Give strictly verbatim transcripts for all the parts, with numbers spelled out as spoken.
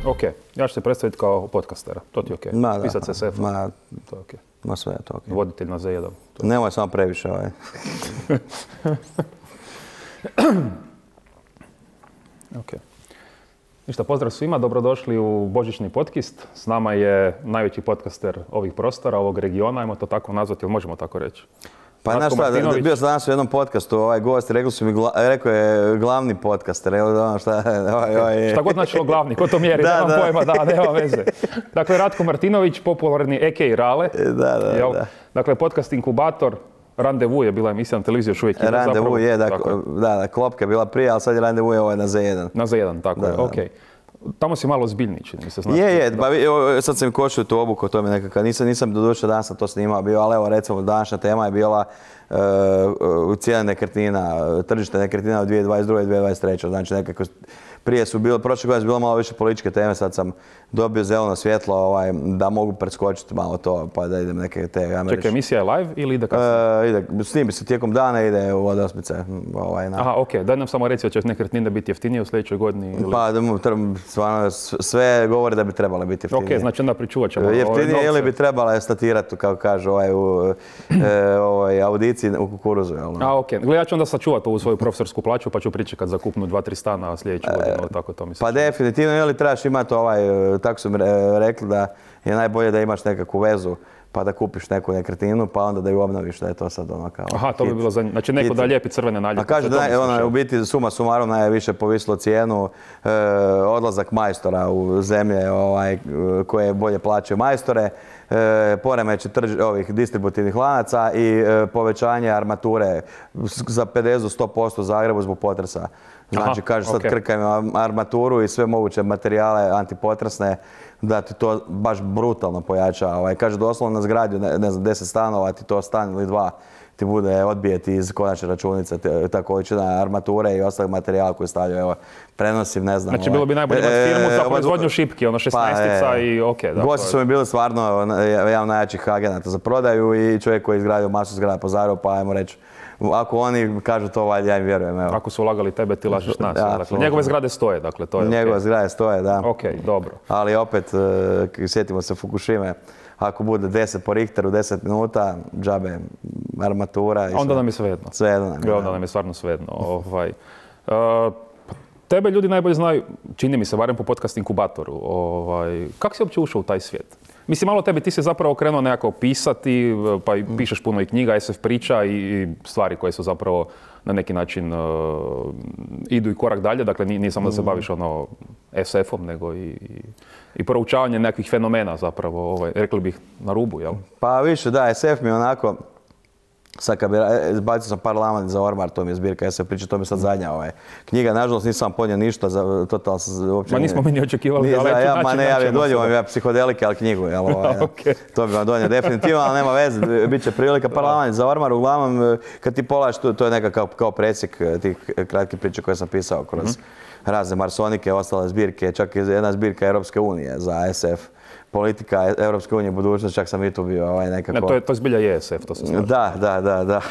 Ok, ja ću se predstaviti kao podcastera, to ti je ok. Ma, da, Pisat se S F, ma, to je ok. Ma sve je to ok. Voditelj na Z jedan. Nemoj samo previše ovaj. Ok. Ništa, pozdrav svima, dobrodošli u Božićni podcast. S nama je najveći podcaster ovih prostora, ovog regiona, ajmo to tako nazvati, ili možemo tako reći? Pa znaš šta, bio sam danas u jednom podcastu, ovaj gost, rekli su mi, gla, rekao je glavni podcaster, evo ono šta, ovaj, ovaj. Šta god značilo glavni, ko to mjeri, da, nemam da. pojma, da, nema veze. Dakle, Ratko Martinović, popularni A K Rale. Da, da, jel? da. Dakle, podcast inkubator, Randevu je bila emisija na televiziji, još uvijek ima zapravo. Randevu je, da, da, da, Klopka je bila prije, ali sad je Randevu je ovaj na Z jedan. Na Z jedan, tako da, je, da. okej. Okay. Tamo si malo zbiljni, čini mi se. Znači, je, je, ba, sad sam košio tu obuku, to mi nekakav, nisam, nisam doduše danas sam to snimao bio, ali evo recimo današnja tema je bila uh, uh, cijena nekretnina, tržište nekretnina u dvije tisuće dvadeset druge i dvije tisuće dvadeset treće Znači nekako, prije su bilo, prošle godine su bilo malo više političke teme, sad sam dobio zeleno svjetlo ovaj, da mogu preskočiti malo to, pa da idem neke te... Ja Čekaj, emisija je live ili ide kasnije? Uh, ide, snimi se tijekom dana, ide u osmice. Ovaj, Aha, okej, okay. Daj nam samo reći da će nekretnine biti jeftinije u sljedećoj godini? Ili... Pa, stvarno, sve govori da bi trebale biti jeftinije. Okej, okay, znači onda pričuvat ćemo jeftinije ili bi trebala statirati, kako kažu ovaj, u e, ovaj, audiciji u kukuruzu. Jel? A, okej. Okay. Ja ću onda sačuvati ovu svoju profesorsku plaću, pa ću pričekat za kupnu dva, tri stana sljedeću godinu, e, tako to mi se Pa čuva. Definitivno, ili trebaš imati ovaj, tako su mi rekli da je najbolje da imaš nekakvu vezu, pa da kupiš neku nekretninu, pa onda da ju obnoviš, da je to sad ono kao... Aha, to hit, bi bilo za... Znači neko hit. Da lijepi crvene naljepnice. A kaže da je, ona, u biti suma sumarom najviše povisilo cijenu, e, odlazak majstora u zemlje ovaj, koje bolje plaćaju majstore, e, poremeće trž, ovih distributivnih lanaca i e, povećanje armature za pedeset do sto posto u Zagrebu zbog potresa. Znači, Aha, kaže sad okay. krkajmo armaturu i sve moguće materijale antipotresne, da ti to baš brutalno pojača. Ovaj, kaže doslovno na zgradi, ne, ne znam, deset stanova, ti to stan ili dva ti bude odbijeti iz konačne računice, ta količina armature i ostalog materijala koji stavljaju. Evo, prenosim, ne znam. Znači, bilo bi najbolje imati firmu za proizvodnju šipki, ono šesnaestica pa, i okej. Okay, gosti su mi bili stvarno jedan najjačih agenata za prodaju i čovjek koji je izgradio masu zgrada po Zagrebu, pa ajmo reći, ako oni kažu to, valjda ja im vjerujem. Evo. Ako su ulagali tebe, ti lažeš nas. Ja, dakle, njegove zgrade stoje, dakle, to je Njegove okay. zgrade stoje, da. Ok, dobro. Ali opet, uh, sjetimo se Fukushime, ako bude deset po Richteru, deset minuta, džabe, armatura. I onda nam je svejedno. Svejedno nam je. Onda nam je stvarno svejedno. ovaj. uh, tebe ljudi najbolje znaju, čini mi se, barem po podcast inkubatoru. Ovaj. Kako si uopće ušao u taj svijet? Mislim, malo tebi, ti si zapravo krenuo nekako pisati, pa i pišeš puno i knjiga, S F priča i stvari koje su zapravo na neki način uh, idu i korak dalje. Dakle, nije samo da se baviš ono S F-om, nego i, i, i proučavanje nekakvih fenomena zapravo, ovaj, rekli bih, na rubu, jel? Pa više, da, S F mi onako, sad kad bi, bacio sam Parlament za ormar, to mi je zbirka S F priča, to mi je sad zadnja ovaj. knjiga. Nažalost nisam podnio ništa, za, totalno sam uopće... Ma nismo mi ni očekivali da ja, ja, Ma ne, ja donio vam ja psihodelike, ali knjigu, jel, ovaj, okay. To bi vam donio definitivno, ali nema veze, bit će prilika. Parlament za ormar, uglavnom, kad ti polaš, to, to je neka kao, kao presjek tih kratkih priča koje sam pisao kroz mm-hmm. razne marsonike, ostale zbirke, čak i jedna zbirka Europske unije za S F. Politika Europske unije, budućnost, čak sam i tu bio ovaj, nekako... Ne, to je, to zbilja je S F, to se slažem. Da, da, da, da.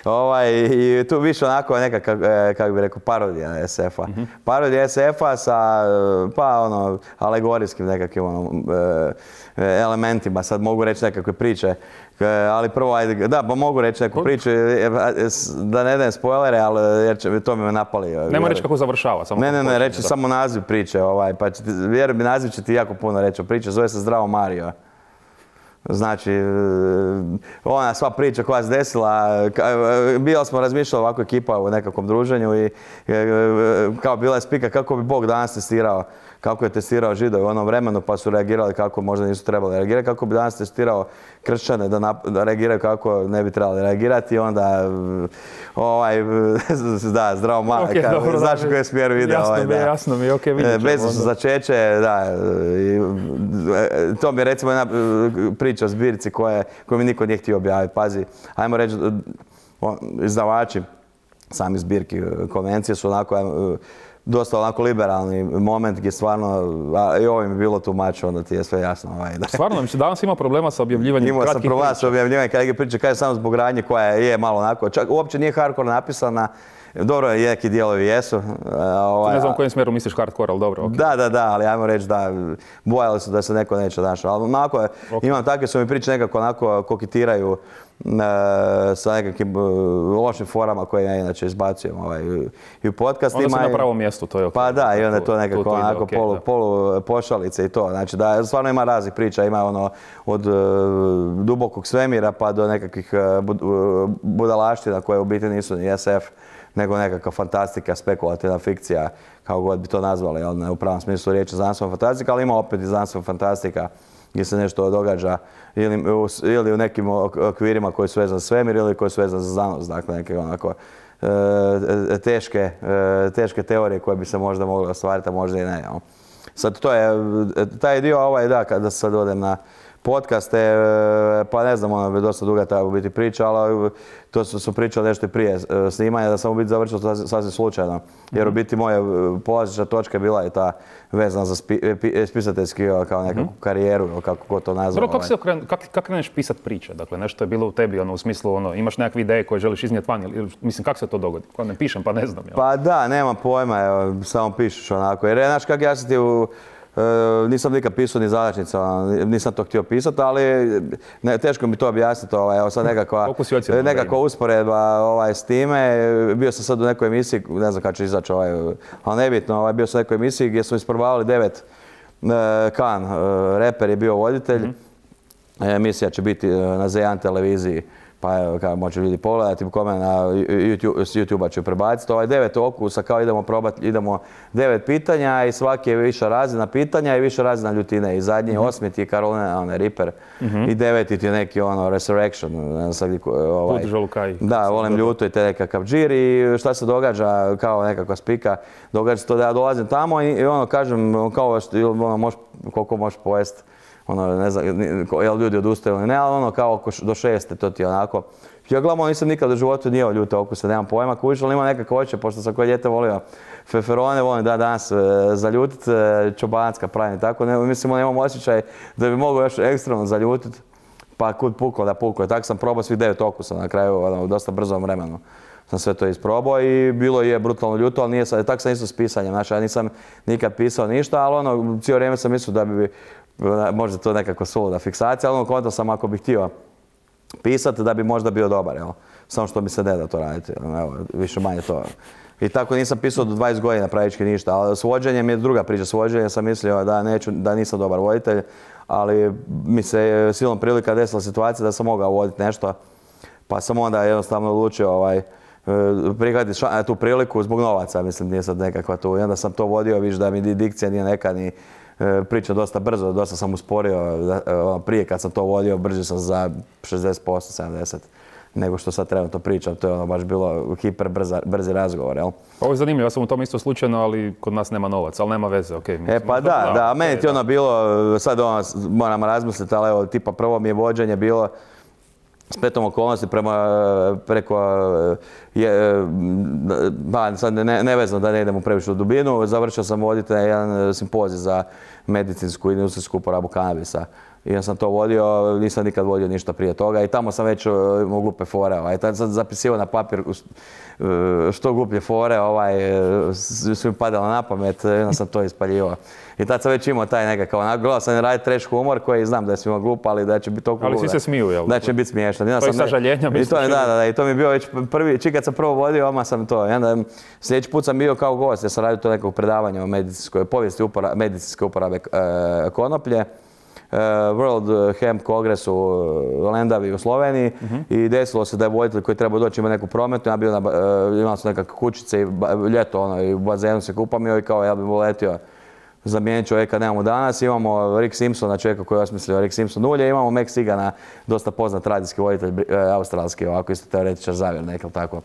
Ovaj, i tu više onako neka, kako bih rekao, parodija S F-a. Mm-hmm. Parodija S F-a sa, pa ono, alegorijskim nekakvim ono, elementima. Sad mogu reći nekakve priče, ali prvo, ajde, da, pa mogu reći neku priču, da ne dajem spoilere, ali jer će, to mi me napali. Nemo reći kako završava, samo Ne, ne, ne, reći da. samo naziv priče, ovaj, pa će ti, vjerujem, naziv će ti jako puno reći o priče, zove se Zdravo Mario. Znači, ona sva priča koja se desila, bila smo razmišljali ovako ekipa u nekakvom druženju i kao bila je spika kako bi Bog danas testirao, kako je testirao Židove u onom vremenu, pa su reagirali kako možda nisu trebali reagirati, kako bi danas testirao kršćane da, da reagiraju kako ne bi trebali reagirati i onda ovaj, da, Zdravo Mario, okay, znaš u kojem smjeru ide. Jasno ovaj, mi je, da. jasno mi je, okej, vidjet ćemo. Bez začeće, da, i, to mi je recimo jedna priča o zbirci koje, koju mi niko nije htio objaviti. Pazi, ajmo reći, izdavači sami zbirki konvencije su onako dosta onako liberalni moment gdje stvarno, i ovo mi je bilo tu mač, onda ti je sve jasno. Ovaj, da. Stvarno, mislim, danas ima problema sa objavljivanjem Imao kratkih priča. Imao sam problema sa objavljivanjem kratkih priča, kaže samo zbog radnje koja je malo onako, čak uopće nije hardcore napisana, dobro, neki dijelovi jesu. Ovaj, ne znam u kojem smjeru misliš hardcore, ali dobro. Okay. Da, da, da, ali ajmo reći da bojali su da se neko neće našao. Ali onako, okay. imam takve su mi priče nekako onako koketiraju e, sa nekakvim uh, lošim forama koje ja inače izbacujem ovaj, i u podcastima. Onda si na pravom mjestu, to je ok. Pa da, i onda je to nekako to, to onako okay, polu, da. polu pošalice i to. Znači da stvarno ima raznih priča, ima ono od uh, dubokog svemira pa do nekakvih uh, bud, uh, budalaština koje u biti nisu ni S F, nego nekakva fantastika, spekulativna fikcija, kao god bi to nazvali, jel, ne u pravom smislu riječi znanstvena fantastika, ali ima opet i znanstvena fantastika gdje se nešto događa ili u, ili u nekim okvirima koji su vezani za svemir ili koji su vezani za znanost, dakle neke onako e, teške, e, teške teorije koje bi se možda mogle ostvariti, a možda i ne. Jel. Sad to je, taj dio ovaj, da, kada sad odem na podcaste, pa ne znam, ono bi dosta duga treba biti priča, ali to su, su pričali nešto i prije snimanja, da sam u biti završio sasvim slučajno. Jer u biti moja polazišna točka bila je ta vezana za spi, spisateljski kao nekakvu mm-hmm. karijeru, ili kako god to nazvao. Kako se okren, kak, kak kreneš pisat priče? Dakle, nešto je bilo u tebi, ono, u smislu, ono, imaš nekakve ideje koje želiš iznijeti van, ili, mislim, kako se to dogodi? Kako ne pišem, pa ne znam. Jel? Pa da, nema pojma, evo, samo pišeš onako. Jer, znaš, kak ja sam ti u... Uh, nisam nikad pisao ni zadačnica, nisam to htio pisati, ali ne, teško mi to objasniti. Ovaj, evo sad nekakva, nekakva usporedba ovaj, s time. Bio sam sad u nekoj emisiji, ne znam kada će izaći, ovaj, ali nebitno, ovaj, bio sam u nekoj emisiji gdje smo isprobavali devet uh, kan. Uh, reper je bio voditelj. Mm-hmm. Emisija će biti na Z jedan televiziji. Pa evo, kao može ljudi pogledati, kome na YouTube, s YouTube-a ću prebaciti. Ovaj devet okusa, kao idemo probati, idemo devet pitanja i svaki je viša razina pitanja i viša razina ljutine. I zadnji mm-hmm. osmi ti je Carolina, onaj Reaper, mm-hmm. i deveti ti je neki ono Resurrection. Ne znam, ovaj, da, volim ljuto i te nekakav džir i šta se događa kao nekakva spika. Događa se to da ja dolazim tamo i, i ono kažem kao ono, mož, koliko možeš pojesti. Ono, ne znam, jel ljudi odustaju ili ne, ali ono kao oko do šeste, to ti je onako. Ja glavno nisam nikad u životu nije ljute okusa, nemam pojma, kužiš, ali ima nekako hoće, pošto sam koje dijete volio feferone, volim da danas e, zaljutit, e, čobanacka pravim, tako, ne, mislim, nemam osjećaj da bi mogao još ekstremno zaljutit, pa kud puklo da puklo. Tako sam probao svih devet okusa na kraju, ono, u dosta brzom vremenu. Sam sve to isprobao i bilo je brutalno ljuto, ali nije, tako sam isto s pisanjem, znači ja nisam nikad pisao ništa, ali ono, cijelo vrijeme sam mislio da bi možda to nekako suluda fiksacija, ali ono konto sam ako bih htio pisati da bi možda bio dobar, jel? Samo što mi se ne da to raditi, evo, više manje to. I tako nisam pisao do dvadeset godina praktički ništa, ali s vođenjem je druga priča, s vođenjem sam mislio da, neću, da nisam dobar voditelj, ali mi se silom prilika desila situacija da sam mogao voditi nešto, pa sam onda jednostavno odlučio ovaj, prihvatiti tu priliku zbog novaca, mislim, nije sad nekakva tu. I onda sam to vodio, viš da mi dikcija nije neka ni pričam dosta brzo, dosta sam usporio, prije kad sam to vodio, brže sam za šezdeset posto, sedamdeset posto nego što sad trenutno pričam, to je ono baš bilo hiper brza, brzi razgovor, jel? Ovo je zanimljivo, ja sam u tom isto slučajno, ali kod nas nema novaca, ali nema veze, okej. Okay. E pa da, da, a meni ti ono bilo, sad ono, moram razmisliti, ali evo, tipa prvo mi je vođenje bilo spletom okolnosti prema, preko, je, ba, sad ne, nevezno da ne idemo previše u dubinu, završio sam voditi jedan simpozij za medicinsku i industrijsku uporabu kanabisa. I ja sam to vodio, nisam nikad vodio ništa prije toga i tamo sam već imao glupe fore. Ovaj. Tad sam zapisivao na papir što gluplje fore, ovaj, su mi padalo na pamet, onda sam to ispaljivao. I tad sam već imao taj nekakav, onako, gledao sam raditi trash humor koji znam da je svima glup, ali da će biti toliko ali svi se smiju, jel? Da će biti smiješno. To je sažaljenja, misliš? Da, da, da, i to mi je bio već prvi, čim kad sam prvo vodio, odmah sam to. I onda sljedeći put sam bio kao gost, ja sam radio to nekog predavanja o medicinskoj povijesti upora, medicinske uporabe e, konoplje. World Hemp Kongres u Lendavi u Sloveniji uh-huh. i desilo se da je voditelj koji treba doći ima neku prometu, ja bio na, imao sam nekakve kućice i ljeto ono, i u bazenu se kupam i kao ja bih letio zamijeniti čovjeka nemamo danas. Imamo Rick Simpsona, čovjeka koji je osmislio Rick Simpson ulje, imamo Meg Sigana, dosta poznat radijski voditelj, australski, ovako isto teoretičar zavjere, nekako tako.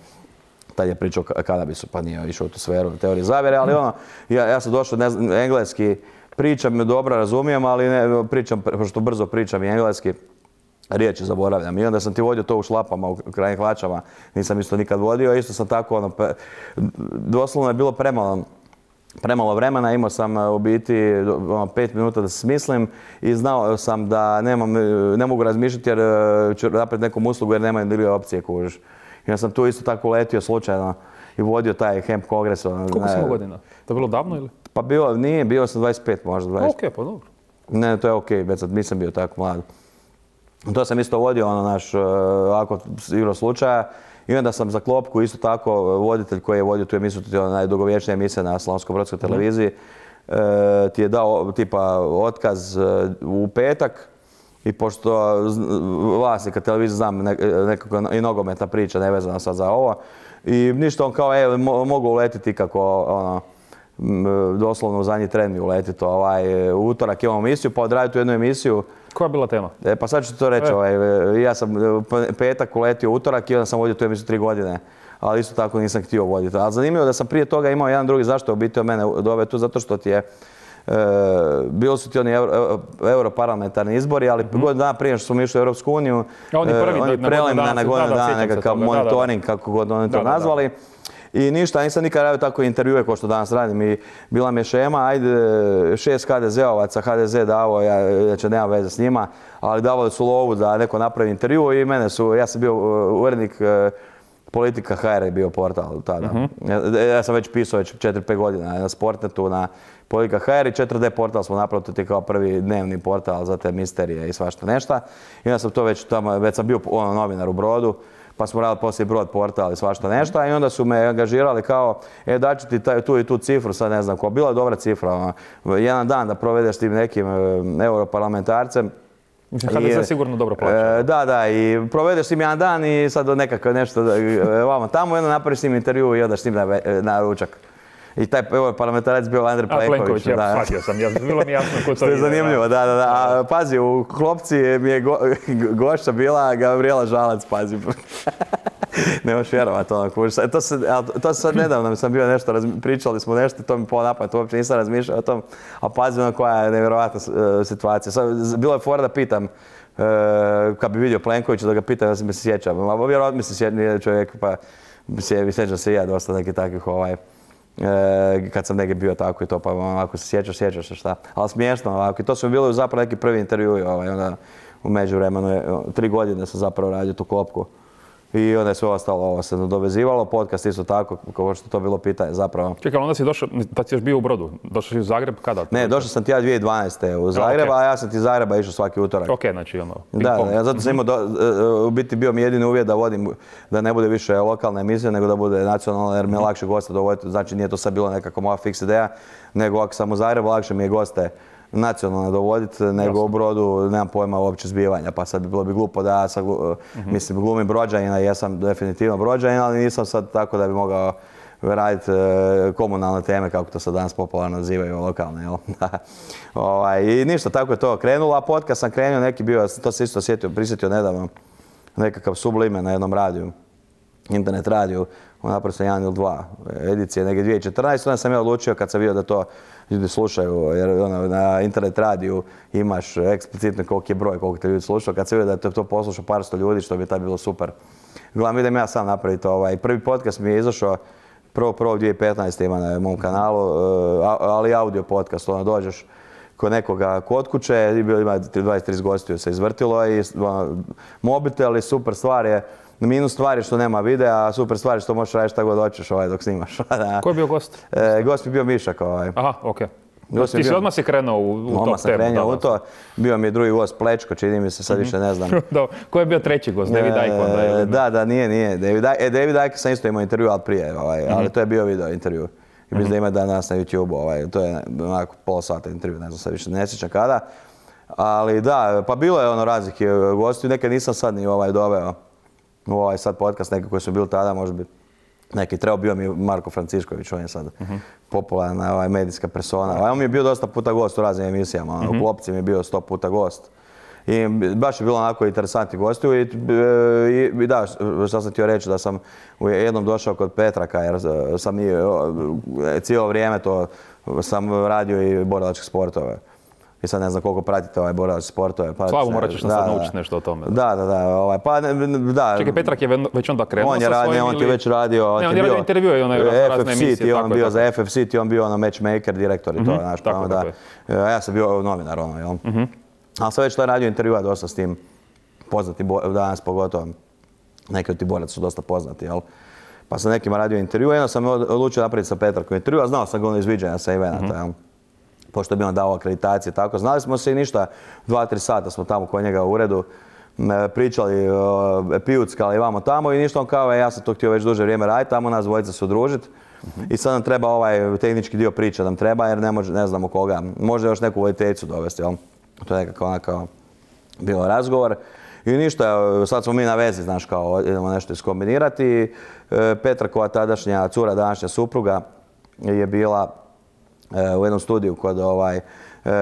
Tad je pričao o kanabisu, pa nije išao u tu sferu teorije zavjere, ali ono, ja, ja sam došao, ne znam, engleski, pričam dobro, razumijem, ali ne, pričam, pošto brzo pričam i engleski, riječi zaboravljam. I onda sam ti vodio to u šlapama, u krajnjih hlačama, nisam isto nikad vodio, isto sam tako, ono, doslovno je bilo premalo premalo vremena, imao sam u biti ono, pet minuta da se smislim i znao sam da nemam, ne mogu razmišljati jer ću napraviti nekom uslugu jer nemaju druge opcije, kužiš. I ja sam tu isto tako letio slučajno i vodio taj hemp kongres. Koliko si imao godina? To je bilo davno ili? Pa bilo, nije, bio sam dvadeset pet možda. dvadeset. Ok, pa dobro. Ne, to je ok, već sad nisam bio tako mlad. To sam isto vodio, ono naš, ovako, igro slučaja. I onda sam za klopku isto tako voditelj koji je vodio tu emisiju, to je najdugovječnija emisija na Slavonsko-brodskoj televiziji, mm. e, ti je dao tipa otkaz u petak i pošto vlasnika televizije znam nekako i nogometna priča nevezana sad za ovo i ništa on kao e, mo, mogu uletiti kako ono, doslovno u zadnji tren mi uletiti ovaj, u utorak imamo emisiju pa odraditi tu jednu emisiju. Koja je bila tema? E, pa sad ću to reći, e. ovaj, ja sam petak uletio utorak i onda sam vodio tu emisiju tri godine, ali isto tako nisam htio voditi. Ali zanimljivo da sam prije toga imao jedan drugi zašto je u biti od mene doveo tu, zato što ti je, e, bilo su ti oni euro, europarlamentarni izbori, ali mm-hmm. godinu dana prije što smo išli u Europsku uniju, ja, oni prvi, e, oni preliminarna na godinu dana, nekakav monitoring, kako god oni to da, nazvali. Da, da. I ništa, nisam nikad radio tako intervjue kao što danas radim i bila mi je šema, ajde šest ha de zeovaca, ha de ze davo, ja znači nemam veze s njima, ali davali su lovu da neko napravi intervju i mene su, ja sam bio urednik Politika ha er je bio portal tada. Uh-huh. ja, ja sam već pisao već četiri pet godina na Sportnetu, na Politika ha er i četiri de portal smo napravili, to je kao prvi dnevni portal za te misterije i svašta nešta. I onda sam to već tamo, već sam bio ono, novinar u Brodu. Pa smo radili poslije Brod portal i svašta nešto i onda su me angažirali kao e daću ti taj, tu i tu cifru, sad ne znam ko, bila je dobra cifra, ono, jedan dan da provedeš tim nekim e, europarlamentarcem. ha de ze sigurno dobro plaća. E, da, da, i provedeš s njim jedan dan i sad do nekako nešto vamo tamo i onda napraviš s njim intervju i odaš s njim na, na ručak. I taj parlamentarac bio Andrej Plenković. A, Plenković, ja, shvatio sam, ja, bilo mi jasno ko to je. To je zanimljivo, da, da, da. A, pazi, u Klopci mi je go, gošća bila Gabriela Žalac, pazi. Ne možeš vjerovati ono, kužiš. To se, to se sad nedavno sam bio nešto, pričali smo nešto, to mi polo napad, uopće nisam razmišljao o tom, a pazi ono koja je nevjerovatna uh, situacija. Sad, bilo je fora da pitam, uh, kad bi vidio Plenkovića, da ga pitam, ja se mi se sjećam. A vjerovatno mi se sjećam čovjek, pa sjećam se i ja dosta nekih takvih ovaj, E, kad sam negdje bio tako i to, pa ako se sjećaš, sjećaš se šta. Ali smiješno ovako. I to su mi bili zapravo neki prvi intervjui. Ovaj, onda u međuvremenu, tri godine sam zapravo radio tu klopku. I onda je sve ostalo ovo se nadovezivalo. Podcast isto tako, kao što to bilo pitanje zapravo. Čekaj, onda si došao, tad si još bio u Brodu. Došao si u Zagreb kada? Ne, došao sam ti ja dvije tisuće dvanaeste u Zagreb, a, okay. a ja sam ti iz Zagreba išao svaki utorak. Ok, znači ono, Da, da, ja zato sam imao, do, u biti bio mi jedini uvjet da vodim, da ne bude više lokalna emisija, nego da bude nacionalna, jer mi je lakše goste dovoditi. Znači nije to sad bilo nekako moja fiks ideja, nego ako sam u Zagrebu, lakše mi je goste nacionalno dovoditi, nego Jasno. u Brodu nemam pojma uopće zbivanja, pa sad bi bilo bi glupo da ja sad, mm-hmm. mislim, glumim Brođanina, jesam definitivno Brođanin, ali nisam sad tako da bi mogao raditi e, komunalne teme, kako to sad danas popularno nazivaju, lokalne, jel? ovaj, I ništa, tako je to krenulo, a podcast sam krenuo, neki bio, to se isto sjetio, prisjetio nedavno, nekakav Sublime na jednom radiju, internet radiju, napravo sam jedan ili dva edicije, neke dvije tisuće četrnaeste. Onda sam ja odlučio kad sam vidio da to ljudi slušaju, jer ono, na internet radiju imaš eksplicitno koliki je broj, koliko te ljudi slušaju. Kad sam vidio da je to poslušao par sto ljudi, što bi tad bilo super. Gledam, idem ja sam napraviti ovaj. Prvi podcast mi je izašao prvo prvog dvije tisuće petnaeste. ima na mom kanalu, ali audio podcast, ono dođeš kod nekoga kod kuće, ima dvadeset trideset gostiju se izvrtilo i ono, mobitel i super stvar je. Minus stvar je što nema videa, a super stvar je što možeš raditi šta god hoćeš ovaj, dok snimaš. Ko je bio gost? E, gost mi bio Mišak. Ovaj. Aha, okej. Okay. Ti si odmah si krenuo u, u top temu. Odmah sam krenuo u to. Bio mi je drugi gost Plečko, čini mi se, sad više ne znam. Ko je bio treći gost? David Icke onda? E, da, da, nije, nije. David, e, David Icke sam isto imao intervju, ali prije, ovaj, mm-hmm. ali to je bio video intervju. I mislim mm-hmm. da ima danas na YouTube, ovaj, to je onako pola sata intervju, ne znam sad više, ne sjećam kada. Ali da, pa bilo je ono razlike gostiju, nekad nisam sad ni ovaj doveo. Ovaj sad podcast, neki koji su bili tada, možda bi neki trebao, bio mi Marko Francišković, on je sad uh-huh. popularna ovaj, medijska persona. Ovaj, on mi je bio dosta puta gost u raznim emisijama, uh-huh. u Klopci mi je bio sto puta gost. I baš je bilo onako interesantni gostiju i, i, i da, što sam htio reći, da sam u jednom došao kod Petraka, jer sam i cijelo vrijeme to sam radio i borilačke sportove. I sad ne znam koliko pratite ovaj borilačke sportove. Pa, Slavu, morat ćeš nas sad naučiti nešto o tome. Da, da, da. Ovaj, pa, da. Čekaj, Petrak je već onda krenuo on je sa radi, svojim on ti ili... već radio. Ne, on je radio intervjue i onaj razne emisije. F F C, on bio za F F C, ti on bio ono matchmaker, direktor i to. Mm-hmm, znaš, tako, pa, tako da, ja sam bio novinar, ono, jel? Mm-hmm. Ali sam već to radio intervjua dosta s tim poznati, danas pogotovo. Neki od ti boraca su dosta poznati, jel? Pa sam nekima radio intervju, jedno sam odlučio napraviti sa Petrakom intervju, a znao sam ga ono izviđanja sa evenata, mm-hmm. jel? Pošto bi on dao akreditacije, tako. Znali smo se i ništa, dva, tri sata smo tamo kod njega u uredu, pričali, pijuckali vamo tamo i ništa on kao, ja sam to htio već duže vrijeme raditi, tamo nas dvojica se udružiti. Mm-hmm. I sad nam treba ovaj tehnički dio priče nam treba jer ne, može, ne znamo koga. Može još neku voditeljicu dovesti, jel? To je nekako onako bilo razgovor. I ništa, sad smo mi na vezi, znaš, kao idemo nešto iskombinirati. Petrakova tadašnja cura, današnja supruga je bila u jednom studiju kod ovaj,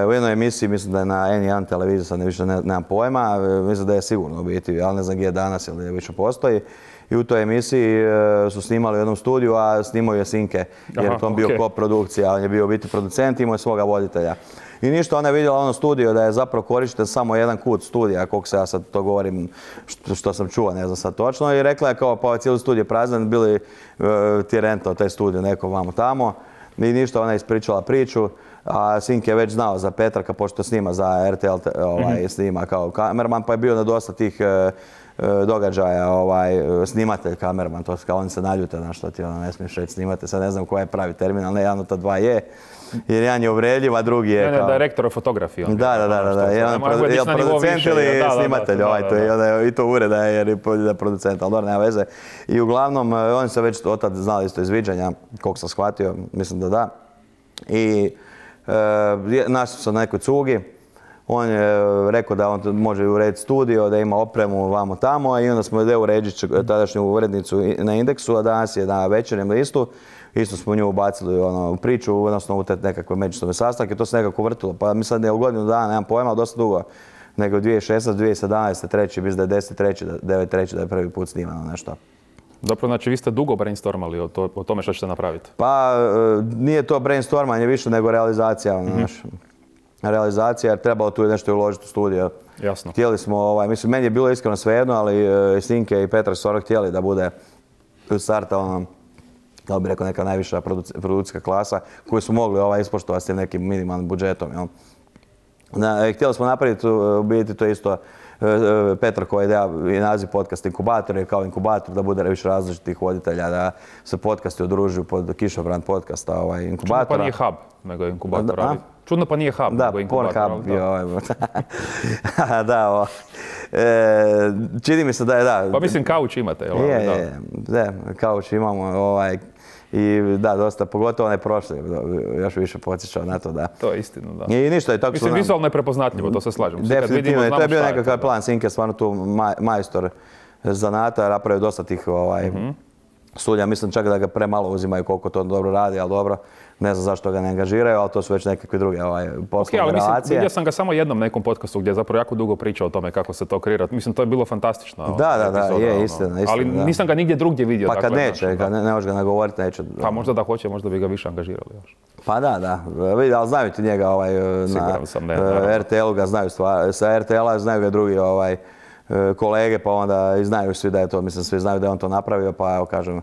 u jednoj emisiji, mislim da je na N jedan televiziji, sad ne više ne, nemam pojma, mislim da je sigurno u biti, ali ne znam gdje je danas ili više postoji. I u toj emisiji su snimali u jednom studiju, a snimao je Sinke, jer je to bio okay. koprodukcija, on je bio u biti producent i imao je svoga voditelja. I ništa, ona je vidjela ono studio da je zapravo korišten samo jedan kut studija, koliko se ja sad to govorim, što, što sam čuo, ne znam sad točno. I rekla je kao pa ovaj cijeli studij je prazan, bili uh, ti rentao taj studij neko vamo tamo. I ništa, ona je ispričala priču, a Sinke je već znao za Petraka, pošto snima za R T L, ovaj, mm-hmm. snima kao kamerman, pa je bio na dosta tih uh, događaja, ovaj, snimatelj kamerman, to kao oni se naljute, znaš što ti ono ne smiješ reći snimate, sad ne znam koji je pravi termin, ali ne, jedan od ta dva je. Jer jedan je uvredljiv, a drugi je ne, kao... Ne, direktor fotografije. Da, da, da, da, jedan je producent ili snimatelj, i to ureda jer je producent, ali dobro, nema veze. I uglavnom, oni su već od tad znali isto izviđanja, koliko sam shvatio, mislim da da. I našli su na nekoj cugi, on je rekao da on može urediti studio, da ima opremu vamo tamo i onda smo ide urediti tadašnju urednicu na Indeksu, a danas je na Večernjem listu. Isto smo nju ubacili ono, u priču, odnosno u te nekakve međusobne sastanke, to se nekako vrtilo. Pa mi sad ne u godinu dana, nemam pojma, ali dosta dugo. Nego dvije tisuće šesnaeste. dvije tisuće sedamnaeste. treći, mislim da je deset treći. devet treći da je prvi put snimano nešto. Dobro, znači vi ste dugo brainstormali o, to, o tome što ćete napraviti? Pa nije to brainstormanje više nego realizacija. Mm-hmm. Znaš. Realizacija jer trebalo tu nešto uložiti u studio. Jasno. Htjeli smo, ovaj, mislim, meni je bilo iskreno svejedno, ali uh, Sinke i Petrak su ono htjeli da bude u starta ono, da bi rekao neka najviša produkcijska klasa koju su mogli ovaj, ispoštovati s tim nekim minimalnim budžetom. Jel? Na, htjeli smo napraviti, u biti to isto Petrakova ideja i naziv podcast Inkubator je kao inkubator da bude više različitih voditelja, da se podcasti udružuju pod kišobran podcasta ovaj, inkubatora. Čudno pa nije hub, nego je inkubator. Da, čudno pa nije hub, da, nego je inkubator. Hub, da, ovaj, da o, e, čini mi se da je da. Pa mislim kauč imate, jel? Je, da. je, da, kauč imamo. Ovaj, I da, dosta, pogotovo onaj prošli, još više podsjećao na to da... To je istina, da. I ništa, i tako mislim, nam... vizualno je prepoznatljivo, to se slažem. Definitivno, vidimo, to je bio nekakav to, plan. Sinke je stvarno tu maj, majstor zanata, napravio dosta tih ovaj, mm-hmm. studija. Mislim čak da ga premalo uzimaju koliko to dobro radi, ali dobro. Ne znam zašto ga ne angažiraju, ali to su već nekakve druge ovaj, poslovne okay, relacije. Mislim, vidio sam ga samo jednom nekom podcastu gdje je zapravo jako dugo pričao o tome kako se to kreira. Mislim, to je bilo fantastično. Da, da, da, je ono. istina, istina. Ali da. nisam ga nigdje drugdje vidio. Pa kad dakle, neće, znači, kad ne, ne može ga nagovoriti, neće. Pa možda da hoće, možda bi ga više angažirali još. Pa da, da. Vidi, ali znaju ti njega ovaj, na sam, ne, R T L-u ga znaju stvar. Sa R T L-a znaju ga drugi ovaj, kolege, pa onda i znaju svi da je to, mislim, svi znaju da je on to napravio, pa evo kažem,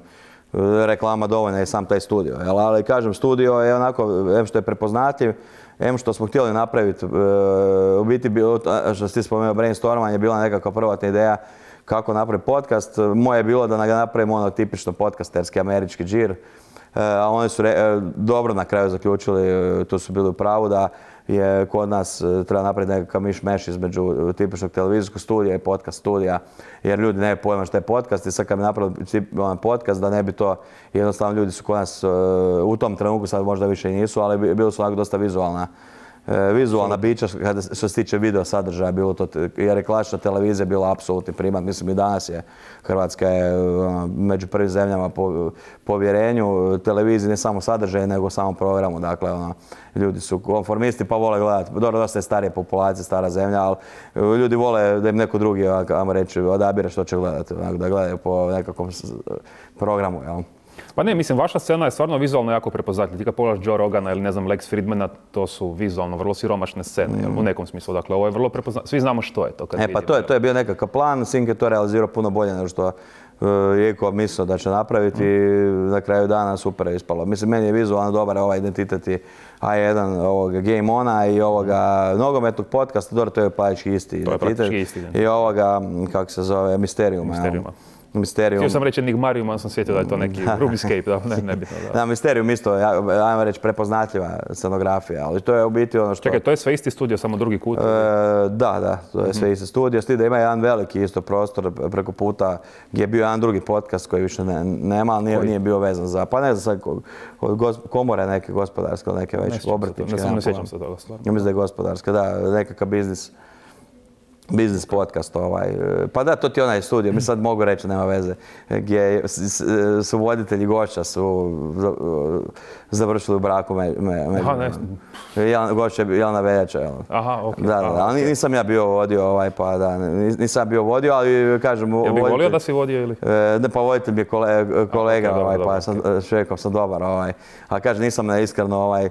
reklama dovoljna je sam taj studio. Jel? Ali kažem, studio je onako, em što je prepoznatljiv, em što smo htjeli napraviti, u biti, što si ti spomenuo, brainstormanje je bila nekakva prvotna ideja kako napraviti podcast. Moje je bilo da ga napravimo ono tipično podcasterski američki džir, a oni su re, dobro na kraju zaključili, tu su bili u pravu da je kod nas treba napraviti nekakav miš-meš između tipičnog televizijskog studija i podcast studija, jer ljudi ne pojma što je podcast i sad kad bi napravili podcast da ne bi to, jednostavno ljudi su kod nas u tom trenutku, sad možda više i nisu, ali bili su onako dosta vizualna vizualna bića kada što se tiče video sadržaja bilo to, jer je klasična televizija bila apsolutni primat. Mislim i danas je Hrvatska je među prvim zemljama po povjerenju televiziji, ne samo sadržaju nego samom programu. Dakle, ono, ljudi su konformisti pa vole gledati. Dobro, dosta je starije populacije, stara zemlja, ali ljudi vole da im neko drugi, ajmo reći, odabire što će gledati, da gledaju po nekakvom programu. Jel? Pa ne, mislim, vaša scena je stvarno vizualno jako prepoznatljiva. Ti kad pogledaš Joe Rogana ili ne znam, Lex Fridmana, to su vizualno vrlo siromašne scene, mm. jel, u nekom smislu. Dakle, ovo je vrlo prepoznatljivo. Svi znamo što je to kad E, vidimo. pa to je, to je bio nekakav plan, Sink je to realizirao puno bolje nego što uh, Jeko mislio da će napraviti mm. i na kraju dana super je ispalo. Mislim, meni je vizualno dobar ovaj identitet i A jedan ovoga Game Ona i ovoga nogometnog podcasta, dobro, to je praktički isti to identitet. Je praktički isti identitet. I ovoga, kako se zove, Mysteriuma. Mysteriuma. Mysterium. Htio sam reći Enigmarium, ali sam sjetio da je to neki Runescape, da, ne, nebitno. Da, da Mysterium isto, ajmo reći, prepoznatljiva scenografija, ali to je u biti ono što... Čekaj, to je sve isti studio, samo drugi kut? E, da, da, to je sve isti studio, s tim da ima jedan veliki isto prostor preko puta gdje je bio jedan drugi podcast koji više ne, nema, ali nije, nije bio vezan za, pa ne znam, od gos, komore neke gospodarske, neke već obrtničke. Ne, ne sjećam se toga stvarno. Ja mislim da je gospodarska, da, nekakav biznis. Biznis podcast, ovaj. Pa da, to ti je onaj studio, mi sad mogu reći, nema veze, gdje su voditelji gošća su završili u braku među. Me, Aha, ne. Jel, gošća je Jelena Veljača, jel? Aha, okej. Okay. Da, da, ali okay. nisam ja bio vodio, ovaj, pa da, nisam bio vodio, ali kažem... Jel bi volio da si vodio ili? Ne, pa voditelj mi je kolega, kolega okay, ovaj, dobro, pa dobro, sam, šekom sam dobar, ovaj. A kažem, nisam ne, iskreno, ovaj,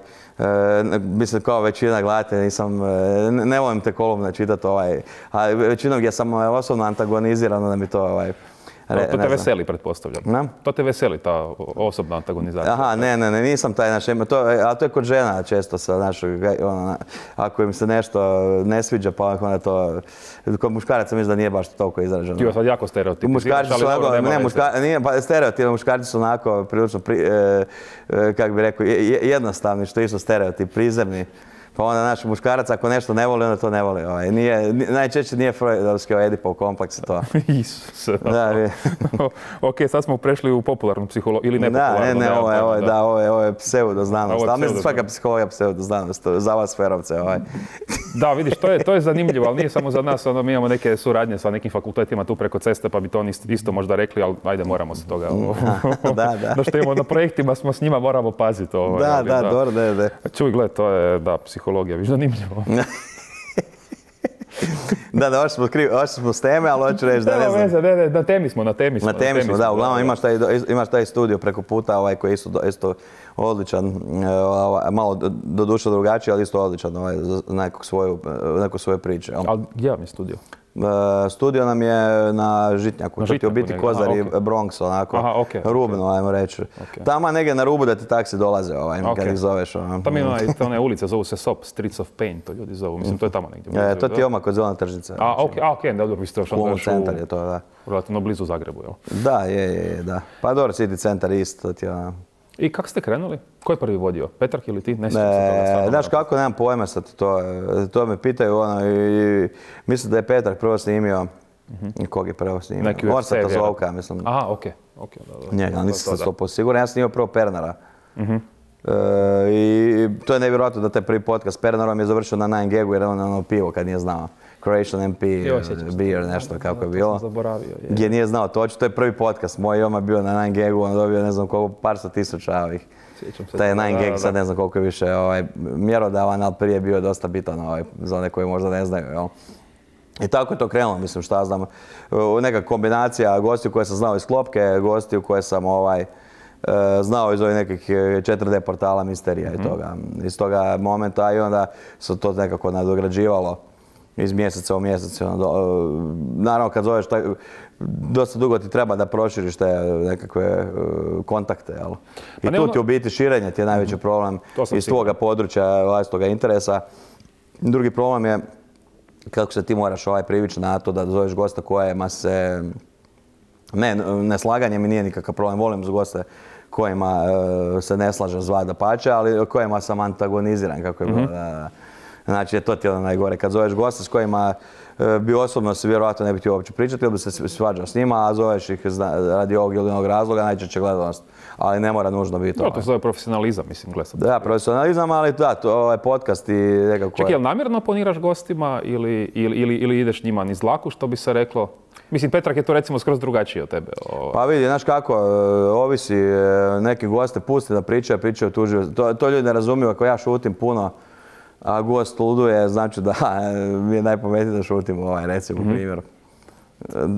mislim, kao većina gledatelja, nisam, ne, ne volim te kolumne čitati, ovaj, a većinom gdje sam osobno antagoniziran, da mi to, ovaj, Re, to te veseli, pretpostavljam. Na? To te veseli, ta osobna antagonizacija. Aha, ne, ne, ne, nisam taj, naš, to, a to je kod žena često sa našog, ono, ako im se nešto ne sviđa, pa onda to, kod muškaraca mislim da nije baš toliko izraženo. Ti sad jako stereotipiziraš, muškarci su onako, ne, muška, nije, pa stereotip, muškarci su onako prilično, pri, e, e, kako bi rekao, jednostavni, što je isto stereotip, prizemni. Pa onda naš muškarac ako nešto ne voli, onda to ne voli. Ovaj. Nije, najčešće nije Freudovski ovaj Edipov kompleks i to. Isuse. Da, vi... ok, sad smo prešli u popularnu psihologiju ili nepopularnu. Da, ne, ne, ovo je, ovo je, da, ovo je, ovo je pseudoznanost. Ali mislim svaka pseudo psihologija pseudoznanost, za vas ferovce. Ovaj. Da, vidiš, to je, to je zanimljivo, ali nije samo za nas. Ono, mi imamo neke suradnje sa nekim fakultetima tu preko ceste, pa bi to isto možda rekli, ali ajde, moramo se toga... da, da. Da što imamo na projektima, smo s njima, moramo paziti. Ovaj, da, ali, da, da, dobro, da, da. Čuj, gled, to je, da, psihologija, viš zanimljivo. Da, da, ošli smo, kriv, smo s teme, ali hoću reći da ne znam. Veze, ne, ne, na temi smo, na temi smo. Na temi smo, da, uglavnom imaš taj, imaš taj studio preko puta ovaj, koji je isto, isto odličan, ovaj, malo do duše drugačiji, ali isto odličan ovaj, za neku svoju, neku svoju priču. Ali gdje vam je studio? Studio nam je na Žitnjaku, na to ti u biti Kozar i okay. Bronx, onako, aha, okay, rubno, okay. ajmo reći. Okay. Tamo negdje na rubu da ti taksi dolaze, ovaj, okay. kad ih zoveš. Ono. Tamo ima i one ulice, zovu se S O P, Streets of Pain, to ljudi zovu, mislim, to je tamo negdje. E, to ti je oma kod Zelena tržnica. A, okej, okay. okay, dobro, vi ste još onda centar je to, da. Relativno blizu Zagrebu, jel? Da, je, je, da. Pa dobro, City centar isto, to ti je ono. I kako ste krenuli? Ko je prvi vodio? Petrarch ili ti? Ne sjećam se toga stvarno. Znaš kako, nemam pojma sad, to, to me pitaju, ono, i mislim da je Petrarch prvo snimio, mm-hmm. kog je prvo snimio? Neki Orsata Zovka, mislim. Aha, okej. Okay. Okay, da, da. Njega, nisam sad sto posto siguran, ja sam snimio prvo Pernara. Mm-hmm. E, I to je nevjerojatno da taj prvi podcast Pernarom je završio na nine gagu jer on ono pivo kad nije znao. Croatian M P, jo, beer, nešto kako je bilo. Zaboravio, je. Gdje nije znao točno, to je prvi podcast moj, on je bio na nine gagu, on dobio ne znam koliko, par sto tisuća ovih. Taj nine gag sad ne znam koliko je više ovaj, mjerodavan, ali prije bio dosta bitan ovaj, za one koji možda ne znaju. Jel? I tako je to krenulo, mislim, šta znam, neka kombinacija gostiju koje sam znao iz Klopke, gostiju koje sam ovaj, znao iz ovih nekih četiri D portala misterija mm-hmm. i toga, iz toga momenta i onda se to nekako nadograđivalo iz mjeseca u mjesec. Naravno kad zoveš, taj, dosta dugo ti treba da proširiš te nekakve kontakte. Jel? I pa tu ti u biti širenje ti je najveći problem iz tvoga područja, vlastitoga interesa. Drugi problem je kako se ti moraš ovaj privići na to da zoveš gosta kojima se... Ne, neslaganje mi nije nikakav problem, volim za goste kojima uh, se ne slažem zvat dapače, ali kojima sam antagoniziran, kako je bilo. Mm-hmm. Da, znači, to ti je ono najgore. Kad zoveš goste s kojima uh, bi osobno se vjerojatno ne bi htio uopće pričati ili bi se svađao s njima, a zoveš ih radi ovog ili onog razloga, najčešće gledanost. Ali ne mora nužno biti to. To se zove profesionalizam, mislim, gledam. Da, profesionalizam, ali da, to ovaj podcast i nekako... Čekaj, jel namjerno oponiraš gostima ili, ili, ili, ili ideš njima niz dlaku, što bi se reklo? Mislim, Petrarch je to recimo skroz drugačije od tebe. O... Pa vidi, znaš kako, ovisi, neki goste pusti da pričaju, pričaju tužio. To, to ljudi ne razumiju, ako ja šutim puno, a gost luduje, znači da mi je najpametnije da šutim, ovaj, recimo, mm-hmm. primjer.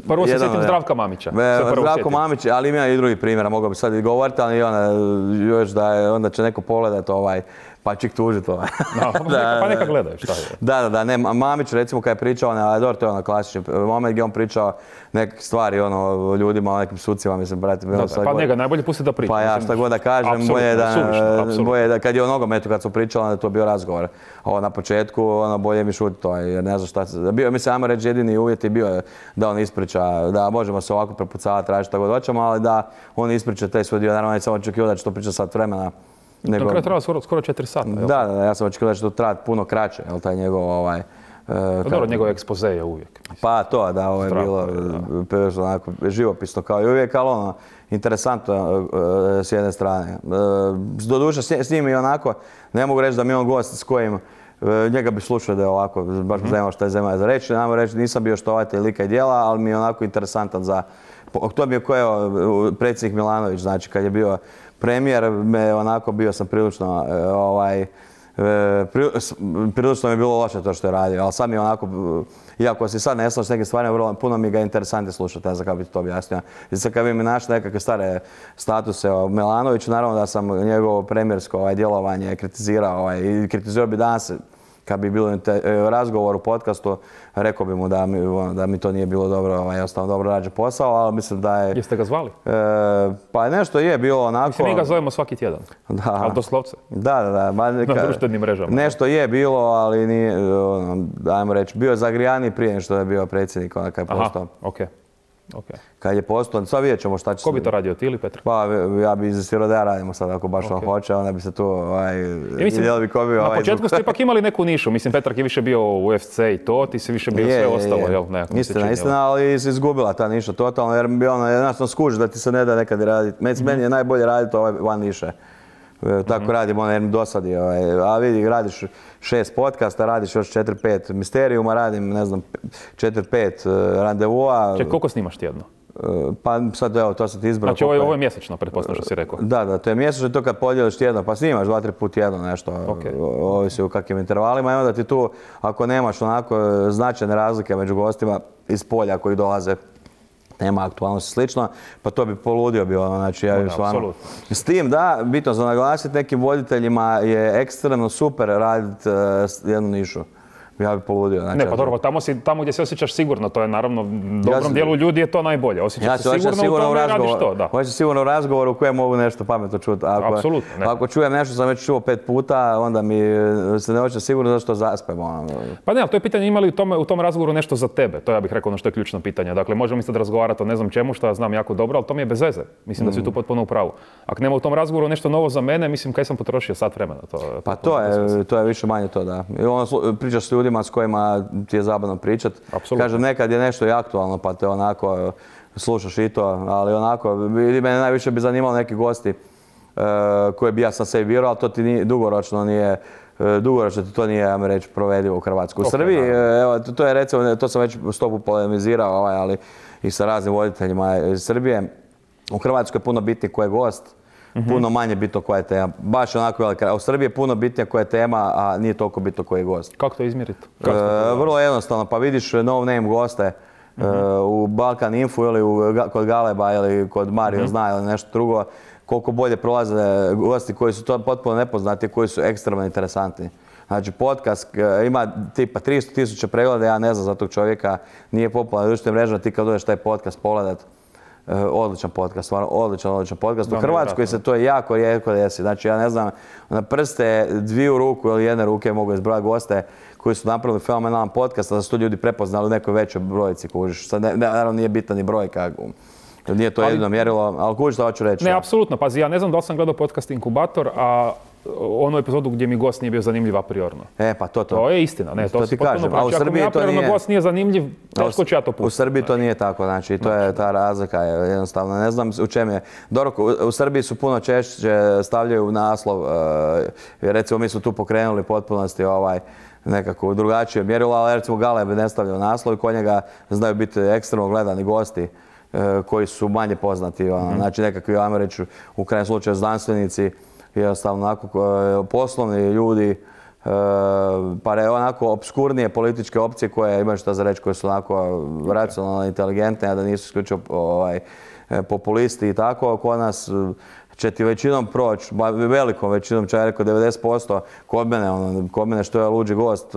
Prvo se sjetim Zdravka Mamića. Zdravko Mamić, ali ima i drugi primjera, mogao bi sad i govoriti, ali ona, još da je, onda će neko pogledat ovaj, pa će ih tužiti ovaj. No, da, pa neka gledaju, šta je. Da, da, da, ne, Mamić recimo kad je pričao, ne, dobro, to je ono klasični moment gdje on pričao neke stvari ono, o ljudima, o nekim sucima, mislim, brate. Da, da, pa god, njega najbolje pusti da priča. Pa ja šta god da kažem, bolje da, bolje da, kad je o nogometu, kad su pričali, onda je to bio razgovor. Ovo na početku, ono, bolje mi šuti to, jer ne znam šta se, bio, mislim, ajmo reći, jedini uvjet je bio da on ispriča, da možemo se ovako prepucavati, tražiti šta god hoćemo, ali da on ispriča taj svoj dio, naravno ne samo očekivao da će to pričati sat vremena. Nego, na kraju treba skoro, skoro četiri sata. Da, da, ja sam očekivao da će to trajati puno kraće, jel, taj njegov ovaj... Uh, dobro, njegov ekspoze je uvijek. Mislim. Pa to, da, ovo je Strako, bilo je, onako, živopisno kao i uvijek, ali ono, interesantno uh, s jedne strane. Uh, doduše, s, s njim i onako, ne mogu reći da mi je on gost s kojim uh, njega bi slušao da je ovako, baš me zanimalo šta je zemlja za reći. Namo reći, nisam bio štovatelj lika i djela, ali mi je onako interesantan za... To mi je ko je predsjednik Milanović, znači kad je bio premijer, me onako bio sam prilično, ovaj, prilično mi je bilo loše to što je radio, ali sad mi je onako, iako si sad ne slažem s nekim stvarima, puno mi ga interesantno slušati, ne znam kako bi ti to objasnio. I sad kad bi mi našli nekakve stare statuse o Milanoviću, naravno da sam njegovo premijersko ovaj, djelovanje kritizirao ovaj, i kritizirao bi danas, kad bi bilo razgovor u podcastu, rekao bi mu da mi, da mi to nije bilo dobro, ovaj, ostalo dobro rađe posao, ali mislim da je... Jeste ga zvali? E, pa nešto je bilo onako... Mislim, mi ga zovemo svaki tjedan, da, ali doslovce. Da, da, da. Ba, neka, na društvenim mrežama. Nešto je bilo, ali nije, ono, ajmo reći, bio je zagrijaniji prije nego što je bio predsjednik, onda kad je postao. Aha, okej. Okay. Okay. Kad je postao, sad vidjet ćemo šta će... Ko bi to radio, ti ili Petar? Pa ja bi izastirao da ja radimo sad, ako baš okay. on hoće, onda bi se tu... Ovaj, mislim, bi ko bio, na ovaj, početku ste ipak imali neku nišu, mislim Petar je više bio u U F C i to, ti si više bio je, sve je, ostalo, je. Jel? Nekako istina, čini, istina, ali si izgubila ta niša totalno, jer bi ono, jednostavno skuži da ti se ne da nekad raditi. Meni mm-hmm. je najbolje raditi ovaj van niše. Tako mm-hmm. radim, ono, jer mi dosadi, ovaj, a vidi, radiš šest podcasta, radiš još četiri pet misterijuma, radim, ne znam, četiri pet randevua. Ček, koliko snimaš tjedno? Pa sad evo, to sam ti izbrao. Znači ovo je, ovo je mjesečno, pretpostavljam što si rekao. Da, da, to je mjesečno, to kad podijeliš tjedno, pa snimaš dva, tri put tjedno nešto, okay. ovisi u kakvim intervalima i onda ti tu, ako nemaš onako značajne razlike među gostima iz polja koji dolaze, nema aktualnosti slično, pa to bi poludio bi ono, znači ja bih stvarno... S tim da, bitno za naglasiti, nekim voditeljima je ekstremno super raditi uh, jednu nišu. Ja bih poludio. Znači, ne, pa dobro, tamo, si, tamo gdje se osjećaš sigurno, to je naravno, dobrom ja dijelu ljudi je to najbolje. Osjećaš ja se sigurno, sigurno u tome i radiš to. Da. Hoćeš sigurno u razgovoru u kojem mogu nešto pametno čuti. Ako, Apsolutno. Ne. Ako čujem nešto sam već čuo pet puta, onda mi se ne hoće sigurno zašto zaspem. Ono. Pa ne, ali to je pitanje ima li u, tome, u tom razgovoru nešto za tebe. To ja bih rekao ono što je ključno pitanje. Dakle, možemo mi sad razgovarati o ne znam čemu što ja znam jako dobro, ali to mi je bez veze. Mislim mm. da si tu potpuno u pravu. Ako nema u tom razgovoru nešto novo za mene, mislim kaj sam potrošio sat vremena. To, pa to je, to je više manje to, da. I ono, pričaš s ljudima s kojima ti je zabavno pričat. Kažem, nekad je nešto i aktualno, pa te onako slušaš i to, ali onako, mene najviše bi zanimalo neki gosti uh, koje bi ja sam sebi birao, ali to ti nije, dugoročno nije, uh, dugoročno ti to nije, ja mi reći, provedivo u Hrvatskoj. U okay, Srbiji, uh, evo, to je recimo, to sam već stopu polemizirao, ovaj, ali i sa raznim voditeljima iz Srbije. U Hrvatskoj je puno bitnije ko je gost, Mm-hmm. puno manje bitno koja je tema. Baš onako velika. U Srbiji je puno bitnija koja je tema, a nije toliko bitno koji je gost. Kako to izmjeriti? E, vrlo jednostavno. Pa vidiš no name goste mm-hmm. e, u Balkan Info ili u, kod Galeba ili kod Mario mm-hmm. zna ili nešto drugo. Koliko bolje prolaze gosti koji su to potpuno nepoznati, koji su ekstremno interesantni. Znači podcast ima tipa tristo tisuća pregleda, ja ne znam za tog čovjeka, nije popularna društvena mreža, ti kad dođeš taj podcast pogledat, Uh, odličan podcast, stvarno odličan, odličan podcast. U Hrvatskoj se to je jako rijetko desi. Znači, ja ne znam, na prste dviju ruku ili jedne ruke mogu izbrojati goste koji su napravili fenomenalan podcast, da su to ljudi prepoznali u nekoj većoj brojici, kužiš. Sad, ne, naravno, nije bitna ni brojka, nije to jedino mjerilo, ali kužiš što hoću reći. Ne, apsolutno. Pazi, ja ne znam da li sam gledao podcast Inkubator, a onu epizodu gdje mi gost nije bio zanimljiv a priorno. E, pa to to. To je istina, ne, to, to ti kažem. A u Srbiji to nije... gost nije zanimljiv, teško ću ja to pustiti. U Srbiji to nije tako, znači, to je ta razlika, jednostavno, ne znam u čem je. Dobro, u Srbiji su puno češće stavljaju naslov, recimo mi su tu pokrenuli potpunosti ovaj, nekako drugačije mjerilo, ali recimo Galeb ne stavljaju naslov i kod njega znaju biti ekstremno gledani gosti koji su manje poznati, mm-hmm. znači nekakvi, ajmo reći, u krajem slučaju znanstvenici, jednostavno onako poslovni ljudi pa je onako obskurnije političke opcije koje imaju šta za reći, koje su onako racionalne, inteligentne, a da nisu isključivo ovaj, populisti i tako. Kod nas će ti većinom proći, velikom većinom, čak rekao devedeset posto kod mene, ono, kod mene što je luđi gost,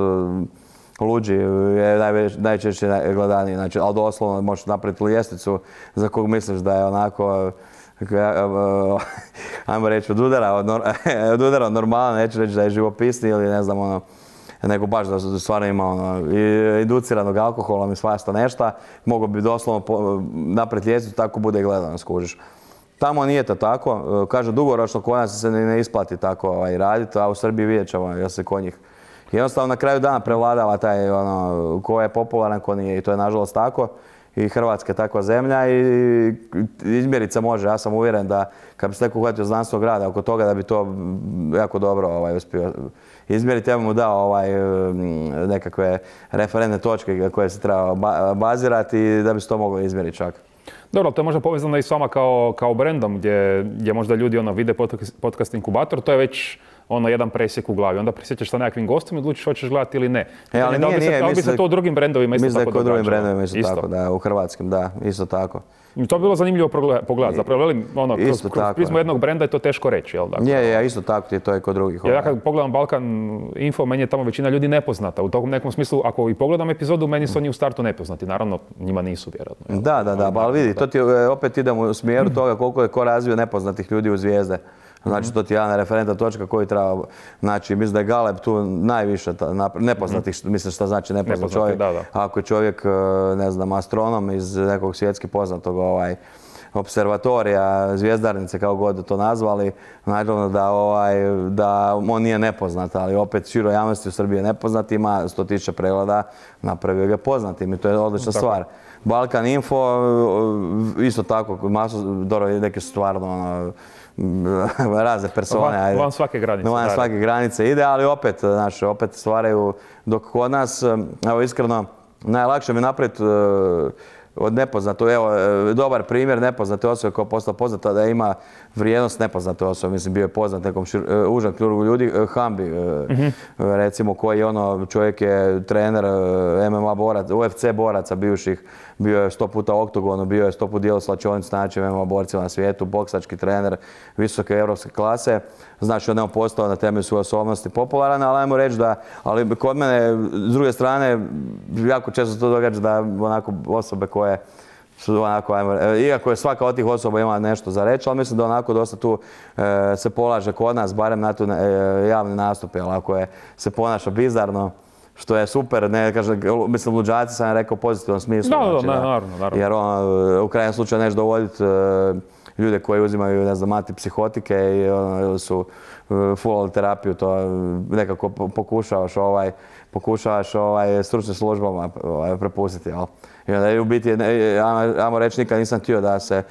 luđi je najčešće gledaniji, znači, ali doslovno možeš napraviti ljestvicu za kog misliš da je onako, ajmo reći, od udara, od udara normalno, neću reći da je živopisni ili ne znam, ono, nego baš da stvarno ima ono, induciranog alkoholom i svašta nešto, mogu bi doslovno napraviti ljestvicu, tako bude i gledano, skužiš. Tamo nije to tako, kažem, dugoročno kod nas se ne isplati tako ovaj, raditi, a u Srbiji vidjet ćemo jer se kod njih jednostavno na kraju dana prevladava taj ono, ko je popularan, ko nije i to je nažalost tako. I Hrvatska je takva zemlja i izmjerit se može. Ja sam uvjeren da kad bi se neko uhvatio znanstvenog rada oko toga da bi to jako dobro ovaj, uspio izmjeriti. Ja bih mu dao ovaj, nekakve referentne točke koje se treba bazirati i da bi se to moglo izmjeriti čak. Dobro, to je možda povezano i s vama kao, kao brendom gdje, gdje možda ljudi ono, vide podcast inkubator, to je već ono jedan presjek u glavi. Onda presjećeš sa nekakvim gostom i odlučiš hoćeš gledati ili ne. E, ali nije, nije. Da li bi se to u drugim brendovima isto tako događalo? Mislim da je kod drugim brendovima isto, isto tako, da, u hrvatskim, da, isto tako. I to je bilo zanimljivo pogledati. Zapravo, velim, ono, kroz, kroz prizmu jednog brenda je to teško reći, jel? Dakle, je, je, isto tako je to i kod drugih. Ja kad pogledam Balkan Info, meni je tamo većina ljudi nepoznata. U tom nekom smislu, ako i pogledam epizodu, meni su oni u startu nepoznati. Naravno, njima nisu, vjerojatno. Jel? Da, da, da, pa ali vidi, to ti opet idemo u smjeru toga koliko je ko razvio nepoznatih ljudi u zvijezde. Znači, to ti je jedna referentna točka koju treba, znači, mislim da je Galeb tu najviše nepoznatih, mislim šta znači nepoznat čovjek. Da, da. Ako je čovjek, ne znam, astronom iz nekog svjetski poznatog ovaj, observatorija, zvjezdarnice, kao god to nazvali, naravno da, ovaj, da on nije nepoznat, ali opet široj javnosti u Srbiji je nepoznat, ima sto tisuća pregleda, napravio ga poznatim i to je odlična stvar. Balkan Info, isto tako, masu, dobro, neke su stvarno, ono, razne persone. Van, van svake granice. Van svake granice ide, ali opet, znaš, opet stvaraju, dok kod nas, evo iskreno, najlakše mi napraviti od nepoznate, evo, dobar primjer nepoznate osobe koja je postala poznata da ima vrijednost nepoznate osobe, mislim bio je poznat nekom šir, užem krugu ljudi, Hambi, mm-hmm. recimo koji je ono, čovjek je trener M M A boraca, U F C boraca bivših, bio je sto puta u oktogonu, bio je sto puta dijelo slačionicu s najjačim M M A borcima na svijetu, boksački trener visoke europske klase, znači on je postao na temelju svoje osobnosti popularan, ali ajmo reći da, ali kod mene, s druge strane, jako često se to događa da onako osobe koje su onako, ajmo, iako je svaka od tih osoba ima nešto za reći, ali mislim da onako dosta tu e, se polaže kod nas, barem na tu e, javni nastup, ali ako je, se ponaša bizarno, što je super, ne kažem, mislim, luđaci sam rekao u pozitivnom smislu. Da, znači, da, ne, naravno, naravno. Jer on, u krajnjem slučaju nešto dovoditi e, ljude koji uzimaju, ne znam, antipsihotike i ono, su full terapiju, to nekako pokušavaš ovaj, pokušavaš ovaj, stručnim službama ovaj, prepustiti, jel? I onda u biti, ajmo reći, nikad nisam htio da se,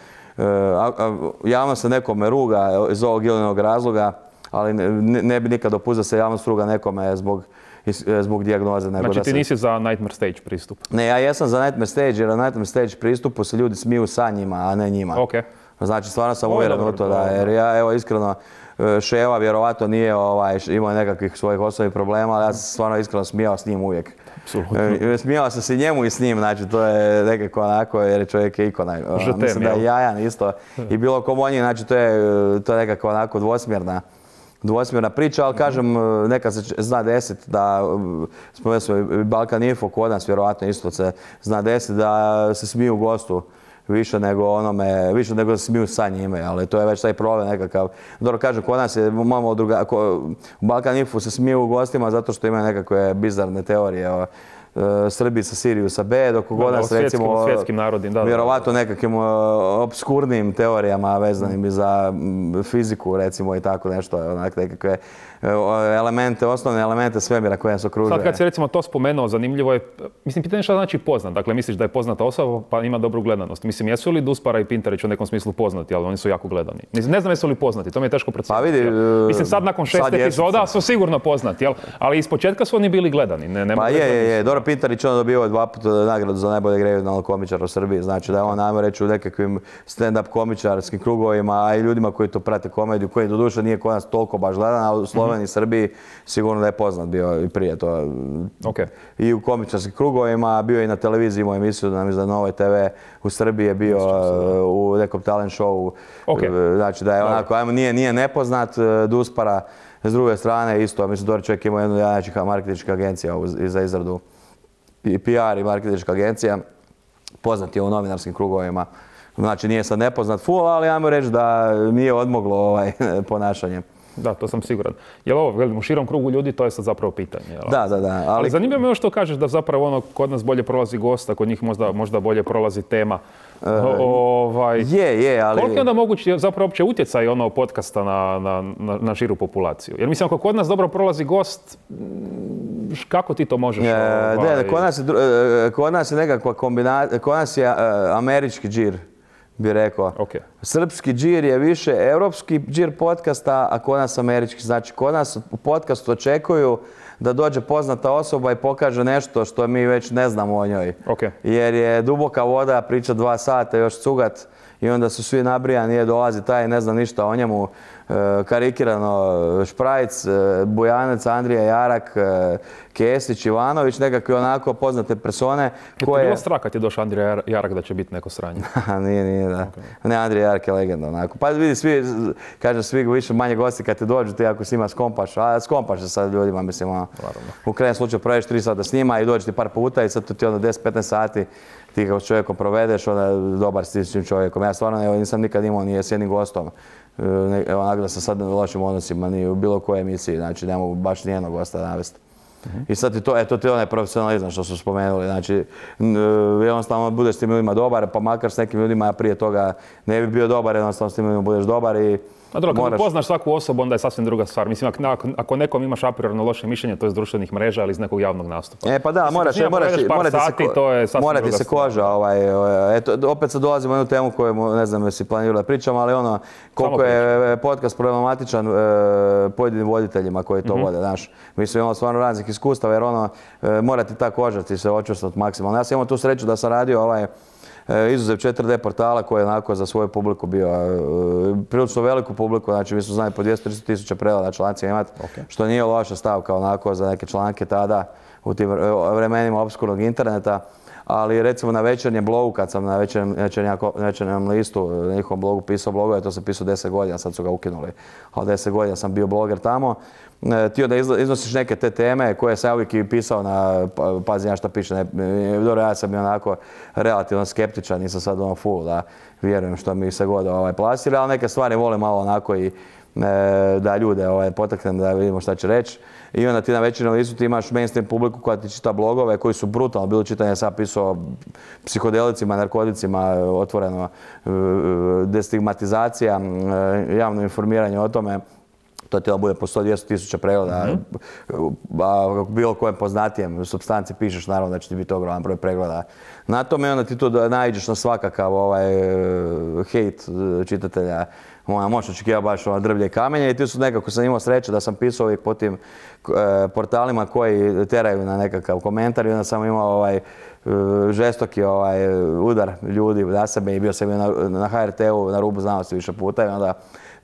javno se nekome ruga iz ovog ili onog razloga, ali ne, ne bi nikad dopustio da se javnost ruga nekome zbog, zbog dijagnoze. Nego znači da ti se... nisi za Nightmare Stage pristup? Ne, ja jesam za Nightmare Stage, jer na Nightmare Stage pristupu se ljudi smiju sa njima, a ne njima. Okay. Znači, stvarno sam uvjeren u to da, jer ja, evo, iskreno, Ševa vjerovatno nije ovaj, imao nekakvih svojih osobnih problema, ali ja sam stvarno iskreno smijao s njim uvijek. Apsolutno. Smijao sam se njemu i s njim, znači to je nekako onako, jer čovjek je ikona. Žetem, mislim da je jajan isto. I bilo kom on je, znači to je, to je nekako onako dvosmjerna. Dvosmjerna priča, ali kažem, neka se zna desiti da, spomenuo smo Balkan Info kod nas vjerovatno isto se zna desiti da se smiju gostu više nego onome, više nego da se smiju sa njime, ali to je već taj problem nekakav. Dobro, kažem, kod nas je malo druga, u Balkan Info se smiju gostima zato što imaju nekakve bizarne teorije o Srbiji sa Siriju sa B, dok kod nas recimo svjetskim narodim, da, vjerovatno nekakvim obskurnim teorijama vezanim i za fiziku recimo i tako nešto, onak nekakve elemente, osnovne elemente svemira koje nas okružuje. Sad kad si recimo to spomenuo, zanimljivo je, mislim, pitanje šta znači poznat, dakle misliš da je poznata osoba pa ima dobru gledanost. Mislim, jesu li Duspara i Pintarić u nekom smislu poznati, ali oni su jako gledani. Mislim, ne znam jesu li poznati, to mi je teško predstaviti. Pa vidi, mislim, sad nakon šest sad epizoda su sigurno poznati, jel? Ali ispočetka su oni bili gledani. Ne, ne pa je, je, je, dobro, Pintarić on dobio dva puta nagradu za najboljeg regionalnog komičara u Srbiji. Znači da je on, ajmo reći, u nekakvim stand-up komičarskim krugovima, a i ljudima koji to prate komediju, koji doduše nije kod nas toliko baš gledan, a u Sloveniji i Srbiji sigurno da je poznat bio i prije to. Okay. I u komičarskim krugovima, bio i na televiziji, imao emisiju na, na Novoj te ve, u Srbiji je bio uh, u nekom talent showu. Okay. Znači da je onako, ajmo, nije, nije nepoznat, Duspara. S druge strane, isto, mislim, Dori čovjek ima jednu najjačih marketinških agencija za izradu i P R i marketinška agencija. Poznat je u novinarskim krugovima. Znači, nije sad nepoznat full, ali ajmo reći da nije odmoglo ovaj ponašanje. Da, to sam siguran. Jel ovo, velim, u širom krugu ljudi, to je sad zapravo pitanje. Jel? Da, da, da. Ali, ali zanimljivo me još što kažeš da zapravo ono, kod nas bolje prolazi gost, a kod njih možda, možda bolje prolazi tema. Uh, ovaj, je, je, ali... Koliko je onda mogući zapravo uopće utjecaj ono podcasta na, na, na, na širu populaciju? Jer mislim, ako kod nas dobro prolazi gost, kako ti to možeš? E, ovaj... ne, kod nas je, kod nas je nekakva kombinacija, kod nas je uh, američki džir, bi rekao. Okay. Srpski džir je više europski džir podcasta, a kod nas američki. Znači, kod nas u podcastu očekuju da dođe poznata osoba i pokaže nešto što mi već ne znamo o njoj. Okay. Jer je duboka voda, priča dva sata, još cugat i onda su svi nabrijani, je dolazi taj, ne znam ništa o njemu, e, karikirano Šprajc, e, Bujanec, Andrija Jarak, e, Kesić, Ivanović, nekakve onako poznate persone koje... Je bilo strah kad je došao Andrija Jarak da će biti neko sranje? nije, nije, da. Okay. Ne, Andrija Jarak je legenda, onako. Pa vidi, svi, kažem, svi više manje gosti kad te dođu, ti ako s njima skompaš, a skompaš se sad ljudima, mislim, ono, u krajnjem slučaju provedeš tri sata s njima i dođeš ti par puta i sad tu ti onda deset do petnaest sati ti kao s čovjekom provedeš, onda dobar si s tim čovjekom. Ja stvarno evo, nisam nikad imao nije s jednim gostom. Evo, onako da sam sad u lošim odnosima, ni u bilo kojoj emisiji, znači ne mogu baš nijednog gosta navesti. Uh-huh. I sad ti to, eto ti onaj profesionalizam što su spomenuli, znači jednostavno budeš s tim ljudima dobar, pa makar s nekim ljudima prije toga ne bi bio dobar, jednostavno s tim ljudima budeš dobar i A dobro, moraš... kad poznaš svaku osobu, onda je sasvim druga stvar. Mislim, ako, ako nekom imaš a priorno loše mišljenje, to je iz društvenih mreža, ali iz nekog javnog nastupa. E pa da, moraš, Mislim, moraš, moraš, moraš, sati, se, to je mora ti se koža, ovaj, eto, opet sad dolazimo na jednu temu koju, ne znam jesi planirali da pričam, ali ono, koliko je podcast problematičan e, pojedinim voditeljima koji to mm-hmm. vode, znaš. Mi smo imali stvarno raznih iskustava, jer ono, e, mora ti ta koža ti se očvrstati maksimalno. Ja sam imao tu sreću da sam radio ovaj, izuzev četiri de portala koji je onako za svoju publiku bio prilično veliku publiku, znači mi smo znali po dvjesto do tristo tisuća pregleda člancima imati, okay. Što nije loša stavka onako za neke članke tada u tim vremenima opskurnog interneta, ali recimo na večernjem blogu, kad sam na večernjem, večernjem listu, na njihovom blogu pisao blogove, to sam pisao deset godina, sad su ga ukinuli, ali deset godina sam bio bloger tamo. Ti onda iznosiš neke te teme koje sam ja uvijek i pisao na, pazi ja šta piše, ne, dobro ja sam i onako relativno skeptičan, nisam sad ono full da vjerujem što mi se god ovaj, plasira, ali neke stvari volim malo onako i da ljude ovaj, potaknem da vidimo šta će reći. I onda ti na večernjem listu ti imaš mainstream publiku koja ti čita blogove koji su brutalno, bilo čitanje, sam pisao psihodelicima, narkoticima, otvoreno, destigmatizacija, javno informiranje o tome. To ti bude po sto do dvjesto tisuća pregleda, mm-hmm. a bilo kojem poznatijem supstanci pišeš, naravno da će ti biti ogroman broj pregleda. Na tome onda ti tu naiđeš na svakakav ovaj, hejt čitatelja. Možeš očekivati baš ono drvlje i kamenje i ti su nekako sam imao sreće da sam pisao uvijek po tim e, portalima koji teraju na nekakav komentar i onda sam imao ovaj, e, žestoki ovaj, udar ljudi na sebe i bio sam na, na ha er te u na rubu znanosti više puta i onda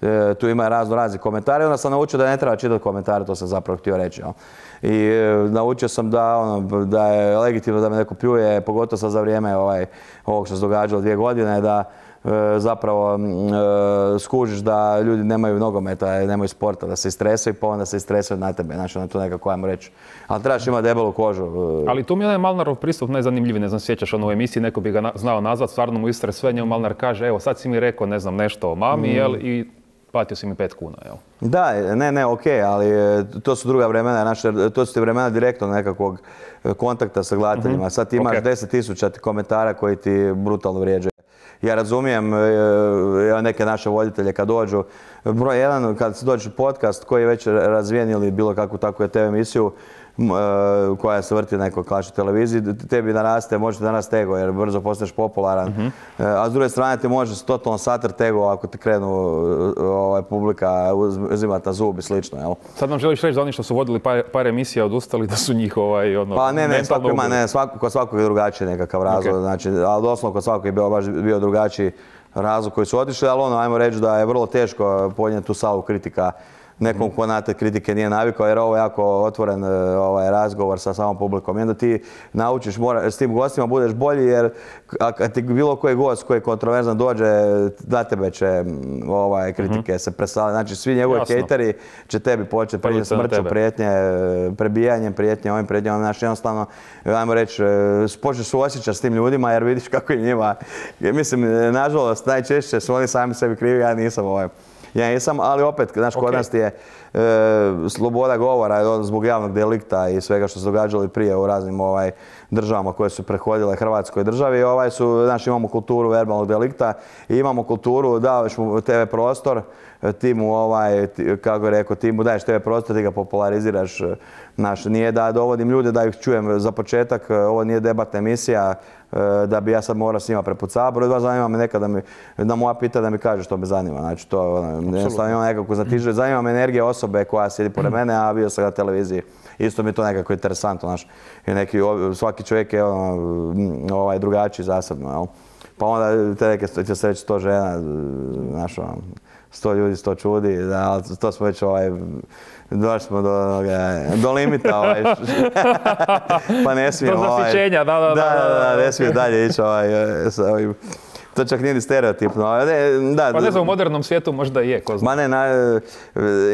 e, tu ima razno razni komentari i onda sam naučio da ne treba čitati komentare, to sam zapravo htio reći. No. I e, naučio sam da, ono, da je legitimno da me neko pljuje, pogotovo sad za vrijeme ovaj, ovog što se događalo dvije godine, da zapravo e, skužiš da ljudi nemaju nogometa, nemaju sporta, da se istresaju pa onda se istresaju na tebe, znači na to nekako ajmo reći. Ali trebaš imati debelu kožu. Ali tu mi je onaj Malnarov pristup najzanimljiviji, ne znam, sjećaš ono u emisiji, neko bi ga na, znao nazvat, stvarno mu istre sve, njemu Malnar kaže, evo sad si mi rekao, ne znam, nešto o mami, mm. jel, i platio si mi pet kuna, jel? Da, ne, ne, okej, okay, ali to su druga vremena, znači, to su ti vremena direktno nekakvog kontakta sa gledateljima. Mm-hmm. Sad ti imaš okay. deset tisuća komentara koji ti brutalno vrijeđaju. Ja razumijem e, neke naše voditelje kad dođu, broj jedan, kad se dođe podcast koji je već razvijen ili bilo kakvu takvu te ve emisiju, koja se vrti na nekoj klaši televiziji, tebi naraste, može da naraste ego jer brzo postaneš popularan. Uh-huh. A s druge strane ti može totalno satrati ego ako ti krenu ovaj, publika uzimati na zub i slično. Jel? Sad nam želiš reći da oni što su vodili par, par emisija odustali da su njih ovaj, ono, pa ne, ne, svako ima, ne, svako, kod svakog je drugačiji nekakav razlog, okay. Znači, ali doslovno kod svakog je bio, baš bio drugačiji razlog koji su otišli, ali ono, ajmo reći da je vrlo teško podnijeti tu salvu kritika nekom ko na te kritike nije navikao, jer ovo je jako otvoren ovaj, razgovor sa samom publikom. I onda ti naučiš, mora, s tim gostima budeš bolji, jer kad ti bilo koji gost koji je kontroverzan dođe, na tebe će ovaj, kritike mm-hmm. se presaliti. Znači, svi njegovi hejteri će tebi početi prije smrću, prijetnje, prebijanjem, prijetnje, ovim prijetnjama. Znači, jednostavno, ajmo reći, počneš suosjećati s tim ljudima, jer vidiš kako je njima. Mislim, nažalost, najčešće su oni sami sebi krivi, ja nisam ovaj. Ja nisam, ali opet, znaš, kod okay. nas ti je e, sloboda govora zbog javnog delikta i svega što se događalo prije u raznim ovaj, državama koje su prehodile Hrvatskoj državi. Ovaj su, znaš, imamo kulturu verbalnog delikta i imamo kulturu, davaš mu te ve prostor, ti mu, ovaj, ti, kako je rekao, ti mu daješ te ve prostor, ti ga populariziraš. Naš, nije da dovodim ljude da ih čujem za početak, ovo nije debatna emisija, da bi ja sad morao s njima prepucavati. Broj dva, zanima me nekad da, mi, da moja pita da mi kaže što me zanima. Znači, to jednostavno ima nekako zatiže. Zanima me energija osobe koja sjedi pored mene, a bio sam na televiziji. Isto mi je to nekako interesantno. Znaš. I neki, svaki čovjek je ono, ovaj, drugačiji zasebno. Jel? Pa onda te neke će se reći sto žena, znaš, ono, sto ljudi, sto čudi, da, to smo već ovaj, došli smo do, do limita, ovaj, pa ne smijem, do zasićenja, da, da, da, da, da, da, ne smijem dalje ići, ovaj, sa ovim, to čak nije ni stereotipno. Ne, da, pa ne znam, u modernom svijetu možda i je, ko zna. Ma ne, na,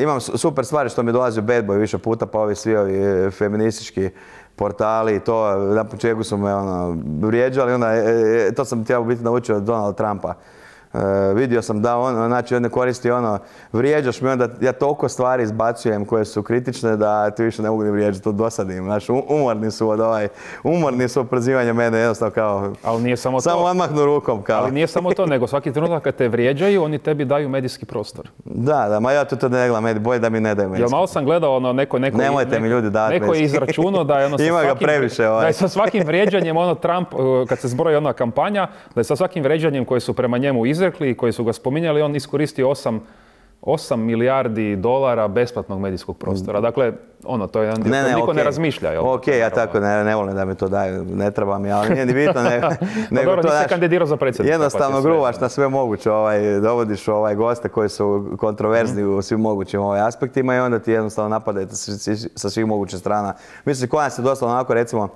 imam super stvari što mi dolazi u Bad Boy više puta, pa ovi svi ovi feministički portali i to, na početku su me ono, vrijeđali, onda, e, to sam trebao biti naučio od Donalda Trumpa. Uh, vidio sam da on, znači on ne koristi ono, vrijeđaš mi, onda ja toliko stvari izbacujem koje su kritične da ti više ne mogu ni vrijeđati, to dosadim, znači umorni su od ovaj, umorni su od prozivanja mene, jednostavno kao, ali nije samo, samo to. odmahnu rukom kao. Ali nije samo to, nego svaki trenutak kad te vrijeđaju, oni tebi daju medijski prostor. Da, da, ma ja to, to ne gledam, bolje da mi ne daju medijski. Jel malo sam gledao ono, neko, neko, nemojte neko, mi ljudi dati neko je izračunao da je ono sa ima svakim, ga previše, ovaj. da je sa svakim vrijeđanjem, ono Trump, kad se zbroji ona kampanja, da je sa svakim vrijeđanjem koje su prema njemu izrekli i koji su ga spominjali, on iskoristio osam milijardi dolara besplatnog medijskog prostora. Dakle, ono, to je jedan dio, ne, ne, niko okay. ne razmišlja. Jel? Ok, ja tako ne, ne volim da mi to daju, ne treba mi, ali nije ni bitno. Ne, no dobro, nisi se kandidirao za predsjednika. Jednostavno pa gruvaš na sve moguće, ovaj, dovodiš ovaj, goste koji su kontroverzni mm. u svim mogućim ovaj, aspektima i onda ti jednostavno napadajte sa svih mogućih strana. Mislim, koja se doslovno onako, recimo,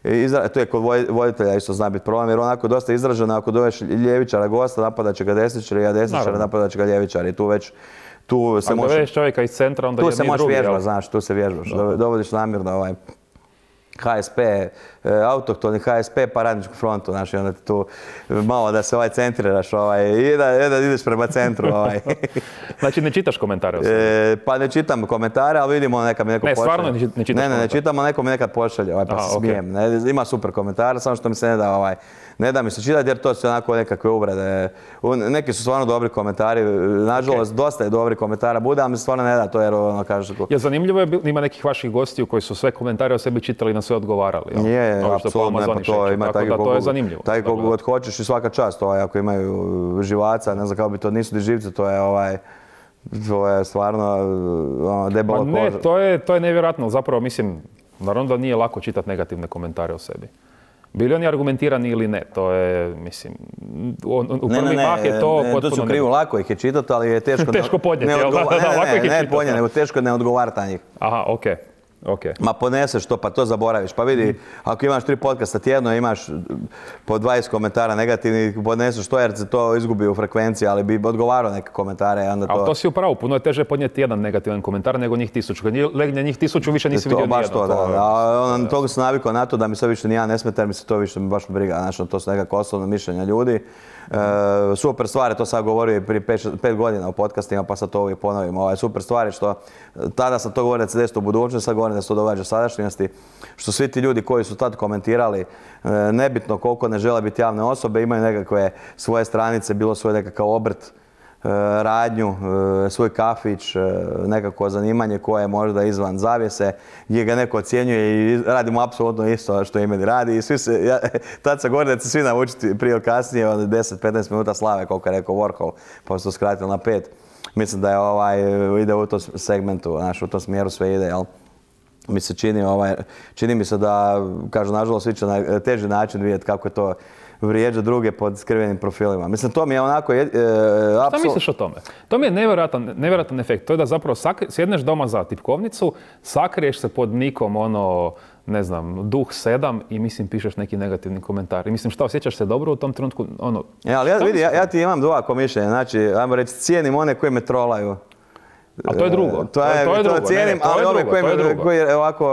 Izra, to je kod voditelja isto zna biti problem, jer onako dosta izraženo, ako doveš ljevičara gosta, napadat će ga desničari, a desničara napadat će ga ljevičari. Tu već, tu se ako može... doveš čovjeka iz centra, onda tu je se možeš vježbati, znaš, tu se vježbaš. Da. Dovodiš namjerno ovaj ha es pe, autohtoni ha es pe pa radničku frontu, znaš, i onda ti tu malo da se ovaj centriraš, ovaj, i da, da ideš prema centru. Ovaj. Znači ne čitaš komentare? E, pa ne čitam komentare, ali vidimo neka mi neko ne, pošalje. Ne, stvarno ne čitaš Ne, ne, ne čitam, ali neko mi nekad pošalje, ovaj, pa Aha, se smijem. Okay. Ne, ima super komentare, samo što mi se ne da, ovaj, ne da mi se čitati jer to su onako nekakve uvrede. Neki su stvarno dobri komentari, nažalost okay. dosta je dobri komentara bude, ali mi se stvarno ne da to jer ono kaže... Je zanimljivo je, ima nekih vaših gostiju koji su sve komentare o sebi čitali i na sve odgovarali. Jel? Je, apsolutno, pa to ima tako da to je zanimljivo. Tako koliko god hoćeš i svaka čast, ovaj, ako imaju živaca, ne znam kako bi to, nisu ni živci, to je ovaj... To je stvarno ono, debela koža. Ne, to je, to je nevjerojatno. Zapravo, mislim, naravno da nije lako čitati negativne komentare o sebi. Bili oni argumentirani ili ne, to je, mislim, u prvi mah je to potpuno... To su krivo, lako ih je čitati, ali je teško... teško podnijeti, jel? Ne, ne, ne podnijeti, nego teško ne odgovarati na njih. Aha, okej. Okay. Ma poneseš to, pa to zaboraviš. Pa vidi, mm. ako imaš tri podcasta tjedno, imaš po dvadeset komentara negativnih, poneseš to jer se to izgubi u frekvenciji, ali bi odgovarao neke komentare. Onda to... Ali to si upravo, puno je teže podnijeti jedan negativan komentar nego njih tisuću. Kad legne njih tisuću, više nisi vidio nijedno. Baš to, da. da. A on, toga sam navikao na to da mi sve više ni ja ne smeta, jer mi se to više baš briga. Znači, to su nekako osobno mišljenja ljudi. E, super stvari, to sad govorio i prije pet godina u podcastima, pa sad to uvijek ponovim. Ovaj, super stvari što tada sam to govorio da se desi u budućnosti, sad govorim da se to događa u sadašnjosti. Što svi ti ljudi koji su tad komentirali, e, nebitno koliko ne žele biti javne osobe, imaju nekakve svoje stranice, bilo svoj nekakav obrt, radnju, svoj kafić, nekako zanimanje koje je možda izvan zavjese, gdje ga neko ocjenjuje i radimo apsolutno isto što i meni radi. I svi se, ja, tad se govori da će svi naučiti prije ili kasnije od deset do petnaest minuta slave, koliko je rekao Warhol, pa se to skratilo na pet. Mislim da je ovaj, ide u tom segmentu, znaš, u tom smjeru sve ide, jel? Mi se čini, ovaj, čini mi se da, kažu, nažalost, svi će na teži način vidjeti kako je to vrijeđa druge pod skrivenim profilima. Mislim, to mi je onako... E, e, Šta apsul... misliš o tome? To mi je nevjerojatan, nevjerojatan efekt. To je da zapravo sakri, sjedneš doma za tipkovnicu, sakriješ se pod nikom, ono, ne znam, duh sedam i mislim pišeš neki negativni komentar. I mislim, šta, osjećaš se dobro u tom trenutku? Ono, ja, ali ja, vidi, ja, ja ti imam dvako mišljenje. Znači, ajmo reći, cijenim one koji me trolaju. A to je drugo. To je, to je drugo. To cijenim, ne, ne, to ali ove koji, koji ovako...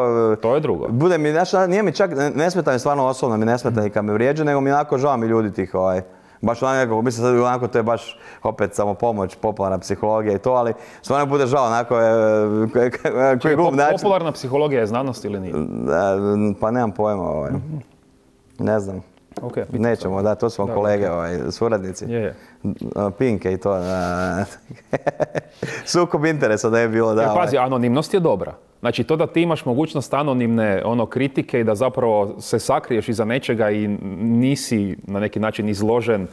To je drugo. Bude mi, znaš, nije mi čak, ne smeta mi stvarno osobno, mi ne smeta ni kad me vrijeđa, nego mi onako žao mi ljudi tih, ovaj, baš onako, mislim sad onako to je baš opet samo pomoć, popularna psihologija i to, ali stvarno bude žao onako, koji glup način. Popularna psihologija je znanost ili nije? Pa nemam pojma, ovaj. Ne znam. Okay, nećemo, da, to su vam kolege, okay. ovaj, suradnici. Je, je. Pinke i to. Sukob interesa da je bilo, da. Jer, pazi, anonimnost je dobra. Znači, to da ti imaš mogućnost anonimne ono, kritike i da zapravo se sakriješ iza nečega i nisi na neki način izložen uh,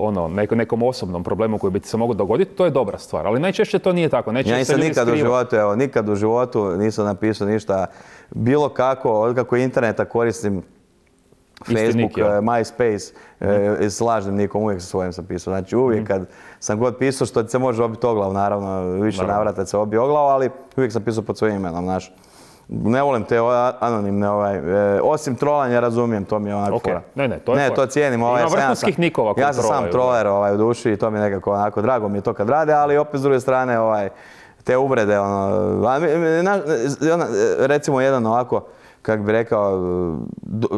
ono, neko, nekom osobnom problemu koji bi ti se mogao dogoditi, to je dobra stvar. Ali najčešće to nije tako. Najčešće ja nisam nikad u životu, evo, nikad u životu nisam napisao ništa bilo kako, od kako interneta koristim Facebook, nik, ja. MySpace, mm. e, s lažnim nikom, uvijek sa svojim sam pisao. Znači uvijek mm. kad sam god pisao, što se može obiti oglav, naravno, više naravno. navrata se obi oglav, ali uvijek sam pisao pod svojim imenom, znaš. Ne volim te anonimne, ovaj, e, osim trolanja razumijem, to mi je onako... Okay. Ne, ne, to je Ne, to cijenim. Ovaj, ima vrhunskih nikova koji Ja sam sam troller ovaj, u duši i to mi je nekako onako, drago mi je to kad rade, ali opet s druge strane, ovaj, te uvrede, ono, recimo jedan ovako, kako bi rekao,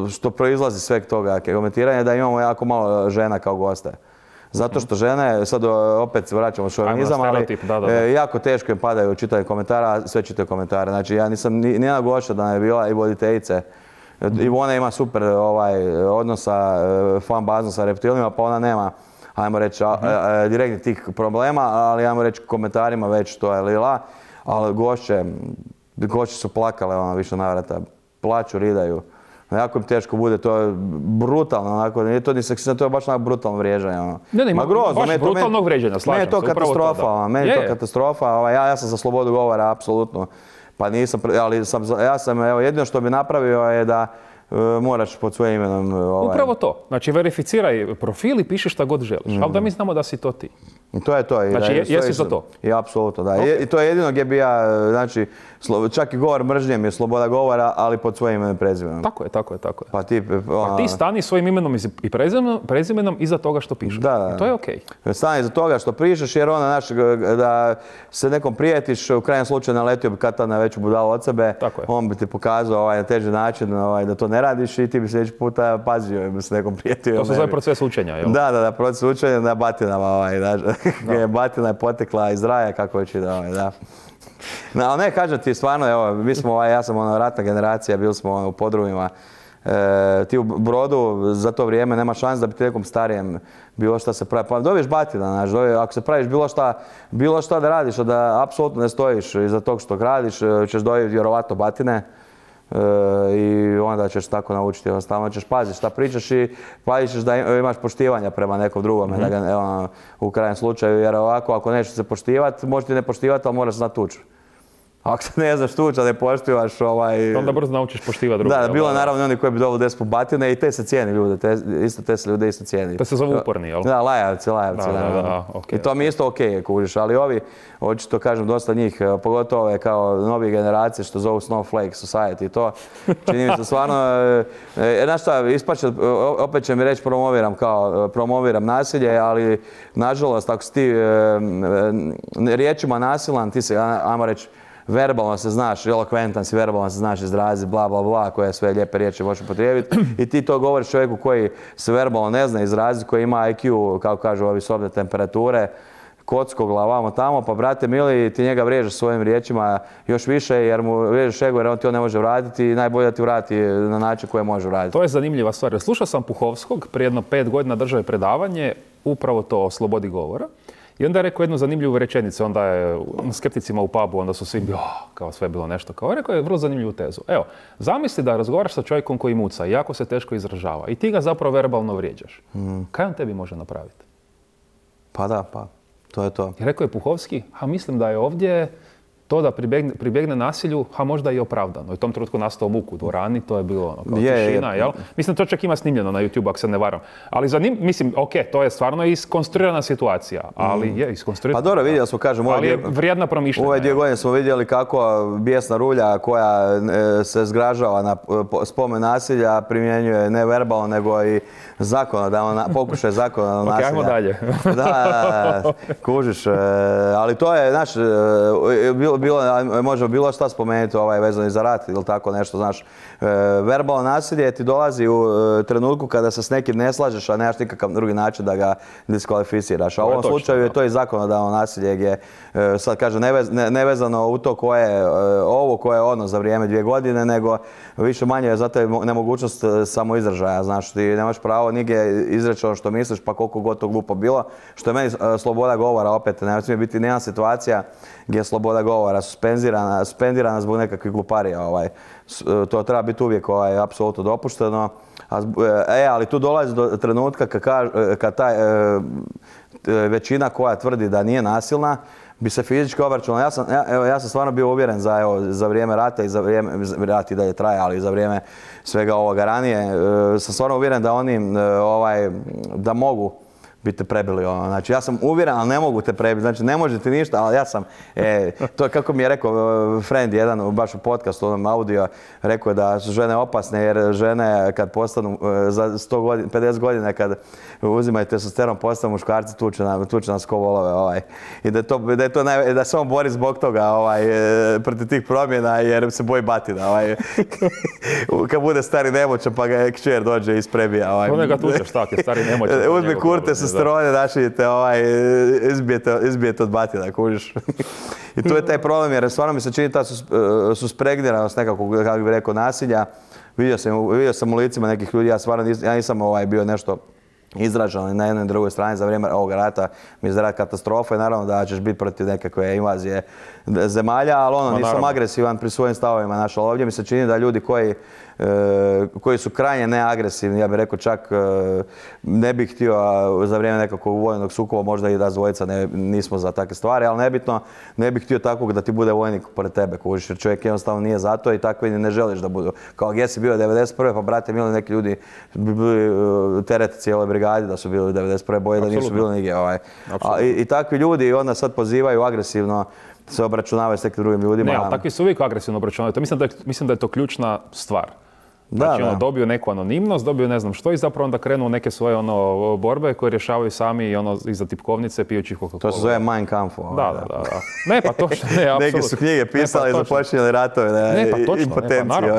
što proizlazi sveg toga komentiranja, da imamo jako malo žena kao goste. Zato što žene, sad opet vraćamo šovinizam, ali da, da, da. jako teško im padaju čitanje komentara, sve čitaju komentare. Znači ja nisam nijedna gošća da je bila i voditeljice. I ona ima super ovaj, odnosa, fan bazom sa reptilima, pa ona nema, ajmo reći, uh-huh. direktnih tih problema, ali ajmo reći komentarima već to je lila. Ali gošće, gošće su plakale ono, više navrata. Plaću, ridaju. Jako im teško bude, to je brutalno, onako, nije to ni seksizam, to je baš onako brutalno vrijeđanje. Ono. Ne, ne, ima grozno, baš brutalnog vrijeđanja, slažem se. Meni je to katastrofa, to, ono, meni je to katastrofa, ovaj, ja, ja sam za slobodu govora, apsolutno. Pa nisam, ali sam, ja sam, evo, jedino što bi napravio je da uh, moraš pod svojim imenom... Ovaj. Upravo to, znači verificiraj profil i piši šta god želiš, mm. ali da mi znamo da si to ti. I to je to. I znači, da, je, jesi za to? I apsolutno, da. Okay. I to je jedino gdje bi ja, znači, čak i govor mržnje mi je sloboda govora, ali pod svojim imenom i prezimenom. Tako je, tako je, tako je. Pa ti, ona, pa ti stani svojim imenom i prezimenom, prezimenom iza toga što pišeš. Da, da. I to je okej. Okay. Stani iza toga što pišeš, jer ona, znaš, da se nekom prijetiš, u krajnjem slučaju naletio bi kad na veću budalu od sebe, on bi ti pokazao ovaj, na teži način ovaj, da to ne radiš i ti bi sljedeći puta pazio i bi se nekom prijetio. To se zove proces učenja, jel? Da, da, da, proces učenja na batinama, ovaj, da, da. Batina je potekla iz raja, kako već ide, ovaj, da. No, ali ne, kažem ti, stvarno, evo, mi smo, ovaj, ja sam ono, ratna generacija, bili smo ono, u podrumima. E, ti u Brodu za to vrijeme nema šans da bi ti nekom starijem bilo šta se pravi. Pa dobiješ batina, znaš, dobiješ, ako se praviš bilo šta, bilo šta da radiš, a da apsolutno ne stojiš iza tog što radiš, ćeš dobiti vjerovatno batine. E, i onda ćeš tako naučiti, stalno ćeš paziti šta pričaš i pazit ćeš da imaš poštivanja prema nekom drugome, mm-hmm. da ga, evo, u krajnjem slučaju, jer ovako ako nećeš se poštivati, možeš ti ne poštivati, ali moraš znati tući. Ako se ne znaš tući, a ne poštivaš, ovaj... Onda brzo naučiš poštivati druge. Da, bilo naravno oni koji bi dobili deset po batine i te se cijeni ljude, te, isto te se ljude isto cijeni. To se zove uporni, jel? Da, lajavci, lajavci. Da, da, da, da, okay, i to mi isto okej, okay, kužiš, ali ovi, očito kažem, dosta njih, pogotovo ove kao novije generacije što zovu Snowflake Society i to, čini mi se stvarno, e, znaš šta, ispače, opet će mi reći promoviram kao, promoviram nasilje, ali nažalost, ako si ti e, e, riječima nasilan, ti se, ajmo reći, verbalno se znaš, elokventan si, verbalno se znaš izraziti, bla, bla, bla, koje sve lijepe riječi možeš upotrijebiti. I ti to govoriš čovjeku koji se verbalno ne zna izraziti, koji ima I Q, kako kažu ovi sobne temperature, kocko glavamo tamo, pa brate mili, ti njega vrijeđaš svojim riječima još više jer mu vrijeđaš ego jer on ti on ne može vratiti i najbolje da ti vrati na način koje može vratiti. To je zanimljiva stvar. Slušao sam Puhovskog, prije jedno pet godina držao je predavanje, upravo to o slobodi govora. I onda je rekao jednu zanimljivu rečenicu, onda je skepticima u pubu, onda su svi bili, oh, kao sve je bilo nešto. Kao rekao je vrlo zanimljivu tezu. Evo, zamisli da razgovaraš sa čovjekom koji muca i jako se teško izražava i ti ga zapravo verbalno vrijeđaš. Mm. Kaj on tebi može napraviti? Pa da, pa, to je to. I rekao je Puhovski, a mislim da je ovdje to da pribjegne, pribjegne nasilju, a možda i opravdano. I u tom trenutku nastao muk u dvorani, to je bilo ono, kao je, tišina, je. Jel? Mislim, to čak ima snimljeno na YouTube, ako se ne varam. Ali za njim, mislim, ok, to je stvarno iskonstruirana situacija, ali mm. je iskonstruirana. Pa dobro, vidjeli smo, kažem, ali je vrijedna promišljanja. Ove dvije godine smo vidjeli kako bijesna rulja koja e, se zgražava na spomen nasilja primjenjuje ne verbalno, nego i zakonodavno, pokušaj zakonodavno okay, nasilja. Ajmo dalje. da, da, da, kužiš, e, ali to je, znaš, e, bilo Bilo, može bilo šta spomenuti ovaj, vezano i za rat ili tako nešto, znaš. E, verbalno nasilje ti dolazi u e, trenutku kada se s nekim ne slažeš, a nemaš nikakav drugi način da ga diskvalificiraš. A u ovom točno, slučaju je to i zakonodavno nasilje gdje, e, sad kažem, nevez, ne, nevezano u to koje e, ovo, koje je ono za vrijeme dvije godine, nego više manje je zato je nemogućnost samoizražaja, znaš. Ti nemaš pravo nigdje izreći ono što misliš, pa koliko god to glupo bilo. Što je meni e, sloboda govora, opet, ne smije biti nijedna situacija gdje je sloboda govora suspendirana, suspendirana zbog nekakvih gluparija. Ovaj. To treba biti uvijek ovaj, apsolutno dopušteno. A, e, ali tu dolazi do trenutka kad, kad ta e, većina koja tvrdi da nije nasilna bi se fizički obračunala. Ja sam, ja, evo, ja sam stvarno bio uvjeren za, evo, za vrijeme rata i za vrijeme, rat i dalje traje, ali za vrijeme svega ovoga ranije, e, sam stvarno uvjeren da oni e, ovaj, da mogu bi te prebili. Ono. Znači, ja sam uvjeren, ali ne mogu te prebiti. Znači, ne možete ništa, ali ja sam... E, to je kako mi je rekao friend jedan, baš u podcastu, onom audio, rekao da su žene opasne, jer žene kad postanu za sto godina, pedeset godina, kad uzimaju testosteron, postanu muškarci, tuče, na, tuče nas ko volove. Ovaj. I da, to, da, je to naj, da se on bori zbog toga ovaj, protiv tih promjena, jer se boji batina. Ovaj. Kad bude stari nemoćan, pa ga kćer dođe i isprebija. Ovaj. Ono ga tučeš, tako je stari nemoćan. Uzmi kurte sa strone, našijete, ovaj, izbijete, izbijete od batina, kužiš. I tu je taj problem, jer stvarno mi se čini ta suspregniranost nekako, kako bih rekao, nasilja. Vidio sam, vidio sam u licima nekih ljudi, ja stvarno nis, ja nisam ovaj, bio nešto izražen na jednoj i drugoj strani za vrijeme ovog rata. Mi je rat katastrofa i naravno da ćeš biti protiv nekakve invazije zemalja, ali ono, nisam agresivan pri svojim stavovima. Naš, ali ovdje mi se čini da ljudi koji E, koji su krajnje neagresivni, ja bih rekao čak e, ne bih htio za vrijeme nekakvog vojnog sukoba, možda i da dvojica ne, nismo za takve stvari, ali nebitno, ne bih htio takvog da ti bude vojnik pored tebe, kužiš, jer čovjek jednostavno nije za to i takvi ne želiš da budu. Kao gdje si bio devedeset prve pa brate mili, neki ljudi bi bili uh, teret cijele brigadi da su bili devedeset prve boje, da nisu bili nigdje. Ovaj. A, i, I takvi ljudi onda sad pozivaju agresivno se obračunavaju s nekim drugim ljudima. Ne, ali takvi su uvijek agresivno obračunavaju. Mislim da je, mislim da je to ključna stvar. Znači, da, ono, dobiju neku anonimnost, dobiju ne znam što i zapravo onda krenu u neke svoje ono, borbe koje rješavaju sami i ono, iza tipkovnice pijući Coca-Cola. To se zove Mein Kampf. Ovaj. Da, da, da, da. Ne, pa točno, ne, apsolutno. Neke su knjige pisali i pa započinjali ratove, ne, ne, pa točno, impotencije. Ne, pa naravno.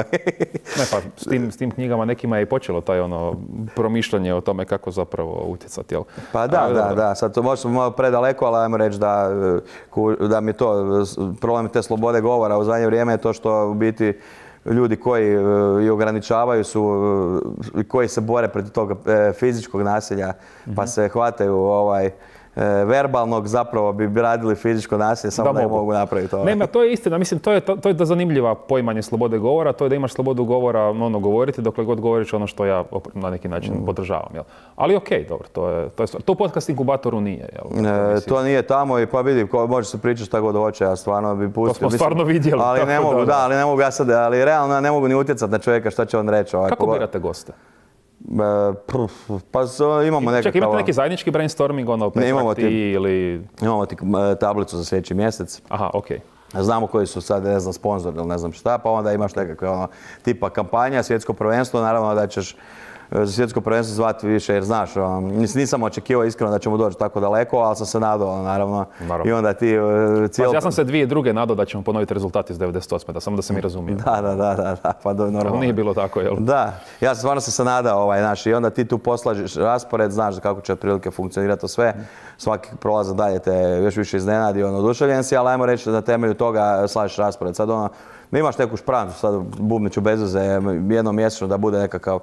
Ne, pa s tim, s tim knjigama nekima je i počelo taj ono promišljanje o tome kako zapravo utjecati, jel? Pa da, ali, da, da, da. Sad to možemo malo predaleko, ali ajmo reći da, da mi to, problem te slobode govora u zadnje vrijeme je to što u biti ljudi koji i ograničavaju su, koji se bore protiv tog fizičkog nasilja, pa se hvataju ovaj, verbalnog, zapravo bi radili fizičko nasilje, samo da ne mogu napraviti to. Ne, to je istina. Mislim, to je, to, to je da zanimljiva poimanje slobode govora, to je da imaš slobodu govora ono govoriti dokle god govoriš ono što ja na neki način mm. podržavam. Jel? Ali okej, okay, dobro, to je, to je stvar. To podcast inkubatoru nije. Jel? E, to nije tamo i pa vidi, može se pričati šta god hoće, ja stvarno bi pustio. To smo mislim, stvarno vidjeli. Ali ne mogu, da, da, ali ne mogu ja sad, ali realno ne mogu ni utjecati na čovjeka šta će on reći. Ovaj, kako birate goste? Pa imamo nekakav... Čak imate neki zajednički brainstorming, ono, Petra ti ili... Imamo ti tablicu za sljedeći mjesec. Aha, okej. Okay. Znamo koji su sad, ne znam, sponzori ili ne znam šta, pa onda imaš nekakve ono, tipa kampanja, svjetsko prvenstvo, naravno da ćeš za svjetsko prvenstvo zvati više jer znaš, ono, nisam očekivao iskreno da ćemo doći tako daleko, ali sam se nadao, naravno. naravno. I onda ti uh, cijel... Pa, ja sam se dvije druge nadao da ćemo ponoviti rezultati iz devedeset osme, da samo da se mi razumije. Da, da, da, da, da, pa do, normalno. Ali nije bilo tako, jel? Da, ja sam stvarno sam se nadao, ovaj, znaš, i onda ti tu poslažeš raspored, znaš kako će otprilike funkcionirati to sve. Svaki prolaz dalje te još više iznenadi, ono, oduševljen si, ali ajmo reći da na temelju toga slažeš raspored. Sad ono, imaš neku šprancu, sad bubniću bez veze, jednom mjesečno da bude nekakav,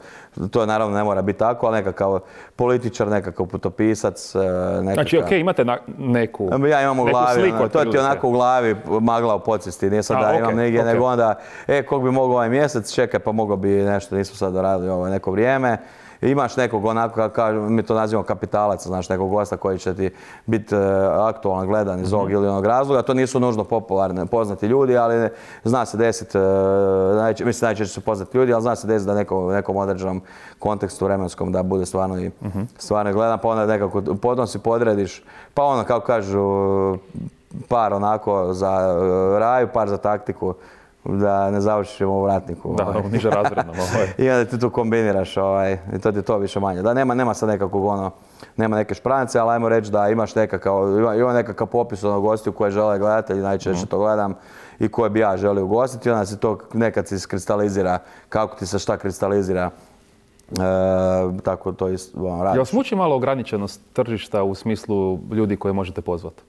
to je naravno ne mora biti tako, ali nekakav političar, nekakav putopisac, nekakav... Znači, okej, okay, imate na, neku, ja imam u glavi, sliku, ono, to ti onako u glavi magla u podsvijesti, nije sad A, da okay, imam negdje, okay. nego onda, e, kog bi mogao ovaj mjesec, čekaj, pa mogao bi nešto, nismo sad doradili ovo neko vrijeme. Imaš nekog onako, kako kažu, mi to nazivamo kapitalaca, znaš, nekog gosta koji će ti biti uh, aktualan, gledan iz ovog mm-hmm. ili onog razloga. To nisu nužno popularni, poznati ljudi, ali ne, zna se desiti, uh, najče, mislim najčešće su poznati ljudi, ali zna se desiti da neko, nekom određenom kontekstu vremenskom da bude stvarno i mm-hmm. stvarno gledan, pa onda nekako potom si podrediš, pa ono, kako kažu, par onako za uh, raju, par za taktiku. Da ne završiš u vratniku. Da, ovaj. niže razrednom. Ovaj. I onda ti tu kombiniraš, ovaj, i to ti je to više manje. Da, nema, nema sad nekakvog ono, nema neke šprance, ali ajmo reći da imaš nekakav, ima, ima nekakav popis onog gostiju koje žele gledatelji, najčešće mm. to gledam, i koje bi ja želio ugostiti, onda se to nekad se iskristalizira, kako ti se šta kristalizira. E, tako to isto ono, radiš. Jel smuči malo ograničenost tržišta u smislu ljudi koje možete pozvati?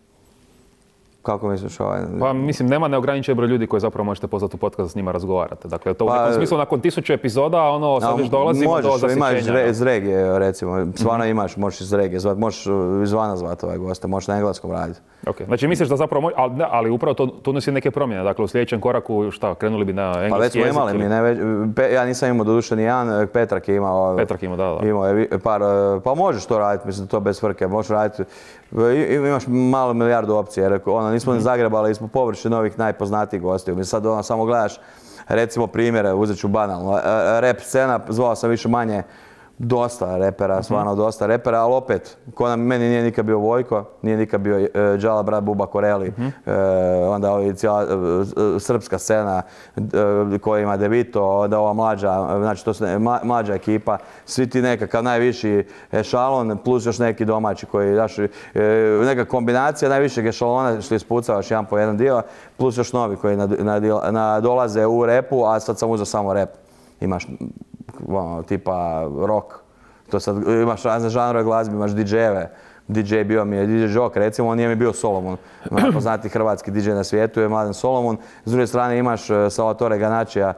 Kako misliš ovaj? Pa mislim, nema neograničen broj ljudi koje zapravo možete pozvati u podcast, s njima razgovarate. Dakle, to u pa, nekom smislu nakon tisuću epizoda, ono, sad već dolazimo možeš, do zasićenja. Možeš imaš iz regije, recimo, stvarno mm-hmm. imaš, možeš iz regije zvati, možeš izvana zvati ovaj gosta, možeš na engleskom raditi. Ok, znači misliš da zapravo, ali, ali upravo to, to nosi neke promjene, dakle u sljedećem koraku, šta, krenuli bi na engleski pa već smo jezik? Imali ili... mi, ne, već, pe, ja nisam imao doduše ni jedan, Petrak je imao, Petrak ima, da, da. Imao je par, pa možeš to raditi, mislim, to bez frke, možeš raditi, imaš malo milijardu opcija, jer ono, nismo ni zagrebali, smo površi novih najpoznatijih gostiju. Mi sad ono, samo gledaš, recimo primjere, uzet ću banalno, rap scena, zvao sam više manje dosta repera, stvarno dosta repera, ali opet, ko nam, meni nije nikad bio Vojko, nije nikad bio uh, Džala, brat Buba Koreli, uh, onda ovi cijela uh, srpska scena uh, koja ima Devito, onda ova mlađa, znači to su mla, mlađa ekipa, svi ti nekakav najviši ešalon, plus još neki domaći koji, znaš, uh, neka kombinacija najvišeg ešalona što ispucavaš jedan po jedan dio, plus još novi koji nadolaze nad, u repu, a sad sam uzeo samo rep. Imaš ono, tipa rock, to sad imaš razne žanrove glazbe, imaš di džejeve. di džej bio mi je di džej Joker, recimo, on nije mi bio Solomon. Poznati hrvatski di džej na svijetu je Mladen Solomon. S druge strane imaš Salvatore Ganačija,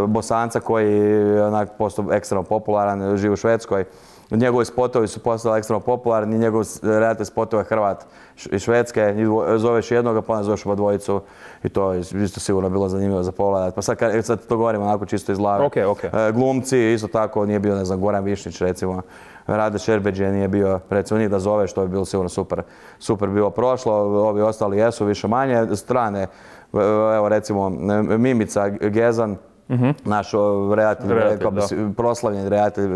Bosanca koji je onak postao ekstremno popularan, živi u Švedskoj. Njegovi spotovi su postali ekstremno popularni, njegov reality spotove Hrvat iz Švedske, zoveš jednoga pa onda zoveš oba dvojicu i to je isto sigurno bilo zanimljivo za pogledat. Pa sad, sad to govorimo onako čisto iz glave. Okay, okay. Glumci, isto tako, nije bio, ne znam, Goran Višnić recimo, Rade Šerbeđe nije bio, recimo njih da zoveš, to bi bilo sigurno super, super bilo prošlo, ovi ostali jesu više manje, strane, evo recimo Mimica Gezan, Mm-hmm. Naš redatelj, proslavljeni redatelj,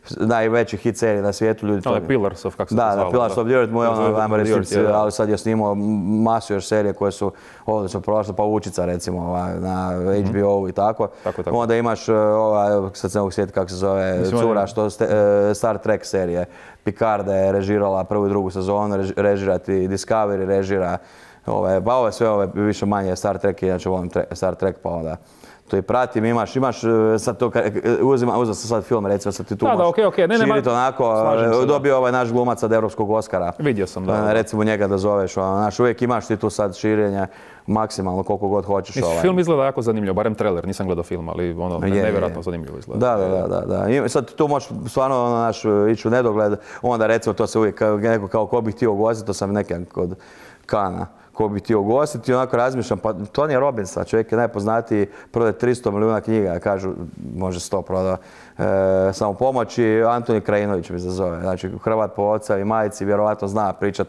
najveći hit serije na svijetu. Ljudi to je Pillars of, kako se da, to zvalo. Da, Pillars of the Earth, mu je ono, ajmo reći, ali sad je snimao masu još serije koje su odlično prošle, Pavučica recimo na H B O-u i tako. tako, tako. Onda imaš, ova, sad se ne mogu sjetiti kako se zove, Mislim, cura, što Star Trek serije. Picarda je režirala prvu i drugu sezonu, režirati Discovery, režira, ove, pa ove sve ove više manje Star Trek, inače volim Star Trek, pa onda to i pratim, imaš, imaš, sad to, uzima, uzeo sam sad film, recimo, sad ti tu da, da, okay, okay. Ne, širiti onako, se, dobio ovaj naš glumac od Europskog Oscara. Vidio sam, da. da. Recimo njega da zoveš, ono, znaš, uvijek imaš ti tu sad širenje, maksimalno koliko god hoćeš. Mislim, ovaj. Film izgleda jako zanimljivo, barem trailer, nisam gledao film, ali ono, je, nevjerojatno je. zanimljivo izgleda. Da, da, da, da. I sad tu možeš stvarno, ono, naš, ići u nedogled, onda recimo to se uvijek, neko kao ko bih htio ugostiti, to sam nekak kod Kana. Ko bi ti ugostiti i onako razmišljam, pa Tony Robbins, čovjek je najpoznatiji, prodaje tristo milijuna knjiga, kažu, može sto proda, e, samo pomoći, Antoni Krajinović mi se zove, znači Hrvat po oca i majici, vjerovatno zna pričat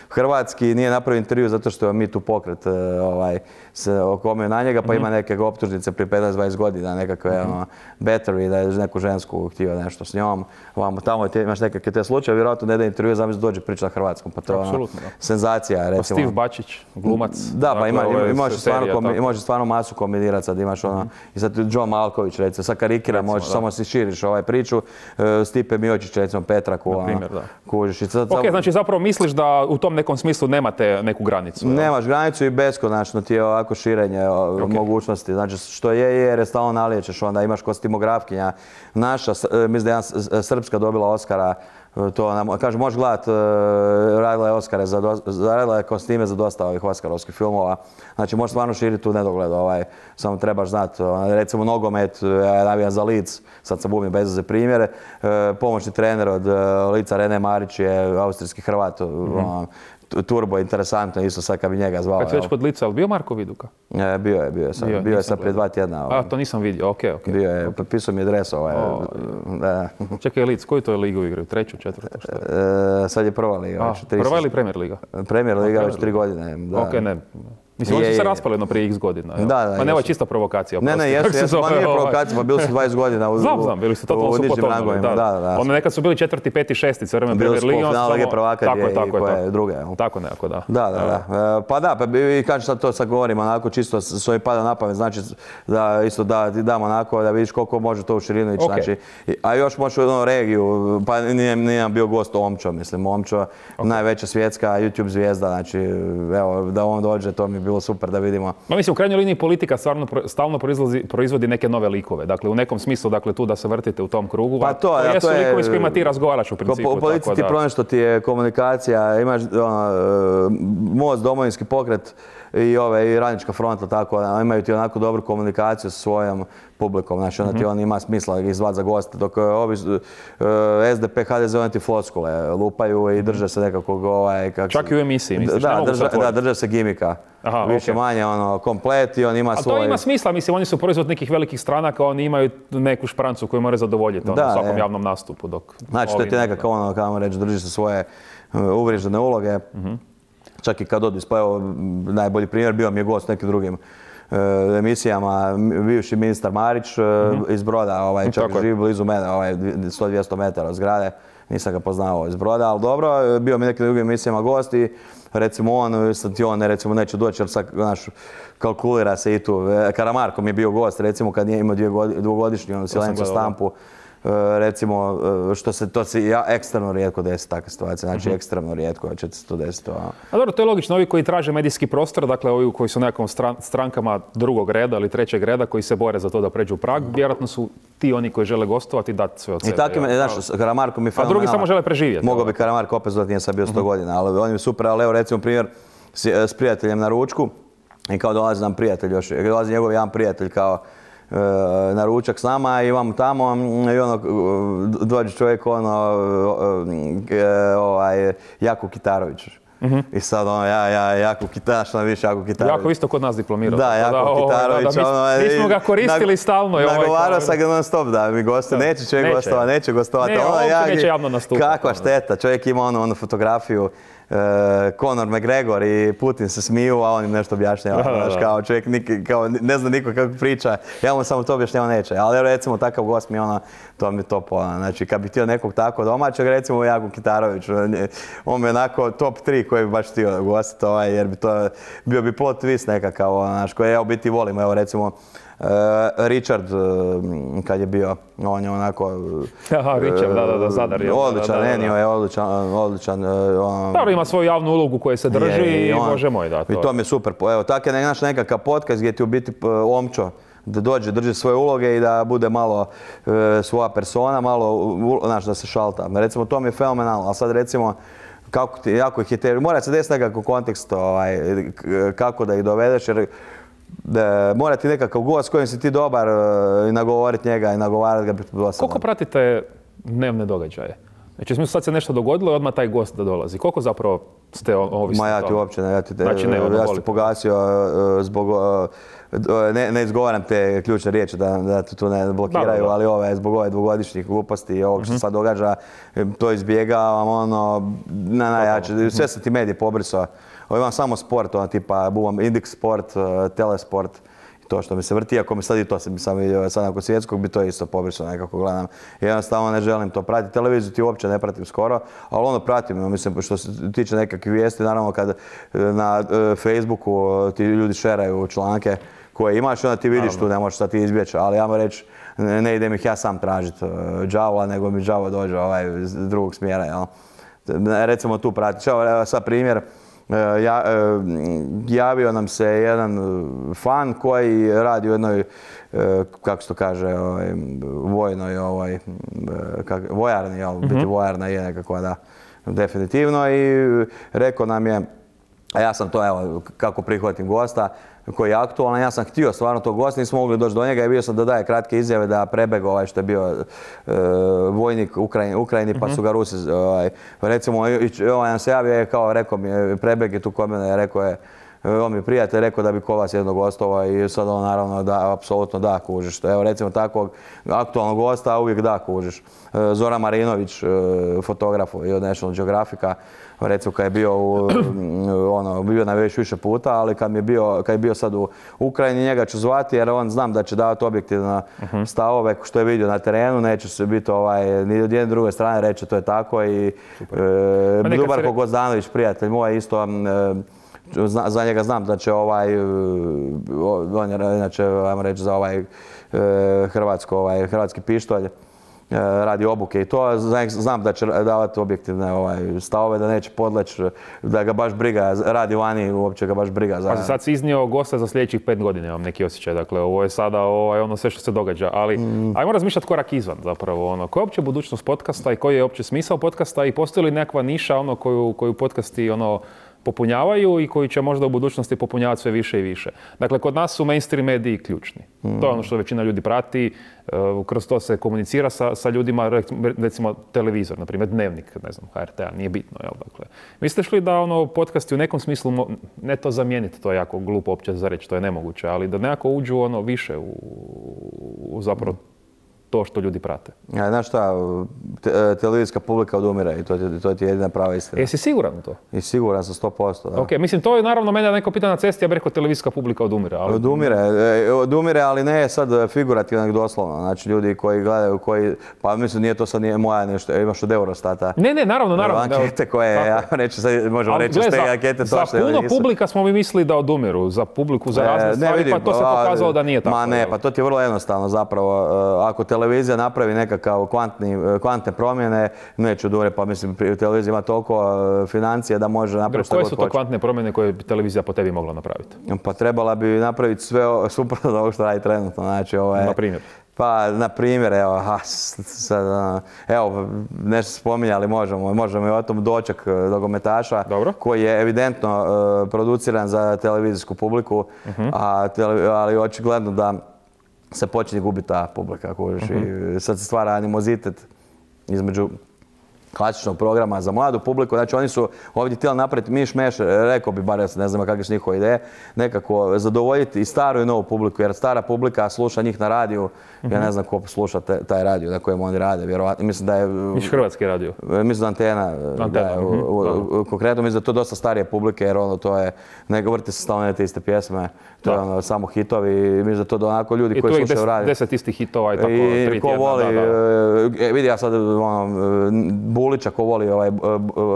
hrvatski, nije napravio intervju zato što je mi tu pokret ovaj, se okomio na njega, pa mm-hmm. ima neke optužnice prije petnaest dvadeset godina, nekakve mm-hmm. ono, battery, da je neku žensku htio nešto s njom, Vamo, tamo te, imaš nekakve te slučaje, vjerojatno ne da intervju, zamisli dođe priča na hrvatskom, pa to je ono, senzacija, recimo. Pa Steve Bačić, glumac. Da, pa ima, ima, imaš stvarno, imaš stvarno masu kombinirati, sad imaš ono, mm-hmm. i sad John Malković, recimo, sad karikira, možeš, samo si širiš ovaj priču, uh, Stipe Miočić, recimo, Petraku, na primjer, da. Kužiš. I sad, ok, znači zapravo misliš da u tom nekom smislu nemate neku granicu? Nemaš granicu i beskonačno ti je ovako širenje okay. mogućnosti. Znači što je, jer je stalno naliječeš, onda imaš kostimografkinja naša, mislim da je jedna srpska dobila Oscara To, kaže, možeš gledati, radila je Oskare, radila je kostime za dosta ovih Oskarovskih filmova. Znači, možeš stvarno širiti tu nedogled, ovaj, samo trebaš znati, recimo nogomet, ja navijam za Leeds, sad sam bubim bez veze primjere, pomoćni trener od Leedsa Rene Marić je austrijski Hrvat, mm-hmm. Turbo, interesantno, isto sad kad bi njega zvao. Kad si već kod Lica, ali bio Marko Viduka? E, bio je, bio je sad, bio, bio je sad prije dva tjedna. Ovaj. A, to nisam vidio, okej, okay, okej. Okay. Bio je, okay. Potpisao mi je dres ovaj. O, da. Čekaj, Lic, koju to je ligu igraju? Treću, četvrtu, što je? E, sad je prva liga. A, prva ili Premier liga? Premier liga već tri godine. Da. Ok, ne. Mislim, oni su se raspali jedno prije x godina. Da, da. Pa ne, ovo je čista provokacija. Ne, ne, jesu, jesu, ma nije provokacija, pa bili su dvadeset godina u, znam, znam, bili su totalno su potonuli. Da, da, da. Oni nekad su bili četvrti, peti, šesti, sve vreme Premier Liga. Bili su finale Lige prvaka i koje druge. Tako nekako, da. Da, da, da. Pa da, pa i kažem sad to sad govorim onako čisto s ovim pada na pamet, znači da isto da ti dam onako da vidiš koliko može to u širinu ići, znači. A još možeš u jednu regiju, pa nije nam bio gost Omčo, mislim, Omčo, najveća svjetska YouTube zvijezda, znači evo da on dođe, to mi je bilo super da vidimo. Ma mislim, u krajnjoj liniji politika stvarno stalno proizvodi neke nove likove. Dakle, u nekom smislu, dakle, tu da se vrtite u tom krugu. Pa to, to ja, jesu to je... likovi s kojima ti razgovaraš u principu. U policiji ti problem što ti je komunikacija, imaš ono, Most, Domovinski pokret i ove, i Radnička fronta, tako, imaju ti onako dobru komunikaciju sa svojom publikom, znači onda ti on ima smisla ih zvati za goste, dok ovi S D P, H D Z, oni ti floskule lupaju i drže se nekakvog ovaj... Kak čak i u emisiji, misliš? Da, drže, da, drže se gimika. Aha, više okay. manje ono, komplet i on ima svoj... A to ima smisla, mislim, oni su proizvod nekih velikih stranaka, oni imaju neku šprancu koju moraju zadovoljiti ono, u svakom je. javnom nastupu. Dok znači, to ti nekako ono, kao reći, drži se svoje uh, uvriježene uloge. Uh-huh. Čak i kad odis, pa evo, najbolji primjer bio mi je gost nekim drugim uh, emisijama, bivši ministar Marić uh, uh-huh. iz Broda, ovaj, čak živi blizu mene, ovaj, sto do dvjesto metara od zgrade. Nisam ga poznao iz Broda, ali dobro, bio mi nekim drugim emisijama gost i recimo on, sad ti on ne, recimo, neće doći jer sad, znaš, kalkulira se i tu. Karamarko mi je bio gost, recimo kad nije imao dvogodišnju ono, silencu stampu. Recimo, što se, to se ja, ekstremno rijetko desi takve situacije, znači uh-huh. ekstremno rijetko će se to desiti. A... a dobro, to je logično, ovi koji traže medijski prostor, dakle ovi koji su nekom stran, strankama drugog reda ili trećeg reda, koji se bore za to da pređu prag, vjerojatno su ti oni koji žele gostovati i dati sve od sebe. I tako, ja, znaš, Karamarko mi je fenomenalno. A drugi samo žele preživjeti. Mogao bi Karamarko opet zvati, nije sad bio sto uh-huh. godina, ali on je super, ali evo recimo primjer s, s prijateljem na ručku i kao dolazi nam prijatelj još, dolazi njegov jedan prijatelj kao na ručak s nama i imamo tamo i ono, dođe čovjek ono, ovaj, Jakub Kitarović. Uh-huh. I sad ono, ja, ja, Jakub Kitarović, što više Jakub Kitarović. Jako isto kod nas diplomirao. Da, Jakub Kitarović. Da, da, mi, mi smo ga koristili stalno. Nagovarao sam ga non stop da mi gostuje. Neće čovjek gostovati, neće gostovati. Ne, ono, ja, neće javno nastupati. Kakva šteta, čovjek ima ono, ono fotografiju. Uh, Conor McGregor i Putin se smiju, a on im nešto objašnjava. Da, da, da. Kao čovjek nik, kao, ne zna niko kako priča, ja mu samo to objašnjava neće. Ali recimo takav gost mi ono, to mi je top. Ono. Znači kad bi htio nekog tako domaćeg, recimo Jakub Kitarović, on mi je onako top tri koji bi baš htio gostiti, ovaj, jer bi to bio bi plot twist nekakav, znaš, koji ja u biti volim. Evo recimo Uh, Richard, uh, kad je bio, on je onako... Aha, Richard, da, da, da, Zadar je. Odličan, Enio je odličan, odličan. Uh, Dobro, ima svoju javnu ulogu koja se drži je, i on, bože moj, da, to. I to mi je super. Evo, tako je naš nekakav podcast gdje ti u biti Omčo da dođe, drži svoje uloge i da bude malo uh, svoja persona, malo, znaš, da se šalta. Recimo, to mi je fenomenalno, ali sad recimo, kako ti, jako ih je te... Mora se desiti nekakav kontekst, ovaj, kako da ih dovedeš, jer da, mora ti nekakav gost s kojim si ti dobar i uh, nagovoriti njega i nagovarati ga. Koliko pratite dnevne događaje? Znači, smo sad se nešto dogodilo i odmah taj gost da dolazi. Koliko zapravo ste ovisni? Ma ja ti uopće ne, ja ti, te, znači, ne, ja sam ti pogasio uh, zbog, uh, ne, ne izgovaram te ključne riječi da, da te tu ne blokiraju, da, da. ali ove, zbog ove dvogodišnjih gluposti i ovog što uh-huh. sad događa, to izbjegavam, ono, na najjače, sve sam ti medije pobrisao. Imam samo sport, ono tipa bubam Index Sport, Telesport i to što mi se vrti, ako mi sad i to sam, sam vidio, sad nakon svjetskog bi to isto pobrisao nekako gledam. Jednostavno ne želim to pratiti, televiziju ti uopće ne pratim skoro, ali ono pratim, mislim što se tiče nekakvih vijesti, naravno kad na Facebooku ti ljudi šeraju članke koje imaš, onda ti vidiš tu, ne možeš sad ti izbjeći, ali ja mu reći, ne idem ih ja sam tražiti đavola, nego mi đavo dođe ovaj iz drugog smjera, jel? Recimo tu pratiš, evo sad primjer, Ja, javio nam se jedan fan koji radi u jednoj, kako se to kaže, ovaj, vojnoj, ovaj, kak, vojarni, jel, mm-hmm. biti vojarna je nekako, da, definitivno, i rekao nam je, a ja sam to, evo, kako prihvatim gosta, koji je aktualan, ja sam htio stvarno tog gosta, nismo mogli doći do njega i bio sam da daje kratke izjave da prebeg ovaj što je bio e, vojnik u Ukrajini, Ukrajini pa su ga Rusi, ovaj, recimo, ovaj nam se javio, kao rekao mi, prebeg je tu kod mene, rekao je, on mi prijatelj rekao da bi kod vas jednog gostova i sad on naravno da, apsolutno da kužiš. Evo recimo takvog aktualnog gosta uvijek da kužiš. Zoran Marinović, fotograf i od National Geographica, recimo kad je bio, u, ono, bio na već više puta, ali kad, mi je bio, kad je bio sad u Ukrajini njega ću zvati jer on znam da će davati objektivno uh-huh. stavove što je vidio na terenu, neće se biti ovaj, ni od jedne druge strane reći to je tako i e, Dubarko re... Gozdanović, prijatelj moj isto, e, Zna, za njega znam da će ovaj, on je inače, ajmo reći, za ovaj hrvatsko, ovaj, hrvatski pištolj, radi obuke i to, znam da će davati objektivne ovaj, stavove, da neće podleći, da ga baš briga, radi vani, uopće ga baš briga. Za... Pa sad si iznio gosta za sljedećih pet godina, imam neki osjećaj, dakle ovo je sada ovaj, ono sve što se događa, ali mm. ajmo razmišljati korak izvan zapravo, ono, koja je uopće budućnost podcasta i koji je uopće smisao podcasta i postoji li nekakva niša ono, koju, koju podcasti ono, popunjavaju i koji će možda u budućnosti popunjavati sve više i više. Dakle, kod nas su mainstream mediji ključni. Mm. To je ono što većina ljudi prati, kroz to se komunicira sa, sa ljudima, recimo televizor, na primjer Dnevnik, ne znam, H R T A, nije bitno, jel, dakle. Mislite li da ono podcasti u nekom smislu, ne to zamijeniti, to je jako glupo uopće za reći, to je nemoguće, ali da nekako uđu ono više u, u zapravo to što ljudi prate. Ja, znaš šta, te, televizijska publika odumire i to, to ti je jedina prava istina. Jesi siguran u to? I siguran sam sto posto, da. Ok, mislim, to je naravno mene neko pita na cesti, ja bih rekao televizijska publika odumire. Ali... Odumire, odumire, ali ne sad figurativno, doslovno. Znači, ljudi koji gledaju, koji, pa mislim, nije to sad nije moja nešto, imaš od Eurostata. Ne, ne, naravno, naravno. Ankete koje, ja neću sad, možemo reći s te ankete to što je. Za puno publika smo mi mislili da odumiru, za publiku, za razne stvari, pa to se pokazalo da nije tako. Ma ne, pa to ti je vrlo jednostavno zapravo. Ako televizija napravi nekakav kvantni, kvantne promjene, neće odumre, pa mislim, televizija ima toliko financije da može napraviti što god hoće. Koje su to kvantne promjene koje bi televizija po tebi mogla napraviti? Pa trebala bi napraviti sve suprotno od ovog što radi trenutno. Znači, ovaj, na primjer? Pa, na primjer, evo, ha, sad, evo, nešto spominjali, možemo, možemo i o tom Doček nogometaša, koji je evidentno uh, produciran za televizijsku publiku, uh-huh. a tele, ali očigledno da se počinje gubiti ta publika. Uh-huh. I sad se stvara animozitet između klasičnog programa za mladu publiku. Znači oni su ovdje htjeli napraviti miš meš, rekao bi, bar ja ne znam kakve su njihove ideje, nekako zadovoljiti i staru i novu publiku, jer stara publika sluša njih na radiju, mm-hmm. ja ne znam ko sluša te, taj radio na kojem oni rade, vjerovatno. Mislim da je... Miš hrvatski radio? Mislim da Antena, Antena. Da je, mm-hmm. u, u, u, konkretno mislim da je to dosta starije publike, jer ono to je, ne vrti se stalno te iste pjesme, to da. je ono samo hitovi i mislim da to do onako ljudi I koji slušaju des, radio. deset istih hitova i tako I tri ko tjedna. Voli, Da, da. E, vidi ja sad ono, Bulića ko voli ovaj,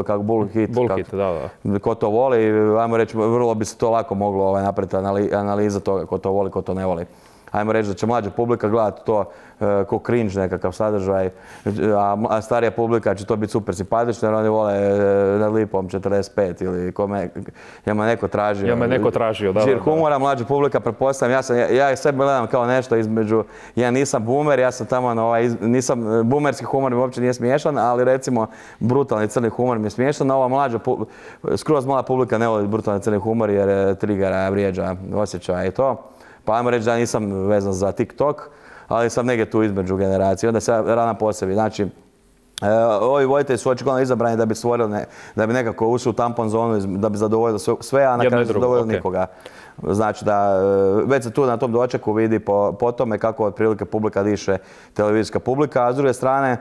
kako Bull hit. Bull hit, da, da. Ko to voli, ajmo reći, vrlo bi se to lako moglo ovaj, napraviti analiza toga, ko to voli, ko to ne voli. Ajmo reći da će mlađa publika gledati to uh, ko cringe nekakav sadržaj, a starija publika će to biti super simpatično jer oni vole uh, na Lipom četrdeset pet ili kome, ja me neko tražio. Ja me neko tražio, da. Žir humora, mlađa publika, pretpostavljam, ja, sam, ja, ja sebe gledam kao nešto između, ja nisam boomer, ja sam tamo, no, ovaj, nisam, boomerski humor mi uopće nije smiješan, ali recimo brutalni crni humor mi je smiješan, a ova mlađa, skroz mlada publika ne voli brutalni crni humor jer trigera, vrijeđa, osjećaja i to. Pa ajmo reći da nisam vezan za TikTok, ali sam negdje tu između generacije, onda se rana po sebi. Znači, e, ovi voditelji su očigledno izabrani da bi stvorili, ne, da bi nekako ušli u tampon zonu, da bi zadovoljili sve, a na kraju zadovoljili okay. nikoga. Znači da već se tu na tom Dočeku vidi po, po tome kako otprilike publika diše televizijska publika, a s druge strane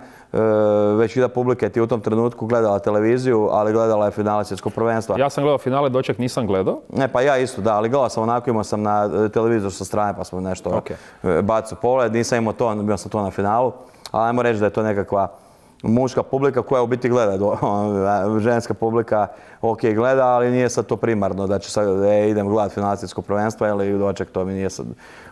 većina publike ti u tom trenutku gledala televiziju, ali gledala je finale svjetskog prvenstva. Ja sam gledao finale, Doček nisam gledao. Ne, pa ja isto, da, ali gledao sam onako, imao sam na televizor sa strane pa smo nešto okay. bacili pogled, nisam imao to, bio sam to na finalu, ali ajmo reći da je to nekakva muška publika koja u biti gleda, ženska publika ok gleda, ali nije sad to primarno da će sad e, idem gledat financijsko prvenstvo ili Doček, to mi nije sad,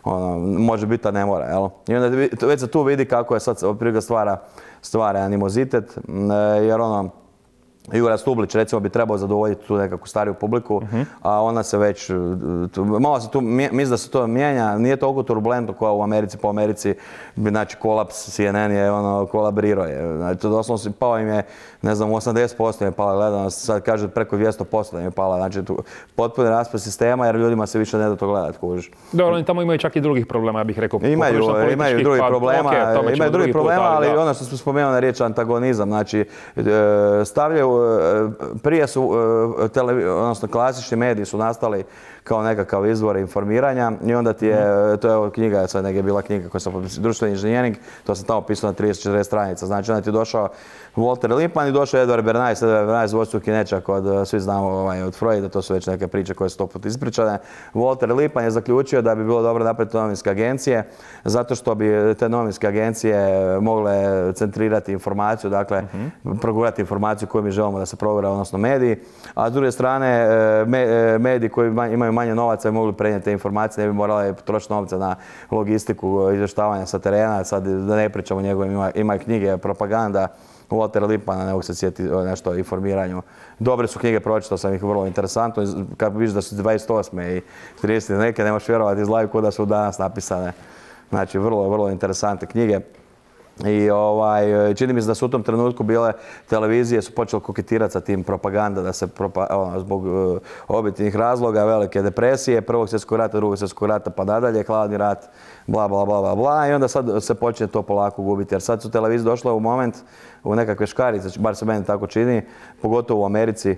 ono, može biti, a ne mora, jel? I onda već se tu vidi kako je sad otprilike stvara, stvara animozitet, jer ono, Jura Stublić recimo bi trebao zadovoljiti tu nekakvu stariju publiku, uh-huh. a ona se već, tu, malo se tu, mislim da se to mijenja, nije toliko turbulentno kao u Americi, po Americi, znači kolaps C N N je ono, kolabrirao je, znači to doslovno pao im je, ne znam, osamdeset posto im je pala gledanost, sad kaže preko dvjesto posto im je pala, znači tu potpuni raspad sistema jer ljudima se više ne da to gledati, kužiš. Dobro, oni tamo imaju čak i drugih problema, ja bih rekao. Imaju, imaju drugih problema, okay, imaju drugih problema, ali da. Ono što smo spomenuli na riječ antagonizam, znači stavljaju, prije su, odnosno klasični mediji su nastali kao nekakav izvor informiranja i onda ti je, to je knjiga, sad negdje je bila knjiga koja sam potpisao, društveni inženjering, to sam tamo pisao na trideset četrdeset stranica, znači onda ti je došao Walter Lippmann i došao Edward Bernays, Edward Bernays dvostruki nećak od, svi znamo ovaj, od Freuda, to su već neke priče koje su sto put ispričane. Walter Lippmann je zaključio da bi bilo dobro napraviti novinske agencije, zato što bi te novinske agencije mogle centrirati informaciju, dakle, uh-huh. progurati informaciju koju mi želimo da se progura, odnosno mediji, a s druge strane, me, mediji koji imaju manje novaca bi mogli prenijeti te informacije, ne bi morali trošiti novce na logistiku, izvještavanja sa terena, sad da ne pričamo o njegovim, ima, ima knjige, propaganda, Walter Lippmann, ne mogu se sjetiti nešto o informiranju. Dobre su knjige, pročitao sam ih vrlo interesantno, kad vidiš da su dvadeset osme i trideset neke, nemaš vjerovati, izgledaju kao da su danas napisane. Znači, vrlo, vrlo interesantne knjige. I ovaj, čini mi se da su u tom trenutku bile televizije su počele koketirati sa tim propaganda da se propa, ono, zbog uh, objektivnih razloga, velike depresije, prvog svjetskog rata, drugog svjetskog rata pa nadalje, hladni rat, bla bla bla bla bla i onda sad se počne to polako gubiti jer sad su televizije došle u moment u nekakve škarice, bar se meni tako čini, pogotovo u Americi.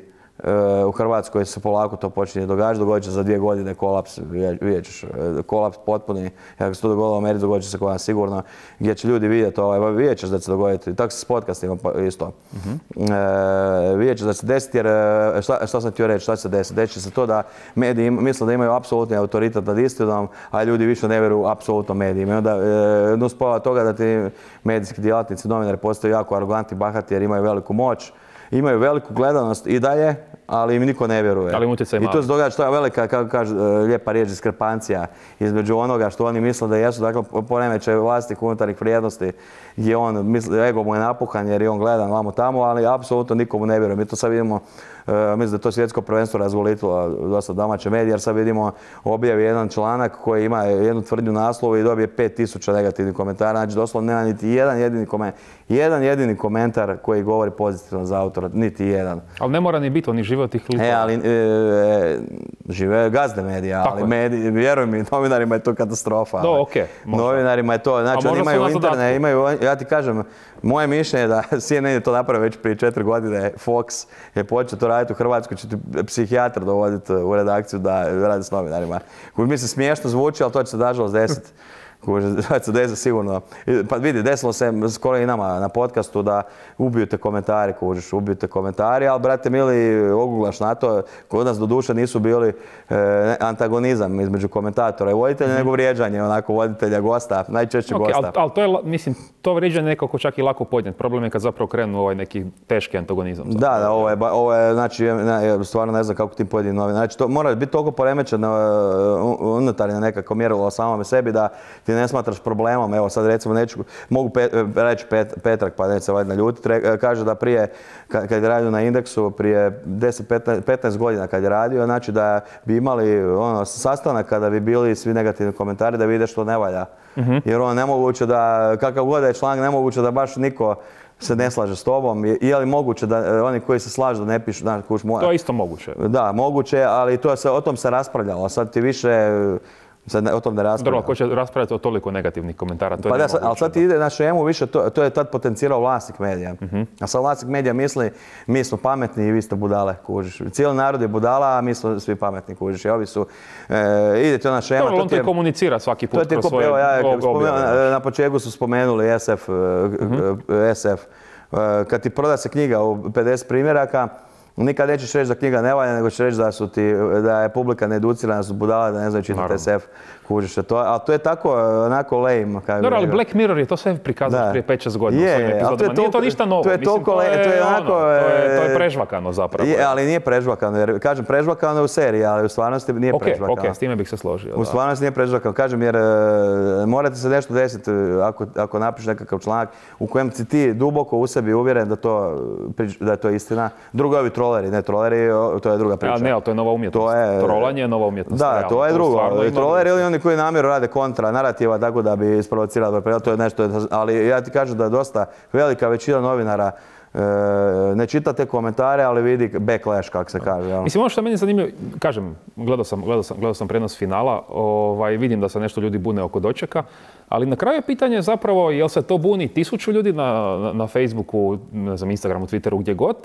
U Hrvatskoj se polako to počinje događati, dogodit će za dvije godine kolaps, vidjet ćeš, kolaps potpuni, ako se to dogodilo u Americi, dogodit će se kod nas sigurno, gdje će ljudi vidjeti, ovaj, vidjet ćeš da će se dogoditi, i tako se s podcastima isto. Uh-huh. E, vidjet ćeš da će se desiti, jer šta, šta sam htio reći, šta će se desiti? Deći će se to da mediji misle da imaju apsolutni autoritet nad istinom, a ljudi više ne vjeruju apsolutno medijima. I onda e, nuspova toga da ti medijski djelatnici, novinari postaju jako arogantni, bahati jer imaju veliku moć, imaju veliku gledanost i dalje, ali im niko ne vjeruje. Ali utjecaj I to se događa što je velika, kako kaže lijepa riječ, diskrepancija između onoga što oni misle da jesu, dakle poremećaj vlastitih unutarnjih vrijednosti gdje on misli, ego mu je napuhan jer je on gledan vamo tamo, ali apsolutno nikomu ne vjeruje. Mi to sad vidimo, uh, mislim da je to svjetsko prvenstvo razgolitilo dosta domaće medije, jer sad vidimo objavi jedan članak koji ima jednu tvrdnju naslovu i dobije pet tisuća negativnih komentara, znači doslovno nema niti jedan jedini komentar, jedan jedini komentar koji govori pozitivno za autora, niti jedan. Ali ne mora ni biti, oni žive od tih likova. E, ali e, žive gazde medija, ali mediji, vjeruj mi, novinarima je to katastrofa. Do, okej. Okay, novinarima je to, znači oni imaju internet, imaju, ja ti kažem, moje mišljenje je da C N N je to napravio već prije četiri godine, Fox je počeo to raditi u Hrvatskoj, će ti psihijatar dovoditi u redakciju da radi s novinarima. Mi se smiješno zvuči, ali to će se nažalost desiti. To će se desiti sigurno. Pa vidi, desilo se skoro i nama na podcastu da ubiju te komentari, kužiš, ubiju te komentari, ali brate mili, oguglaš na to, kod nas do duše nisu bili e, antagonizam između komentatora i voditelja, mm-hmm. nego vrijeđanje, onako, voditelja, gosta, najčešće okay, gosta. Ali al to je, mislim, to vrijeđanje nekako čak i lako podnijeti. Problem je kad zapravo krenu ovaj neki teški antagonizam. Zapravo. Da, da, ovo je, ovo je, znači, ne, stvarno ne znam kako tim pojedini novine. Znači, to mora biti toliko poremećeno unutarnje nekako mjerilo o samome sebi da ti ne smatraš problemom. Evo sad recimo neću, mogu pe, reći Pet, Petrak pa neće se valjda naljutiti, kaže da prije, kad, kad je radio na Indeksu, prije deset do petnaest godina kad je radio, znači da bi imali ono, sastanak kada bi bili svi negativni komentari da vide što ne valja. Mm-hmm. Jer ono nemoguće da, kakav god je članak, nemoguće da baš niko se ne slaže s tobom. Je, je li moguće da oni koji se slažu da ne pišu, znaš, kuš, moja. To je isto moguće. Da, moguće, ali to se, o tom se raspravljalo. Sad ti više sad ne, o tom ne raspravljamo. Dobro, ko će raspravljati o toliko negativnih komentara, to je pa nemoguće. Da, ali sad ti ide na šemu više, to, to je tad potencirao vlasnik medija. Uh-huh. A sad vlasnik medija misli, mi smo pametni i vi ste budale, kužiš. Cijeli narod je budala, a mi smo svi pametni, kužiš. I ovi su, e, ide to na šema. Dobro, on to je komunicira svaki put kroz svoje evo, ja, spomen, na početku su spomenuli S F, uh-huh. S F. Kad ti proda se knjiga u pedeset primjeraka, nikad nećeš reći da knjiga ne valja, nego ćeš reći da, su ti, da je publika needucirana, da su budala, da ne znaju čitati es ef. Kužiš, to, ali to je tako onako lame. Dobro, ali Black Mirror je to sve prikazano prije pet šest godina. Je, ali to je nije to ništa novo. To je Mislim, toliko, to je, to je onako... Ono, to, je, to je prežvakano zapravo. Je, ali nije prežvakano, jer kažem prežvakano je u seriji, ali u stvarnosti nije okay, prežvakano. Ok, s time bih se složio. U stvarnosti nije prežvakano. Kažem, jer morate se nešto desiti ako, ako napišeš nekakav članak u kojem si ti duboko u sebi uvjeren da, to, da je to istina. Drugo je ovi troleri, ne troleri, to je druga priča. Ja, ne, ali to je nova umjetnost. To je, Trolanje je nova umjetnost. Da, realno. to je drugo. Troleri ili oni koji namjeru rade kontra narativa tako da bi isprovocirali, to je nešto, ali ja ti kažem da je dosta velika većina novinara e, ne čita te komentare, ali vidi backlash, kako se kaže. Jel? Mislim, ono što je meni zanimljivo, kažem, gledao sam, gledao sam, gledao sam prenos finala, ovaj, vidim da se nešto ljudi bune oko dočeka, ali na kraju je pitanje zapravo jel se to buni tisuću ljudi na, na, na Facebooku, ne znam, Instagramu, Twitteru, gdje god,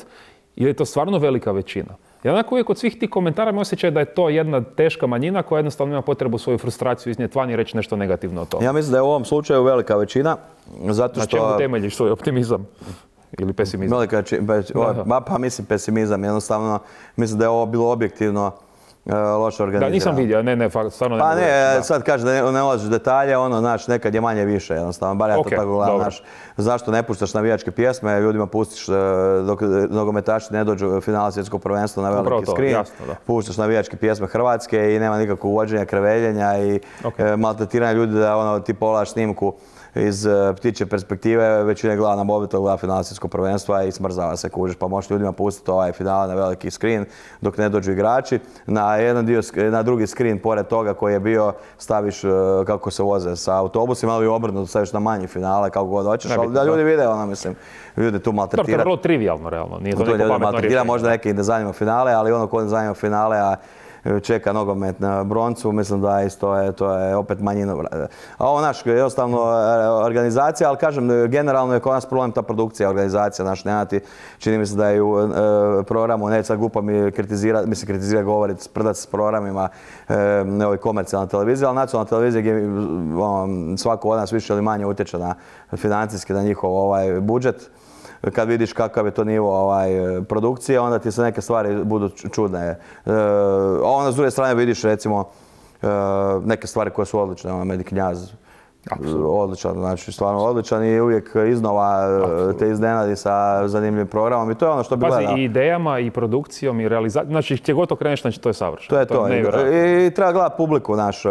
ili je to stvarno velika većina. Ja onako uvijek od svih tih komentara mi osjećaj da je to jedna teška manjina koja jednostavno ima potrebu svoju frustraciju iznijeti van i reći nešto negativno o tome. Ja mislim da je u ovom slučaju velika većina, zato što... Na čemu temeljiš svoj optimizam? Ili pesimizam? Velika većina, pa mislim pesimizam, jednostavno mislim da je ovo bilo objektivno loše organizirano. Da, nisam vidio, ne, ne, stvarno ne. Pa ne, da. Sad kaže da ne, ne ulaziš detalje, ono, znaš, nekad je manje više, jednostavno, bar ja to okay, tako gledam, znaš, zašto ne puštaš navijačke pjesme, ljudima pustiš dok nogometaši ne dođu u finala svjetskog prvenstva na veliki to, skrin, jasno, puštaš navijačke pjesme Hrvatske i nema nikakvog uvođenja, kreveljenja i okay. maltretiranja ljudi da ono, ti pogledaš snimku iz ptiče perspektive, većina gleda na mobitel, gleda finala svjetskog prvenstva i smrzava se, kužiš, pa možeš ljudima pustiti ovaj final na veliki skrin dok ne dođu igrači. Na jedan dio, na drugi skrin pored toga koji je bio staviš kako se voze sa autobusima, ali obrnuto staviš na manji finale kako god hoćeš, ali da ljudi vide, ono mislim, ljudi tu maltretirati. To je vrlo trivialno, realno, nije to, to neko pametno rješenje. Možda neki ne zanima finale, ali ono ko ne zanima finale, a čeka nogomet na broncu, mislim da isto je, to je opet manjina. A ovo naš, jednostavno organizacija, ali kažem, generalno je kod nas problem ta produkcija, organizacija, naš nemati, čini mi se da je u e, programu, ne sad glupo mi kritizira, mislim kritizira govoriti, sprdati s programima e, ne ovoj komercijalna televizija, ali nacionalna televizija gdje on, svako od nas više ili manje utječe na financijski, na njihov ovaj budžet. Kad vidiš kakav je to nivo ovaj, produkcije, onda ti se neke stvari budu čudne. E, a onda s druge strane vidiš recimo e, neke stvari koje su odlične, ono Medi Knjaz. Odličan, znači stvarno odličan i uvijek iznova Absolutno. Te iznenadi sa zanimljivim programom i to je ono što bi gledao. Pazi, i idejama i produkcijom i realizacijom, znači gdje god okreneš, znači to je savršeno. To je to, to je I, i treba gledati publiku naš,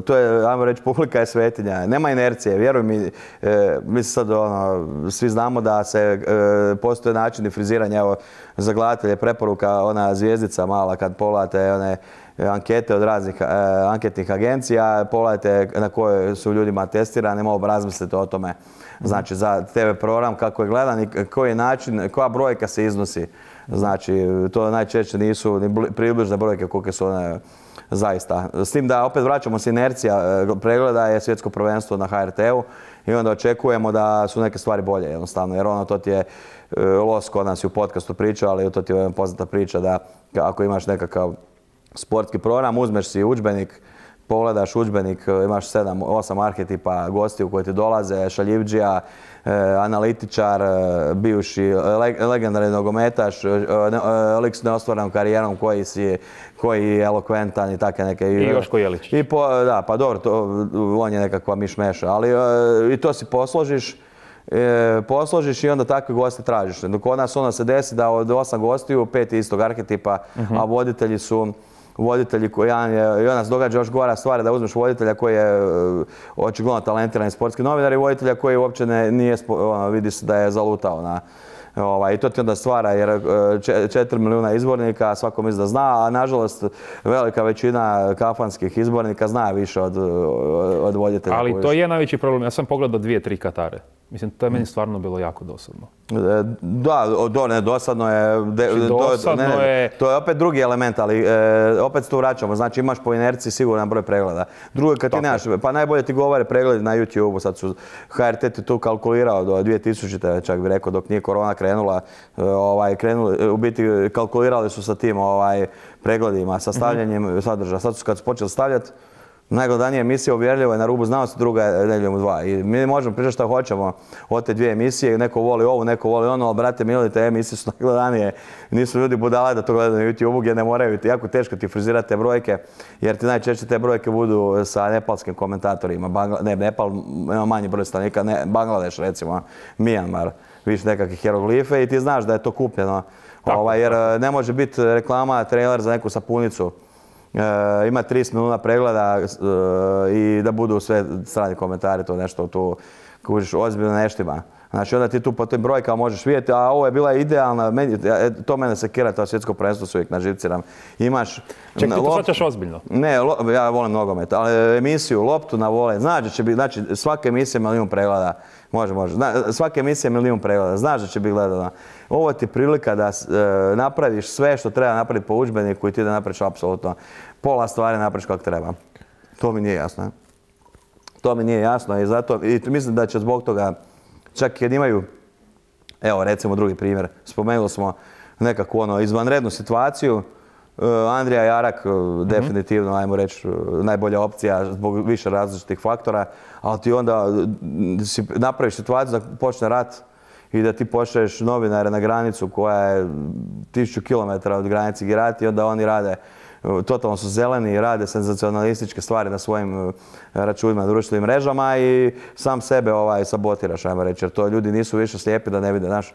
to je, ajmo reći, publika je svetinja, nema inercije, vjeruj mi, e, mi sad ono, svi znamo da se e, postoje načini friziranja, evo, za gledatelje preporuka, ona zvijezdica mala kad pogledate one ankete od raznih eh, anketnih agencija, pogledajte na koje su ljudima testirani, malo razmislite o tome. Znači za te ve program kako je gledan i koji način, koja brojka se iznosi. Znači to najčešće nisu ni približne brojke koliko su one zaista. S tim da opet vraćamo se inercija pregleda je svjetsko prvenstvo na ha er te u i onda očekujemo da su neke stvari bolje jednostavno, jer ono to ti je Los kod nas i u podcastu priča, ali to ti je poznata priča da ako imaš nekakav sportski program, uzmeš si udžbenik, pogledaš udžbenik, imaš sedam, osam arhetipa gostiju koji ti dolaze, šaljivdžija, e, analitičar, e, bivši le, legendarni nogometaš, e, lik s neostvarenom karijerom koji si, koji je elokventan i take neke... I Joško Jeličić. I po, da, pa dobro, to, on je nekakva mišmeša, ali e, i to si posložiš, E, posložiš i onda takve goste tražiš. Dok kod nas onda se desi da od osam gostiju, pet istog arhetipa, uh-huh. a voditelji su voditelji koji je, i onda se događa još gora stvar da uzmeš voditelja koji je očigledno talentirani sportski novinar i voditelja koji uopće ne, nije, ono, vidi se da je zalutao na... Ovaj, I to ti onda stvara jer četiri milijuna izbornika, svako misli da zna, a nažalost velika većina kafanskih izbornika zna više od, od voditelja. Ali to je najveći problem. Ja sam pogledao dvije, tri Katare. Mislim, to je meni stvarno bilo jako dosadno. Da, do, ne, dosadno je... De, dosadno do, ne, je... To je opet drugi element, ali e, opet se tu vraćamo. Znači imaš po inerciji siguran broj pregleda. Drugo, kad ti nemaš, pa najbolje ti govore pregledi na YouTube-u. Sad su ha er te ti tu kalkulirao do dvije tisućite, čak bi rekao, dok nije korona krenula. Ovaj, krenuli, u biti kalkulirali su sa tim ovaj, pregledima, sa stavljanjem mm-hmm. sadržaja. Sad su kad su počeli stavljati, Najgledanija emisija uvjerljivo je Na rubu znanosti, druga je Nedjeljom u dva. I mi možemo pričati što hoćemo od te dvije emisije, neko voli ovu, neko voli ono, ali brate mili, te emisije su najgledanije. Nisu ljudi budale da to gledaju na YouTube-u gdje ne moraju, jako teško ti frizirati te brojke, jer ti najčešće te brojke budu sa nepalskim komentatorima. Bangla, ne, Nepal ima manji broj stanovnika, ne, Bangladeš recimo, Mijanmar, više nekakve hieroglife i ti znaš da je to kupljeno. Ovaj, jer ne može biti reklama, trailer za neku sapunicu. E, ima trideset milijuna pregleda e, i da budu sve strani komentari, to nešto tu kužiš ozbiljno neštima. Znači onda ti tu po tim brojkama možeš vidjeti, a ovo je bila idealna, meni, to mene sekira, to svjetsko prvenstvo se uvijek naživciram. Imaš... Ček, ti to shvaćaš ozbiljno? Ne, lo, ja volim nogomet, ali emisiju, loptu na vole, znači će biti, znači svaka emisija je milijun pregleda. Može, može. Zna, svaka emisija je milijun pregleda, znaš da će biti gledana. Ovo ti je prilika da e, napraviš sve što treba napraviti po udžbeniku i ti da napraviš apsolutno pola stvari napraviš kako treba. To mi nije jasno. Ne? To mi nije jasno i zato i mislim da će zbog toga, čak kad imaju, evo recimo drugi primjer, spomenuli smo nekakvu ono izvanrednu situaciju, Andrija Jarak definitivno, ajmo reći, najbolja opcija zbog više različitih faktora, ali ti onda si napraviš situaciju da počne rat i da ti pošalješ novinare na granicu koja je tisuću kilometara od granice gdje rati i onda oni rade, totalno su zeleni i rade senzacionalističke stvari na svojim računima, društvenim mrežama i sam sebe ovaj, sabotiraš, ajmo reći, jer to ljudi nisu više slijepi da ne vide, znaš,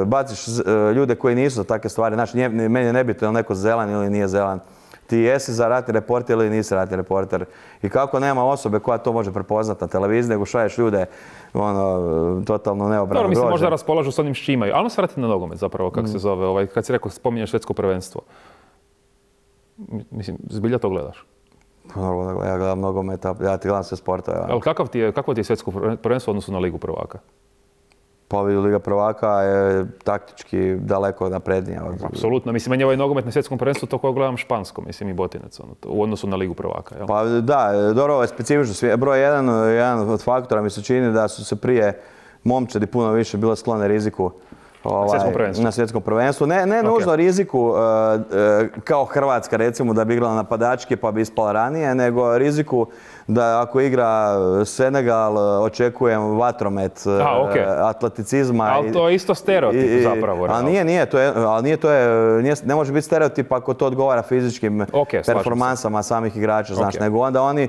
baciš ljude koji nisu za takve stvari, znaš, meni je nebitno je li neko zelan ili nije zelan. Ti jesi za ratni reporter ili nisi ratni reporter. I kako nema osobe koja to može prepoznati na televiziji, nego šalješ ljude ono, totalno neobrano. Dobro, mislim, možda raspolažu s onim što imaju. Ali se vratiti na nogomet zapravo, kako mm. se zove, ovaj, kad si rekao, spominješ svjetsko prvenstvo. Mislim, zbilja to gledaš? Normalno, ja gledam nogometa, ja ti gledam sve sportove. Ali kakav ti je, kakvo ti je svjetsko prvenstvo u odnosu na Ligu prvaka? Pa Liga prvaka je taktički daleko naprednija. Apsolutno. Mislim, meni je ovaj nogomet na svjetskom prvenstvu to koje gledam špansko, mislim i Botinec, ono, u odnosu na Ligu prvaka. Jel? Pa da, dobro, ovo je specifično. Broj jedan, jedan od faktora mi se čini da su se prije momčadi puno više bile sklone riziku. Ovaj, na svjetskom prvenstvu. Na svjetskom prvenstvu. Ne, ne okay. nužno riziku uh, uh, kao Hrvatska recimo da bi igrala napadački pa bi ispala ranije, nego riziku da ako igra Senegal očekujem vatromet, A, okay. atleticizma. Ali to je isto stereotip i, zapravo. Ali nije, nije, to je, ali nije, to je, nije, ne može biti stereotip ako to odgovara fizičkim okay, performansama samih igrača, znaš, okay. nego onda oni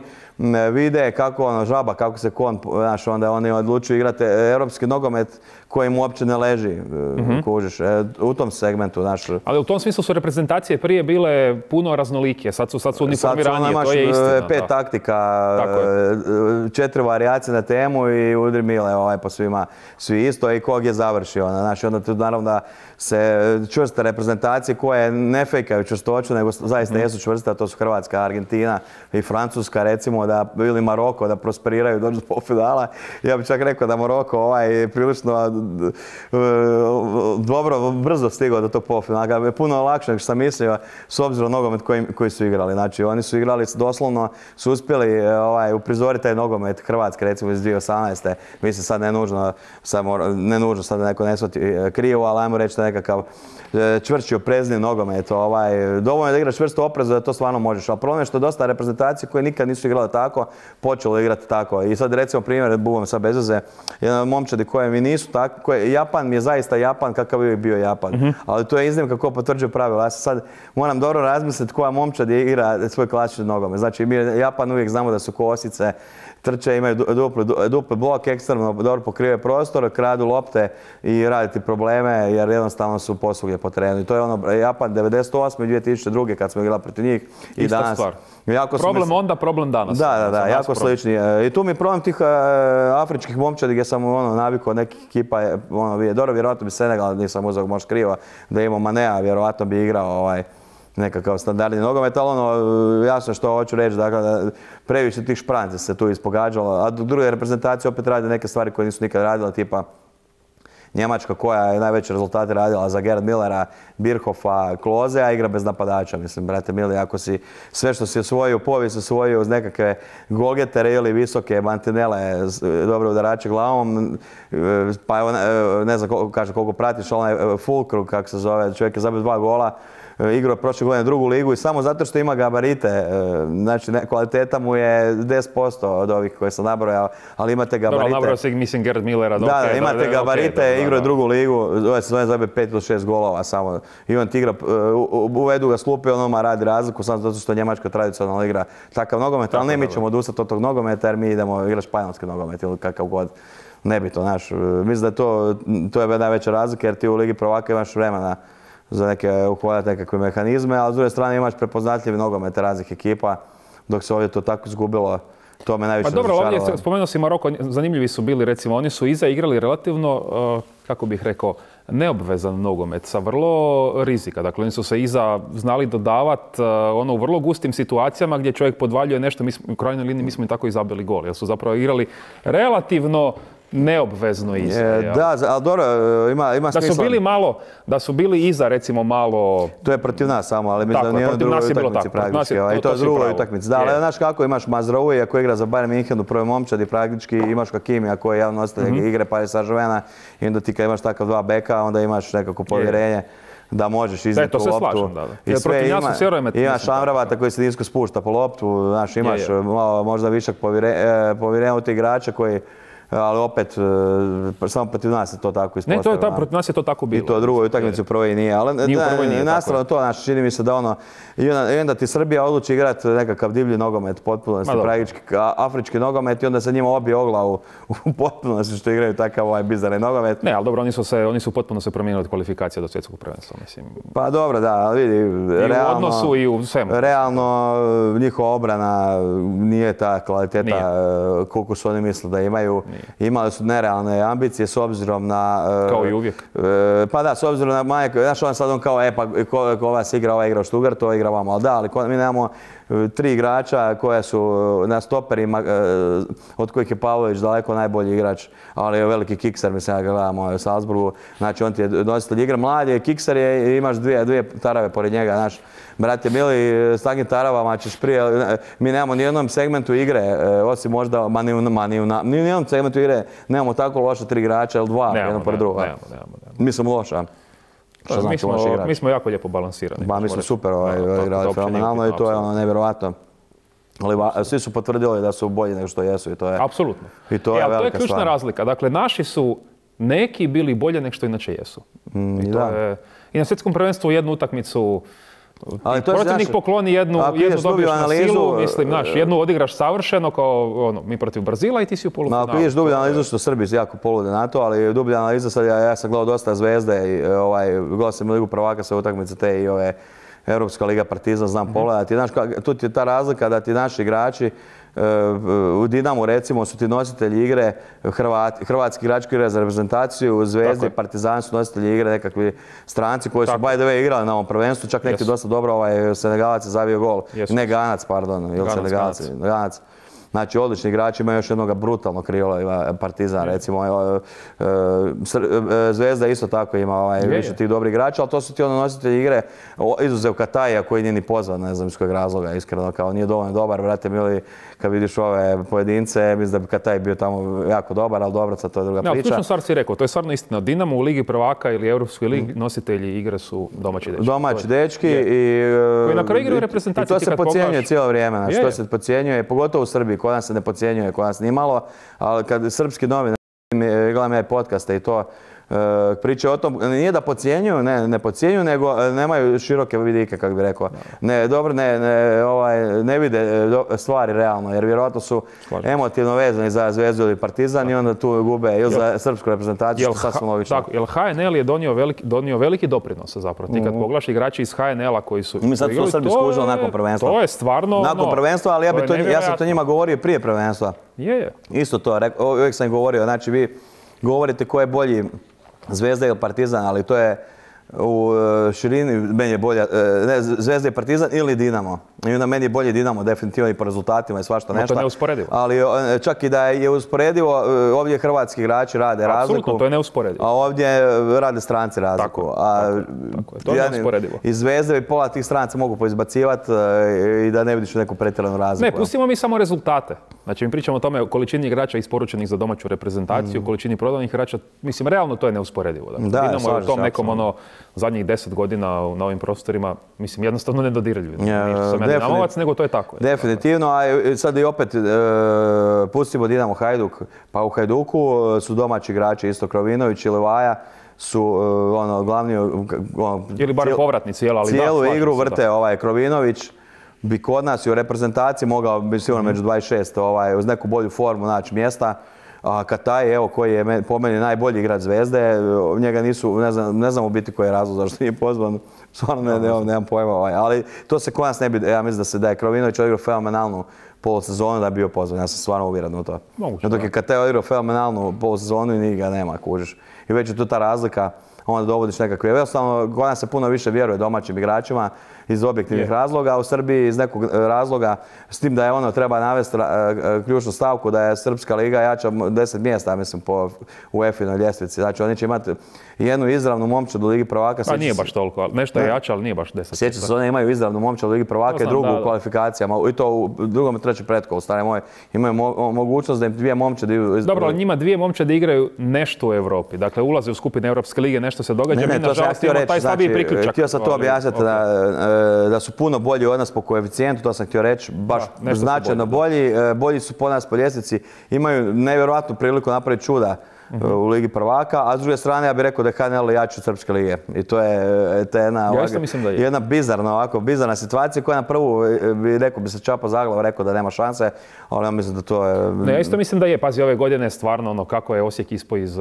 vide kako ono, žaba, kako se kon, znaš, onda oni odlučuju igrati europski nogomet koji mu uopće ne leži, mm-hmm. kužiš, u tom segmentu, znaš. Ali u tom smislu su reprezentacije prije bile puno raznolikije, sad su, sad su uniformiranije, to je istina. Pet da. taktika, četiri varijacije na temu i udri mile ovaj, po svima, svi isto i kog je završio. Znači, onda tu naravno da se čvrste reprezentacije koje ne fejkaju čvrstoću, nego zaista mm. jesu čvrste, a to su Hrvatska, Argentina i Francuska, recimo, da, ili Maroko, da prosperiraju, dođu do polufinala. Ja bih čak rekao da Maroko ovaj, prilično dobro, brzo stigao do tog polufinala. Puno lakše nego što sam mislio, s obzirom na nogomet koji, koji su igrali. Znači, oni su igrali doslovno, su uspjeli ovaj, uprizoriti taj nogomet Hrvatske, recimo iz dvije tisuće osamnaeste. Mislim, sad ne nužno, sad, ne nužno sad da neko ne shvati krivo, ali ajmo reći da nekakav čvršći oprezni nogomet. Ovaj, dovoljno da igraš čvrsto oprezno da to stvarno možeš. Ali problem je što je dosta reprezentacije koje nikad nisu igrale tako, počelo igrati tako. I sad recimo primjer, buvom sad bez veze, jedan od momčadi koje mi nisu tako, koje, Japan mi je zaista Japan kakav je bio Japan. Mm-hmm. Ali to je iznimka ko potvrđuje pravila. Ja sad moram dobro razmisliti koja momčad igra svoj klasični nogomet. Znači mi Japan uvijek znamo da su kosice, trče, imaju dupli, dupli blok, ekstremno dobro pokrivaju prostor, kradu lopte i raditi probleme jer jednostavno su posvuge po terenu. I to je ono Japan devedeset osme i dvije tisuće druge kad smo igrali protiv njih. I Ista danas, stvar. Jako problem onda, problem danas. Da, da, da, jako slični. I tu mi je problem tih uh, afričkih momčadi gdje sam ono, navikao nekih ekipa, ono, dobro, vjerojatno bi Senegal, nisam uzeo možda krivo, da imao Manea, vjerojatno bi igrao ovaj, nekakav standardni nogomet, ali ono, jasno što hoću reći, dakle, da previše tih špranci se tu ispogađalo, a druge reprezentacije opet rade neke stvari koje nisu nikad radile, tipa Njemačka koja je najveće rezultate radila za Gerd Millera, Birhofa, Kloze, a igra bez napadača. Mislim, brate mili, ako si sve što si osvojio u povijesti osvojio uz nekakve golgetere ili visoke mantinele, dobre udarače glavom, pa evo, ne znam koliko, kaže, koliko pratiš, onaj Fulkrug, kako se zove, čovjek je zabio dva gola, igrao prošle godine drugu ligu i samo zato što ima gabarite, znači kvaliteta mu je deset posto od ovih koje sam nabrojao, ali imate gabarite. Dobro, nabrojao si, mislim, Gerd Millera. Da, da, imate gabarite, igrao je drugu ligu, ove sezone zabije pet ili šest golova samo. I on ti igra, uvedu ga slupi, on odmah radi razliku, samo zato što Njemačka tradicionalno igra takav nogomet, ali ne mi ćemo odustati od tog nogometa jer mi idemo igrati španjolski nogomet ili kakav god. Nebitno, znaš. Mislim da je to, to je najveća razlika jer ti u Ligi prvaka imaš vremena za neke uhvaljati nekakve mehanizme, ali s druge strane imaš prepoznatljivi nogomet raznih ekipa, dok se ovdje to tako izgubilo. To me najviše razočaralo. Pa dobro, ovdje spomenuo si Maroko, zanimljivi su bili, recimo, oni su iza igrali relativno, kako bih rekao, neobvezan nogomet sa vrlo rizika. Dakle, oni su se iza znali dodavati ono u vrlo gustim situacijama gdje čovjek podvaljuje nešto, mi smo, u krajnjoj liniji mi smo i tako i zabili gol, jer su zapravo igrali relativno neobvezno iza. Je, da, ali dobro, ima, ima da smisla. Su bili malo, da su bili iza, recimo, malo... To je protiv nas samo, ali mislim da nije na drugoj utakmici praktički. I to je drugoj utakmici. Da, ali znaš kako, imaš Mazraoui koji igra za Bayern München u prvoj momčadi, praktički imaš Hakimija koji je javno nositelj mm-hmm. igre Paris Saint-Germaina i onda ti kad imaš takav dva beka, onda imaš nekako povjerenje da možeš iznijeti loptu. Slažem, da, da. I jer sve ima, imaš Amravata koji se nisko spušta po loptu, znaš, imaš je, je. Malo, možda višak povjerenja u te igrače koji ali opet, samo protiv nas je to tako ispostavljeno. Ne, to je ta, protiv nas je to tako bilo. I to drugoj utakmici u prvoj nije, ali nije u prvoj nije, nastavno to, znači, čini mi se da ono, i onda, i onda ti Srbija odluči igrati nekakav divlji nogomet, potpunosti, praktički afrički nogomet i onda se njima obije o glavu u potpunosti što igraju takav ovaj bizarni nogomet. Ne, ali dobro, oni su, se, oni su potpuno se promijenili od kvalifikacije do svjetskog prvenstva, mislim. Pa dobro, da, ali vidi, I realno, u odnosu i u svemu. Realno, njihova obrana nije ta kvaliteta nije. Koliko su oni misle da imaju. Nije. Imali su nerealne ambicije s obzirom na... Kao i uvijek. Pa da, s obzirom na Majek, znaš on sad on kao, e pa ko, ko vas igra, ovaj igra u Stuttgart, to igra vama, ali da, ali mi nemamo tri igrača koja su na stoperima, od kojih je Pavlović daleko najbolji igrač, ali je veliki kikser, mislim, ja ga gledam u Salzburgu, znači on ti je nositelj igre, mlad je, kikser je i imaš dvije, dvije tarave pored njega, znaš, brate mili, s takvim taravama ćeš prije, mi nemamo ni jednom segmentu igre, osim možda, ma ni u, ma ni u, ni u jednom segmentu igre nemamo tako loša tri igrača, ili dva, jedno pored druga. Nemamo, nemamo, nemamo. Mi smo loša. Što znači mi, smo, mi smo jako lijepo balansirani. Ba, mi smo super ovaj, igrali fenomenalno i to je ono nevjerovatno. Ali svi su potvrdili da su bolji nego što jesu i to je, apsolutno. I to je, e, velika to je ključna stvar. razlika. Dakle, naši su neki bili bolje nego što inače jesu. Mm, I, to da. je, I na svjetskom prvenstvu jednu utakmicu ali to protivnik znaš, pokloni jednu, jednu dobiješ na analizu, silu, mislim, znaš, jednu odigraš savršeno kao ono, mi protiv Brazila i ti si u polufinalu. Ako ideš dublju analizu, što Srbi jako polude na to, ali dublja analiza, sad ja, ja sam gledao dosta Zvezde i ovaj, gledao sam Ligu prvaka sve utakmice te i ove Europska liga Partizan, znam mm-hmm. pogledati. Znaš, tu ti je ta razlika da ti naši igrači u Dinamu recimo su ti nositelji igre, Hrvat, hrvatski igrači koji igraju za reprezentaciju, u Zvezdi i Partizan su nositelji igre, nekakvi stranci koji su by the way igrali na ovom prvenstvu, čak neki yes. dosta dobro, ovaj Senegalac je zavio gol, yes. ne Ganac, pardon, ili Senegalac, Ganac. Ganac. Znači, odlični igrači, ima još jednog brutalnog krila, Partizan recimo. Zvezda isto tako ima ovaj, više tih dobrih igrača, ali to su ti ono nositelji igre, izuzev Kataja koji nije ni pozvan, ne znam iz kojeg razloga, iskreno, kao nije dovoljno dobar, brate mili, kad vidiš ove pojedince, mislim da bi Kataj bio tamo jako dobar, ali dobro, sad to je druga priča. Ja, ključnu stvar si rekao, to je stvarno istina. Dinamo u Ligi prvaka ili Europskoj ligi mm. nositelji igre su domaći dečki. Domaći dečki i... Koji na kraju igraju reprezentaciju. I to se podcjenjuje cijelo vrijeme, znači to se podcjenjuje, pogotovo u Srbiji, kod nas se ne podcjenjuje, kod nas nimalo, ali kad srpski novinar, gledam ja i podcaste i to, priče o tom, nije da podcjenjuju, ne, ne podcjenjuju, nego nemaju široke vidike, kako bi rekao. Ne, dobro, ne, ne, ovaj, ne vide stvari realno, jer vjerojatno su Slažem. emotivno vezani za Zvezdu ili Partizan i onda tu gube ili za srpsku reprezentaciju, što je sasvim logično. Tako, jer H N L je donio veliki, donio veliki doprinos zapravo. Ti kad mm. pogledaš igrači iz H N L-a koji su... Mi sad su Srbi skužili nakon prvenstva. To je stvarno... Nakon no, prvenstva, ali ja, bi to, ja sam to njima govorio prije prvenstva. Je, je. Isto to, uvijek sam im govorio, znači vi govorite ko je bolji Zvezda ili Partizan, ali to je u širini meni je bolja, ne, Zvezda i Partizan ili Dinamo. I onda meni je bolje Dinamo, definitivno i po rezultatima i svašta nešto. To je neusporedivo. Ali čak i da je usporedivo, ovdje hrvatski igrači rade razliku. Apsolutno, to je neusporedivo. A ovdje rade stranci razliku. Tako, a, tako, tako je. To je neusporedivo. I Zvezde i pola tih stranaca mogu poizbacivati i da ne vidiš neku pretjeranu razliku. Ne, pustimo mi samo rezultate. Znači, mi pričamo o tome o količini igrača isporučenih za domaću reprezentaciju, mm. količini prodanih igrača. Mislim, realno to je neusporedivo. Dakle, da, Dinamo je u tom se, nekom ono, zadnjih deset godina na ovim prostorima, mislim, jednostavno nedodirljivo. Nije što sam ja Dinamovac, nego to je tako. Definitivno, a sad i opet e, pustimo Dinamo Hajduk, pa u Hajduku su domaći igrači isto Krovinović i Levaja su uh, ono, glavni... Ono, ili bar povratnici, jel, ali cijelu da, igru vrte da. ovaj Krovinović, bi kod nas i u reprezentaciji mogao biti sigurno mm. među dvadeset šest ovaj, uz neku bolju formu naći mjesta. A Kataj, evo, koji je po meni najbolji igrač Zvezde, njega nisu, ne znam, ne znam u biti koji je razlog zašto nije pozvan, stvarno ne, ne, nemam pojma, ovaj. Ali to se kod nas ne bi, ja mislim da se da je Krovinović odigrao fenomenalnu polusezonu da je bio pozvan, ja sam stvarno uvjeren u to. Moguće, dok je Kataj odigrao fenomenalnu polusezonu i njega nema, kužiš. I već je tu ta razlika, onda dovodiš nekakve, jednostavno kod nas se puno više vjeruje domaćim igračima iz objektivnih razloga, a u Srbiji iz nekog razloga, s tim da je ono treba navesti ključnu stavku da je Srpska liga jača deset mjesta, mislim, po UEFA-inoj ljestvici. Znači oni će imati jednu izravnu momčad u Ligi prvaka. Pa nije baš toliko, nešto je jače, ali nije baš deset. Sjeća se, one imaju izravnu momčad u Ligi prvaka i drugu u kvalifikacijama, i to u drugom i trećem pretkolu, stare moje. Imaju mogućnost da im dvije momčadi... Dobro, ali njima dvije momčadi igraju nešto u Evropi. Dakle, ulaze u skupine Europske lige, nešto se događa, mi nažalost imamo taj slabiji priključak. Htio sam to objasniti da su puno bolji od nas po koeficijentu, to sam htio reći, baš da, značajno bolji. Bolji su po nas po ljestvici, imaju nevjerojatnu priliku napraviti čuda uh-huh. u Ligi prvaka, a s druge strane ja bih rekao da je H N L jači od Srpske lige. I to je, to je jedna, ja ovako, je. jedna bizarna, ovako, bizarna situacija koja na prvu bi rekao, bi se čapa za glavu, rekao da nema šanse, ali ja mislim da to je... Ne, ja isto mislim da je, pazi, ove godine stvarno ono kako je Osijek ispao iz,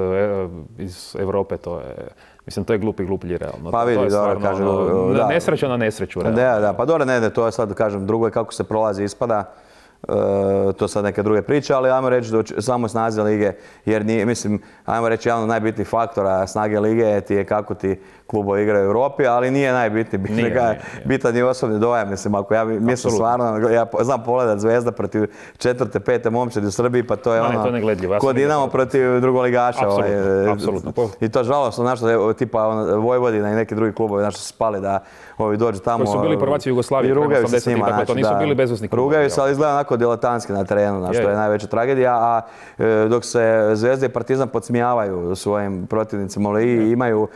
iz Europe, to je... Mislim, to je glupi gluplji, realno. Pa vidi, dobro, kažem... Da. Nesreća na nesreću, realno. Da, da, pa dobro, ne, ne, to je sad, kažem, drugo je kako se prolazi ispada. E, to sad neke druge priče, ali ajmo reći da samo snazi lige, jer nije, mislim, ajmo reći jedan od najbitnijih faktora snage lige ti je kako ti klubovi igraju u Europi, ali nije najbitniji, nije, nije, nije. bitan je osobni dojam, mislim, ako ja mislim stvarno, ja znam pogledat Zvezda protiv četvrte, pete momčadi u Srbiji, pa to je Ma, ono, ja ko Dinamo protiv drugoligaša. Apsolutno, ovaj, apsolutno. I to žalostno, znaš, tipa on, Vojvodina i neki drugi klubovi, znaš, su spali da ovi dođu tamo. Koji su bili prvaci Jugoslavije, rugaju se s njima, dakle, to nisu da, bili bezusni klubovi. Rugaju se, ali izgleda onako diletantski na terenu, znaš, to je najveća tragedija, a e, dok se Zvezda i Partizan podsmijavaju svojim protivnicima u ligi, imaju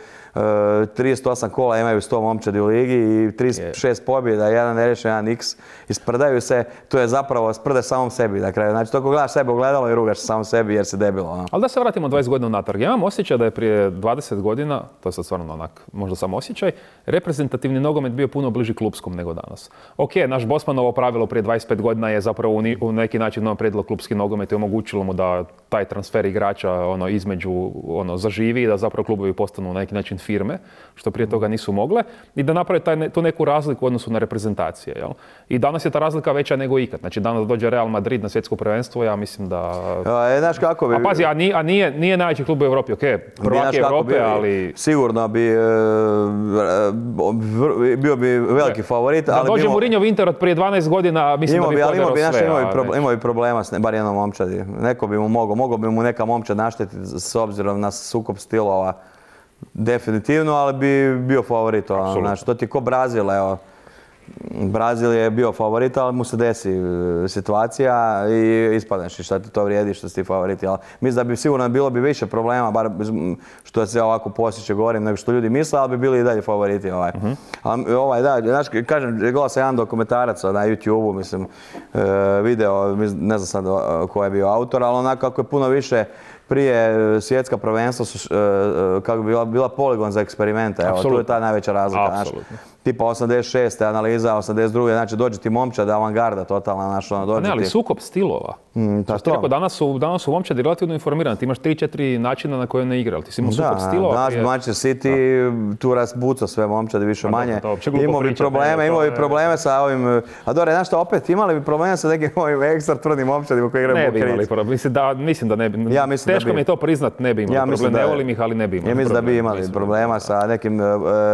trideset osam kola, imaju sto momčadi u ligi i trideset šest pobjeda, jedan nerešen, jedan X. Isprdaju se, to je zapravo sprde samom sebi na kraju. Znači, toko gledaš sebe ogledalo i rugaš samom sebi jer si debilo. No. Ali da se vratimo dvadeset godina unatrag. Ja imam osjećaj da je prije dvadeset godina, to je sad stvarno onak, možda sam osjećaj, reprezentativni nogomet bio puno bliži klupskom nego danas. Ok, naš Bosmanovo pravilo prije dvadeset pet godina je zapravo u neki način napredilo klupski nogomet i omogućilo mu da taj transfer igrača ono, između ono, zaživi i da zapravo klubovi postanu na neki način firme, što prije toga nisu mogle, i da naprave taj, tu neku razliku u odnosu na reprezentacije. Jel? I danas je ta razlika veća nego ikad. Znači danas dođe Real Madrid na svjetsko prvenstvo, ja mislim da... A, znaš kako bi... A pazi, a nije, a nije, nije najveći klub u Europi, ok, prvak je Europe, ali... Sigurno bi, e, bio bi veliki favorit, da ali... Da dođe bimo... Mourinho Inter od prije dvanaest godina, mislim da bi poderao sve. Imao bi, ali... imao bi problema s ne, bar jednom momčadi. Neko bi mu mogao, mogao bi mu neka momčad naštetiti s obzirom na sukob stilova. Definitivno, ali bi bio favorit. Znači, to ti ko Brazil, evo. Brazil je bio favorit, ali mu se desi situacija i ispadneš i šta ti to vrijedi što si ti favoriti. Ali mislim da bi sigurno bilo bi više problema, bar što se ovako posjeće govorim, nego što ljudi misle, ali bi bili i dalje favoriti. Ovaj. Uh-huh. Ali, ovaj, da, znaš, kažem, gledao sam jedan dokumentarac na YouTube-u, mislim, video, ne znam sad ko je bio autor, ali onako kako je puno više prije svjetska prvenstva su, kako bi bila, bila poligon za eksperimente. Evo, tu je ta najveća razlika. Apsolutno. Tipa osamdeset šeste analiza, osamdeset druge znači dođe ti momčad, avangarda totalna, znaš, ono, dođe ti... Ne, ali sukob stilova. Mm, ta to. Rekao, danas su, danas su momčadi relativno informirani, ti imaš tri četiri načina na koje ne igra, ali ti si imao sukob stilova. Da, danas Manchester City da. Tu razbuca sve momčadi više a manje. Imao bi probleme, imao bi probleme sa ovim... A dobro, znaš šta, opet imali bi probleme sa nekim ovim ekstra tvrdim momčadima koji igraju ne bi imali problem, mislim da, mislim da ne bi. Ja mislim teško da bi. Mi je to priznat, ne bi imali ja problem, ne volim ih, ali ne bi imali. Ja mislim da bi imali problema sa nekim,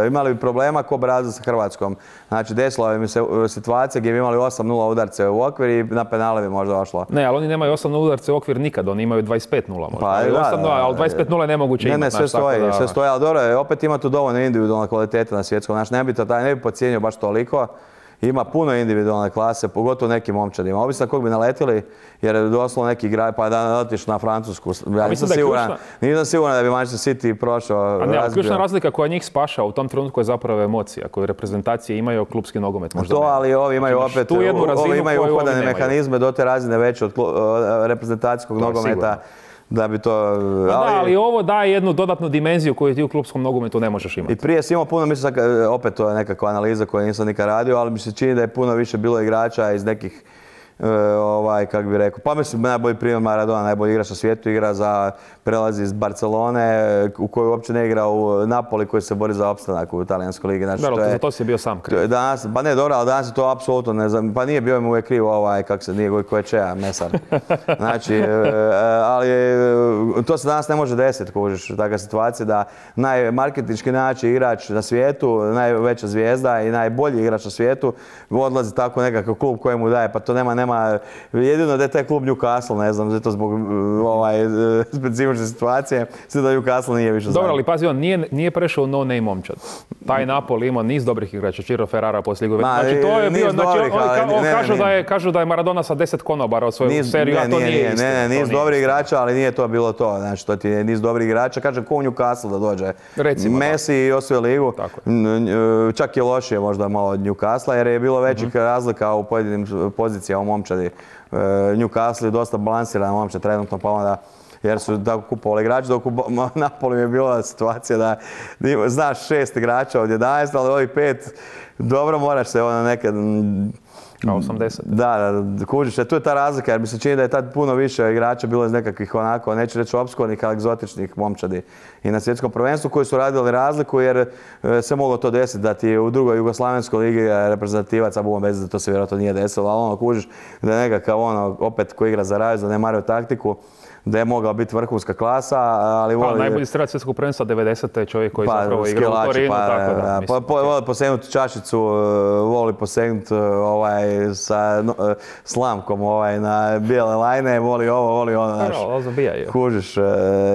imali bi problema ko Brazil sa Hrvatskom. Znači, desila bi mi se situacija gdje bi imali osam nula udarce u okvir i na penale bi možda ošlo. Ne, ali oni nemaju osam nula udarce u okvir nikad, oni imaju dvadeset pet nula možda. Pa, ali, da, osam nula, ali dvadeset pet nula je nemoguće ne, imati. Ne, sve stoji, da, sve stoji, ali dobro, opet ima tu dovoljno individualne kvalitete na svjetskom. Znači, ne bi to taj, ne bi podcijenio baš toliko. Ima puno individualne klase, pogotovo nekim momčadima. Ovisno kog bi naletili, jer je doslovno neki igrač, pa da naletiš na Francusku. Ja nisam siguran, nisam siguran da bi Manchester City prošao, a ne, razbio. Ključna razlika koja njih spaša u tom trenutku je zapravo emocija, koju reprezentacije imaju klupski nogomet. Možda to, ne. ali ovi imaju opet, ovi imaju uhodane mehanizme do te razine veće od reprezentacijskog nogometa. Sigurno. Da bi to... Ali... Da, ali ovo daje jednu dodatnu dimenziju koju ti u klupskom nogometu ne možeš imati. I prije si imao puno, mislim, opet to je nekakva analiza koju nisam nikad radio, ali mi se čini da je puno više bilo igrača iz nekih, e, ovaj, kak bi rekao, pa mislim, najbolji primjer Maradona, najbolji igrač na svijetu, igra za prelazi iz Barcelone, u kojoj uopće ne igra u Napoli, koji se bori za opstanak u Talijanskoj ligi. Znači, dobro, to, je, za to si bio sam kriv. Danas, pa ne, dobro, ali danas je to apsolutno ne znam, pa nije bio im uvijek kriv ovaj, kak se nije, ko je Čeja, Mesar. Znači, ali to se danas ne može desiti, kužiš, takva situacija da najmarketinški najjači igrač na svijetu, najveća zvijezda i najbolji igrač na svijetu odlazi tako nekakav klub koji mu daje, pa to nema, nema, jedino da je taj klub Newcastle, ne znam, zato zbog ovaj, specifične situacije, sve da Newcastle nije više dobro, ali pazi, on nije, nije prešao no name momčad. Taj Napoli imao niz dobrih igrača, Ciro Ferrara poslije Juve. Znači, to je bio, znači, dobrih, on, on, on ne, kažu, ne, da je, kažu da je Maradona sa deset konobara od svoju niz, seriju, ne, a to nije, nije istina. Ne, ne, niz dobrih igrača, ali nije to bilo to. Znači, to ti je niz dobrih igrača. Kažem, ko u Newcastle da dođe. Recimo, Messi i osvoje ligu. Čak je lošije možda malo od Newcastle, jer je bilo većih mm-hmm. razlika u pojedinim pozicijama u momčadi. Newcastle je dosta balansiran momčad trenutno, pa onda jer su tako kupovali igrače, dok u Napoli je bila situacija da znaš šest igrača od jedanaest, ali ovih pet, dobro moraš se ono nekad... A osamdeset. Da, da, kužiš, tu je ta razlika, jer mi se čini da je tad puno više igrača bilo iz nekakvih onako, neću reći opskurnih, ali egzotičnih momčadi i na svjetskom prvenstvu koji su radili razliku, jer se moglo to desiti da ti u drugoj Jugoslavenskoj ligi reprezentativac, a buma bez da to se vjerojatno nije desilo, ali ono kužiš da je nekakav ono, opet koji igra za Raju, zanemario taktiku, da je mogla biti vrhunska klasa, ali voli... Pa, najbolji strelac svjetskog prvenstva devedesete je čovjek koji pa, zapravo igra u Torinu, pa, tako da. da mislim, po, po, voli posegnuti čašicu, voli posegnuti ovaj, sa no, slamkom ovaj, na bijele lajne, voli ovo, voli ono, znaš. Pa, no, zabijaju. Kužiš.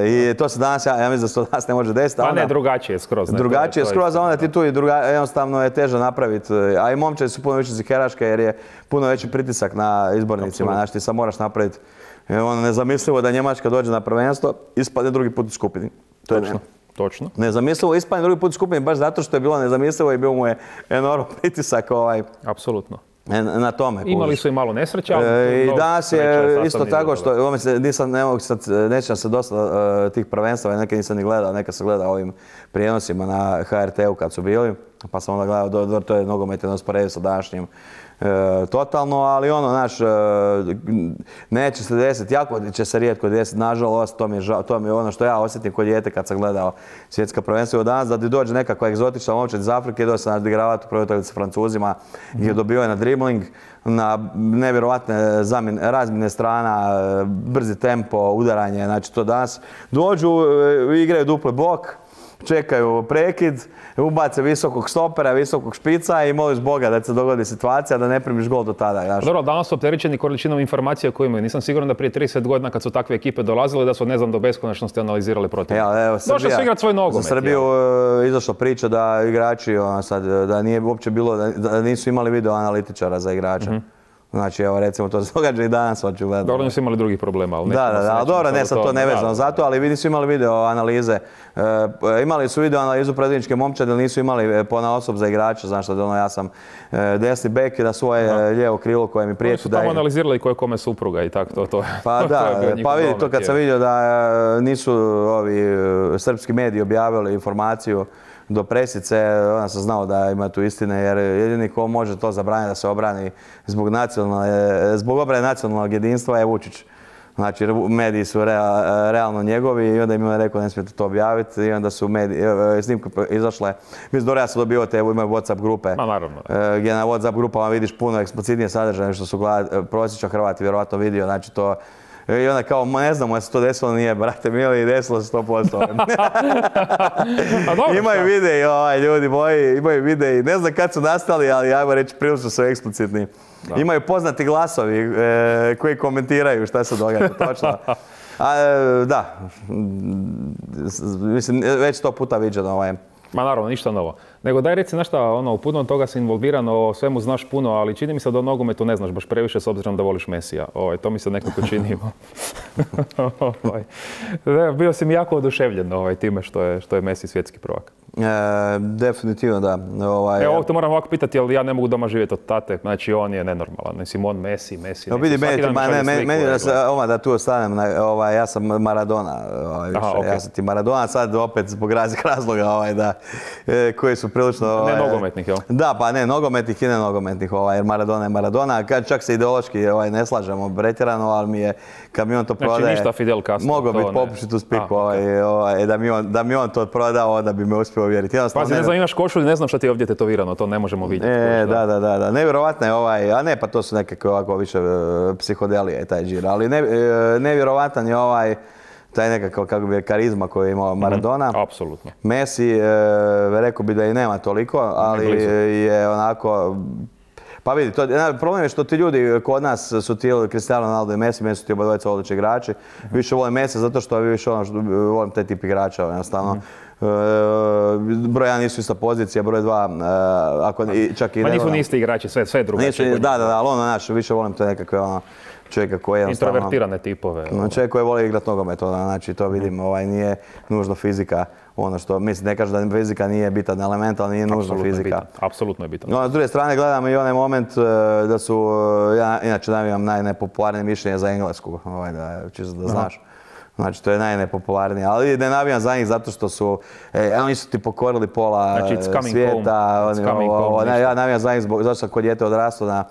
I to se danas, ja, ja mislim da se to danas ne može desiti. Pa onda, ne, drugačije je skroz. Ne, drugačije je skroz, a onda ti da. tu i druga, jednostavno je teže napraviti. A i momčadi su puno više ziheraške jer je puno veći pritisak na izbornicima. Znači ti sad moraš napraviti. Ono nezamislivo da Njemačka dođe na prvenstvo, ispadne drugi put u skupini. To je točno, točno. Nezamislivo ispadne drugi put u skupini, baš zato što je bilo nezamislivo i bio mu je enorm pritisak ovaj. Apsolutno. Na tome. Imali su i malo nesreća, ali... E, I danas je isto tako što, ovo se, nisam, ne mogu sad, nećem se dosta uh, tih prvenstava, neke nisam ni gledao, neka sam gledao ovim prijenosima na H R T-u kad su bili, pa sam onda gledao, do, do, to je nogomet jedno sporedio sa današnjim. E, totalno, ali ono, znaš, e, neće se desiti, jako će se rijetko desiti, nažalost, to mi je, žal, to mi je ono što ja osjetim kod dijete kad sam gledao svjetska prvenstva od danas, da ti dođe nekakva egzotična momčad iz Afrike, dođe se nadigravati u prvoj utakmici sa Francuzima, gdje je dobio na dribling, na nevjerovatne zamjene, razmjene strana, brzi tempo, udaranje, znači to danas dođu, igraju dupli blok, čekaju prekid, ubace visokog stopera, visokog špica i moliš Boga da se dogodi situacija da ne primiš gol do tada. Znaš. Dobro, danas su opterećeni količinom informacija koje imaju. Nisam siguran da prije trideset godina kad su takve ekipe dolazile da su ne znam do beskonačnosti analizirali protiv. Ja, došli su igrati svoj nogomet. Za Srbiju je izašla priča da igrači, ono, sad, da nije uopće bilo, da, da nisu imali video analitičara za igrača. Mm-hmm. Znači, evo, recimo, to se događa i danas, očigledno. Dobro, nisu imali drugih problema, ali da, da, da, ali dobro, ne, sad to ne vezano za to, ali vi nisu imali video analize. E, imali su video analizu predvodničke momčade, ali nisu imali ponaosob za igrača, znaš da ono, ja sam e, desni bek i da svoje da. lijevo krilo koje mi priječi. Oni su tamo analizirali koje kome supruga i tako to. to. Pa da, pa vidi to kad sam vidio da nisu ovi srpski mediji objavili informaciju do presice, onda sam znao da ima tu istine, jer jedini ko može to zabraniti da se obrani zbog, zbog obrane nacionalnog jedinstva je Vučić. Znači, mediji su real, realno njegovi i onda im je rekao ne smijete to objaviti i onda su mediji, snimke izašle. Mislim, dobro, ja sam dobio te, imaju WhatsApp grupe. Ma, naravno. Gdje na WhatsApp grupama vidiš puno eksplicitnije sadržaje što su prosječan Hrvati vjerovatno vidio, znači to I onda kao, ne znamo, se to desilo, nije, brate mili, desilo se sto posto. Imaju videi, ovaj, ljudi moji, imaju videi, ne znam kad su nastali, ali ajmo reći, prilično su eksplicitni. Da. Imaju poznati glasovi e, koji komentiraju šta se događa, točno. A, e, da, mislim, već sto puta viđeno ovaj. Ma naravno, ništa novo. Nego daj reci nešto, ono, puno toga si involviran, o svemu znaš puno, ali čini mi se da o nogometu ne znaš baš previše s obzirom da voliš Mesija. Ovaj, to mi se nekako čini. ovaj. Bio si mi jako oduševljen ovaj, time što je, što je Messi svjetski prvak. E, definitivno da. Ovaj, Evo, ovdje te moram ovako pitati, jer ja ne mogu doma živjeti od tate. Znači, on je nenormalan. Mislim, on Messi, Messi. No, vidi, meni, ma, ne, meni, meni da, se, oma, da tu ostanem, ovaj, ja sam Maradona. Ovaj, više. Aha, okay. Ja sam ti Maradona, sad opet zbog raznih razloga ovaj, da, e, koji su prilično... Ovaj, ne nogometnih, jel? Da, pa ne nogometnih i ne nogometnih, ovaj, jer Maradona je Maradona. Kad čak se ideološki ovaj, ne slažemo pretjerano, ali mi je, kad mi on to prodaje... Znači, ništa Fidel Castro. Mogao biti popušit u spiku, ovaj, okay. ovaj, da, mi on, da mi on to prodao, da bi me uspio uvjeriti. Pazi, ne, ne znam, imaš košulj, ne znam šta ti je ovdje tetovirano, to ne možemo vidjeti. E, da, da, da, da. Nevjerovatno je ovaj, a ne, pa to su nekakve ovako više uh, psihodelije i taj džir, ali ne, uh, nevjerovatan je ovaj, taj nekakav, kako bi je, karizma koju je imao Maradona. Mm-hmm, apsolutno. Messi, uh, rekao bi da i nema toliko, ali je onako... Pa vidi, to, problem je što ti ljudi kod nas su ti Cristiano Ronaldo i Messi, meni su ti obadvojica odlični igrači. Mm-hmm. Više volim Messi zato što više ono što volim taj tip igrača, jednostavno. Mm-hmm. Uh, broj jedan nisu ista pozicija, broj dva, uh, ako čak i... Ma nisu ni isti igrači, sve, sve drugačije. Da, da, da, ali ono, znaš, više volim to nekakve ono, čovjeka koji je jednostavno... Introvertirane tipove. No, čovjek koji voli igrati nogomet, znači to vidim, ovaj, nije nužno fizika. Ono što, mislim, ne kažem da fizika nije bitan element, ali nije nužno fizika. Apsolutno je bitan. No, s druge strane gledam i onaj moment uh, da su, uh, ja inače navijam najnepopularnije mišljenje za Englesku, ovaj, da, čisto da znaš. Aha. Znači, to je najnepopularnije, ali ne navijam za njih zato što su, e, oni su ti pokorili pola znači, svijeta. Oni, o, o, ne, ja navijam za njih zbog, zato što kod dijete odrastao na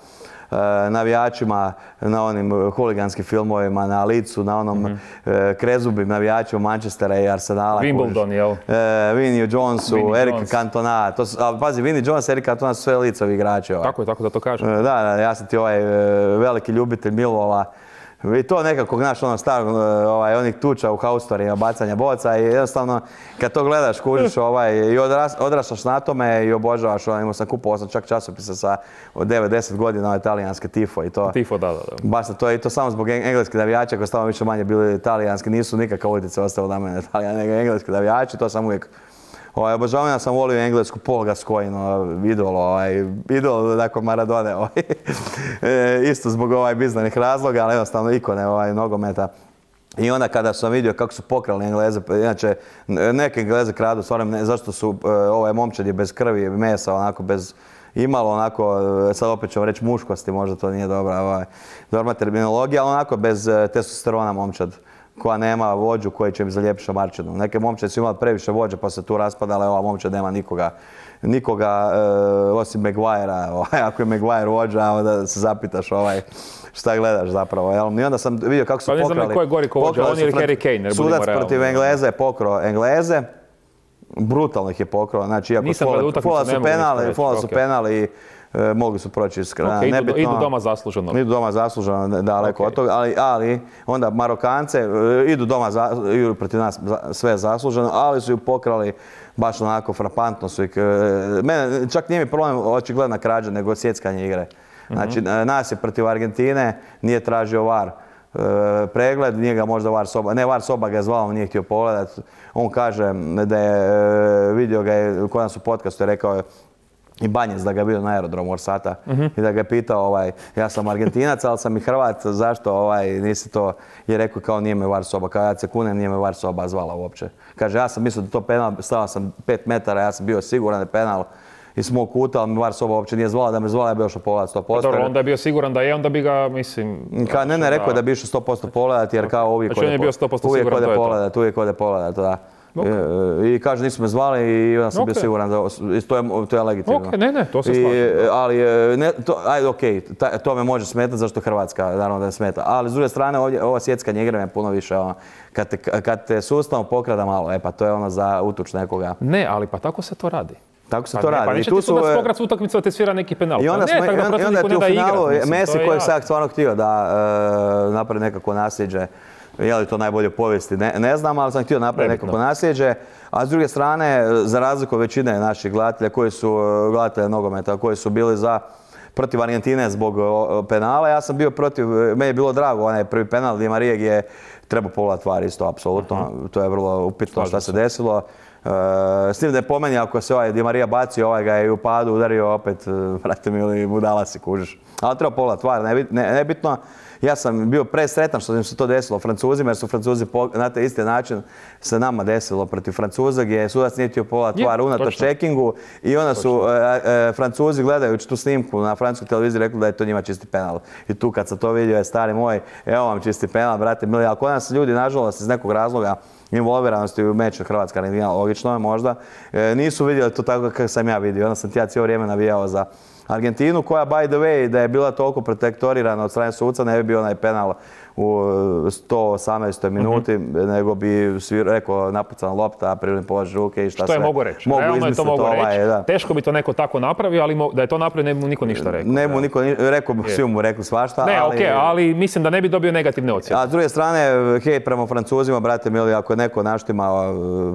uh, navijačima, na onim huliganskim filmovima, na licu, na onom mm-hmm. uh, krezubim navijačima Manchestera i Arsenala. Wimbledon, jel? Uh, Vinnie Jonesu, Vinnie Erika Jones. Cantona. To su, ali pazi, Vinnie Jones, Erika Cantona su sve licovi igrači. Ovaj. Tako je, tako da to kažem. Uh, da, da, ja sam ti ovaj uh, veliki ljubitelj Millwalla. I to nekako, znaš, ono starog, ovaj, onih tuča u haustorima, bacanja boca i jednostavno kad to gledaš, kužiš ovaj, i odras, odraštaš na tome i obožavaš, ono, imao sam kupovao sam čak časopisa sa devet deset godina, ovaj, talijanske Tifo i to. Tifo, da, da, da. Baš to je i to samo zbog engleskih navijača koji stavno više manje bili talijanski, nisu nikakav utjecaj ostao na mene Talijan, nego engleski navijači, to sam uvijek Ovaj, obožavam, ja sam volio englesku Paul Gascoigne, idol, ovaj, idol nakon Maradone, ovaj. e, isto zbog ovaj bizarnih razloga, ali jednostavno ikone ovaj, nogometa. I onda kada sam vidio kako su pokrali Engleze, inače neke Engleze kradu, stvarno ne, zašto su ovaj momčad je bez krvi, mesa, onako bez imalo onako, sad opet ću vam reći muškosti, možda to nije dobra, ovaj, dobra terminologija, ali onako bez testosterona momčad. Koja nema vođu koji će im zalijepiti šamarčinu. Neke momče su imali previše vođe pa se tu raspadale, ova momča nema nikoga, nikoga e, osim Maguirea. Ovaj, ako je Maguire vođa, onda se zapitaš ovaj, šta gledaš zapravo. Jel? I onda sam vidio kako su pa, pokrali. Pa ne znam ko je gori ko vođa, on ili Harry Kane, jer budimo realni. Sudac protiv Engleze je pokrao Engleze. Brutalno ih je pokrao. Znači, iako fola su penali, fola su penali, E, mogli su proći iz kraja. Okay, idu, idu doma zasluženo. Idu doma zasluženo, daleko okay. od toga, ali, ali onda Marokance e, idu doma, za, idu protiv nas za, sve zasluženo, ali su ju pokrali baš onako frapantno su ih. E, mene, čak nije mi problem očigledna krađa, nego sjeckanje igre. Znači, mm-hmm. nas je protiv Argentine, nije tražio var. E, pregled, nije ga možda var soba, ne var soba ga je zvao, nije htio pogledat. On kaže da je e, vidio ga je, kod nas u podcastu je rekao je, i Banjec da ga je bio na aerodromu Orsata uh-huh. i da ga je pitao, ovaj, ja sam Argentinac, ali sam i Hrvat, zašto ovaj, nisi to, je rekao kao nije me var soba, kao ja se kunem, nije me var soba zvala uopće. Kaže, ja sam mislio da to penal, stao sam pet metara, ja sam bio siguran da je penal iz mog kuta, ali mi var soba uopće nije zvala, da me zvala, ja bi išao pogledat sto posto. Dobro, onda je bio siguran da je, onda bi ga, mislim... Ka, ne, ne, rekao je da bi išao sto posto pogledat, jer kao uvijek ode pogledat, uvijek ode pogledat, da. Okay. I kaže, nisu me zvali i onda sam okay. bio siguran da to je, to je legitimno. Ok, ne, ne, to se slažem. Ali, ne, to, ajde, okej, okay, to me može smetati zašto Hrvatska, naravno da ne smeta. Ali s druge strane, ovdje, ova sjeckanje igre je puno više, ono, kad te, kad te sustavno pokrada malo, e pa to je ono za utuč nekoga. Ne, ali pa tako se to radi. Tako se Pa to ne, radi. Pa neće ti sudac pograt s utakmicu da te svira neki penal. I onda, pa ne, smo, tako da i onda ti u finalu igrat, Messi koji je jasno. sad stvarno htio da e, napravi nekako nasljeđe. Je li to najbolje u povijesti? Ne, ne znam, ali sam htio napraviti nekako nasljeđe. A s druge strane, za razliku od većine naših gledatelja koji su gledatelja nogometa, koji su bili za protiv Argentine zbog penala, ja sam bio protiv, meni je bilo drago onaj prvi penal Di Marije gdje je trebao pogledati V A R isto, apsolutno. Uh-huh. To je vrlo upitno šta se desilo. Uh, s tim da je po meni, ako se ovaj Di Marija bacio, ovaj ga je u padu udario opet, vrate mi ili budala si kužiš. Ali treba pogledati V A R, nebitno. Ja sam bio presretan što im se to desilo Francuzima, jer su Francuzi na taj isti način se nama desilo protiv Francuza, gdje sudac nije htio pogledati V A R unatoč checkingu i onda su e, e, Francuzi gledajući tu snimku na francuskoj televiziji rekli da je to njima čisti penal. I tu kad sam to vidio je stari moj, evo vam čisti penal, brate mili, ali kod nas ljudi nažalost iz nekog razloga involviranosti u meču Hrvatska Argentina, logično je možda, e, nisu vidjeli to tako kako sam ja vidio. Onda sam ti ja cijelo vrijeme navijao za Argentinu, koja by the way da je bila toliko protektorirana od strane suca, ne bi bio onaj penal u sto osamnaestoj minuti, mm-hmm. nego bi svi rekao napucana lopta, prirodni položaj ruke i šta sve. Što je mogu reći. Mogu Realno je to mogu ovaj, reći. Da. Teško bi to neko tako napravio, ali da je to napravio ne bi mu niko ništa rekao. Ne bi mu niko rekao, svi mu rekli svašta. Ne, ali, ok, ali mislim da ne bi dobio negativne ocjene. A s druge strane, hej, prema Francuzima, brate mili, ako je neko naštimao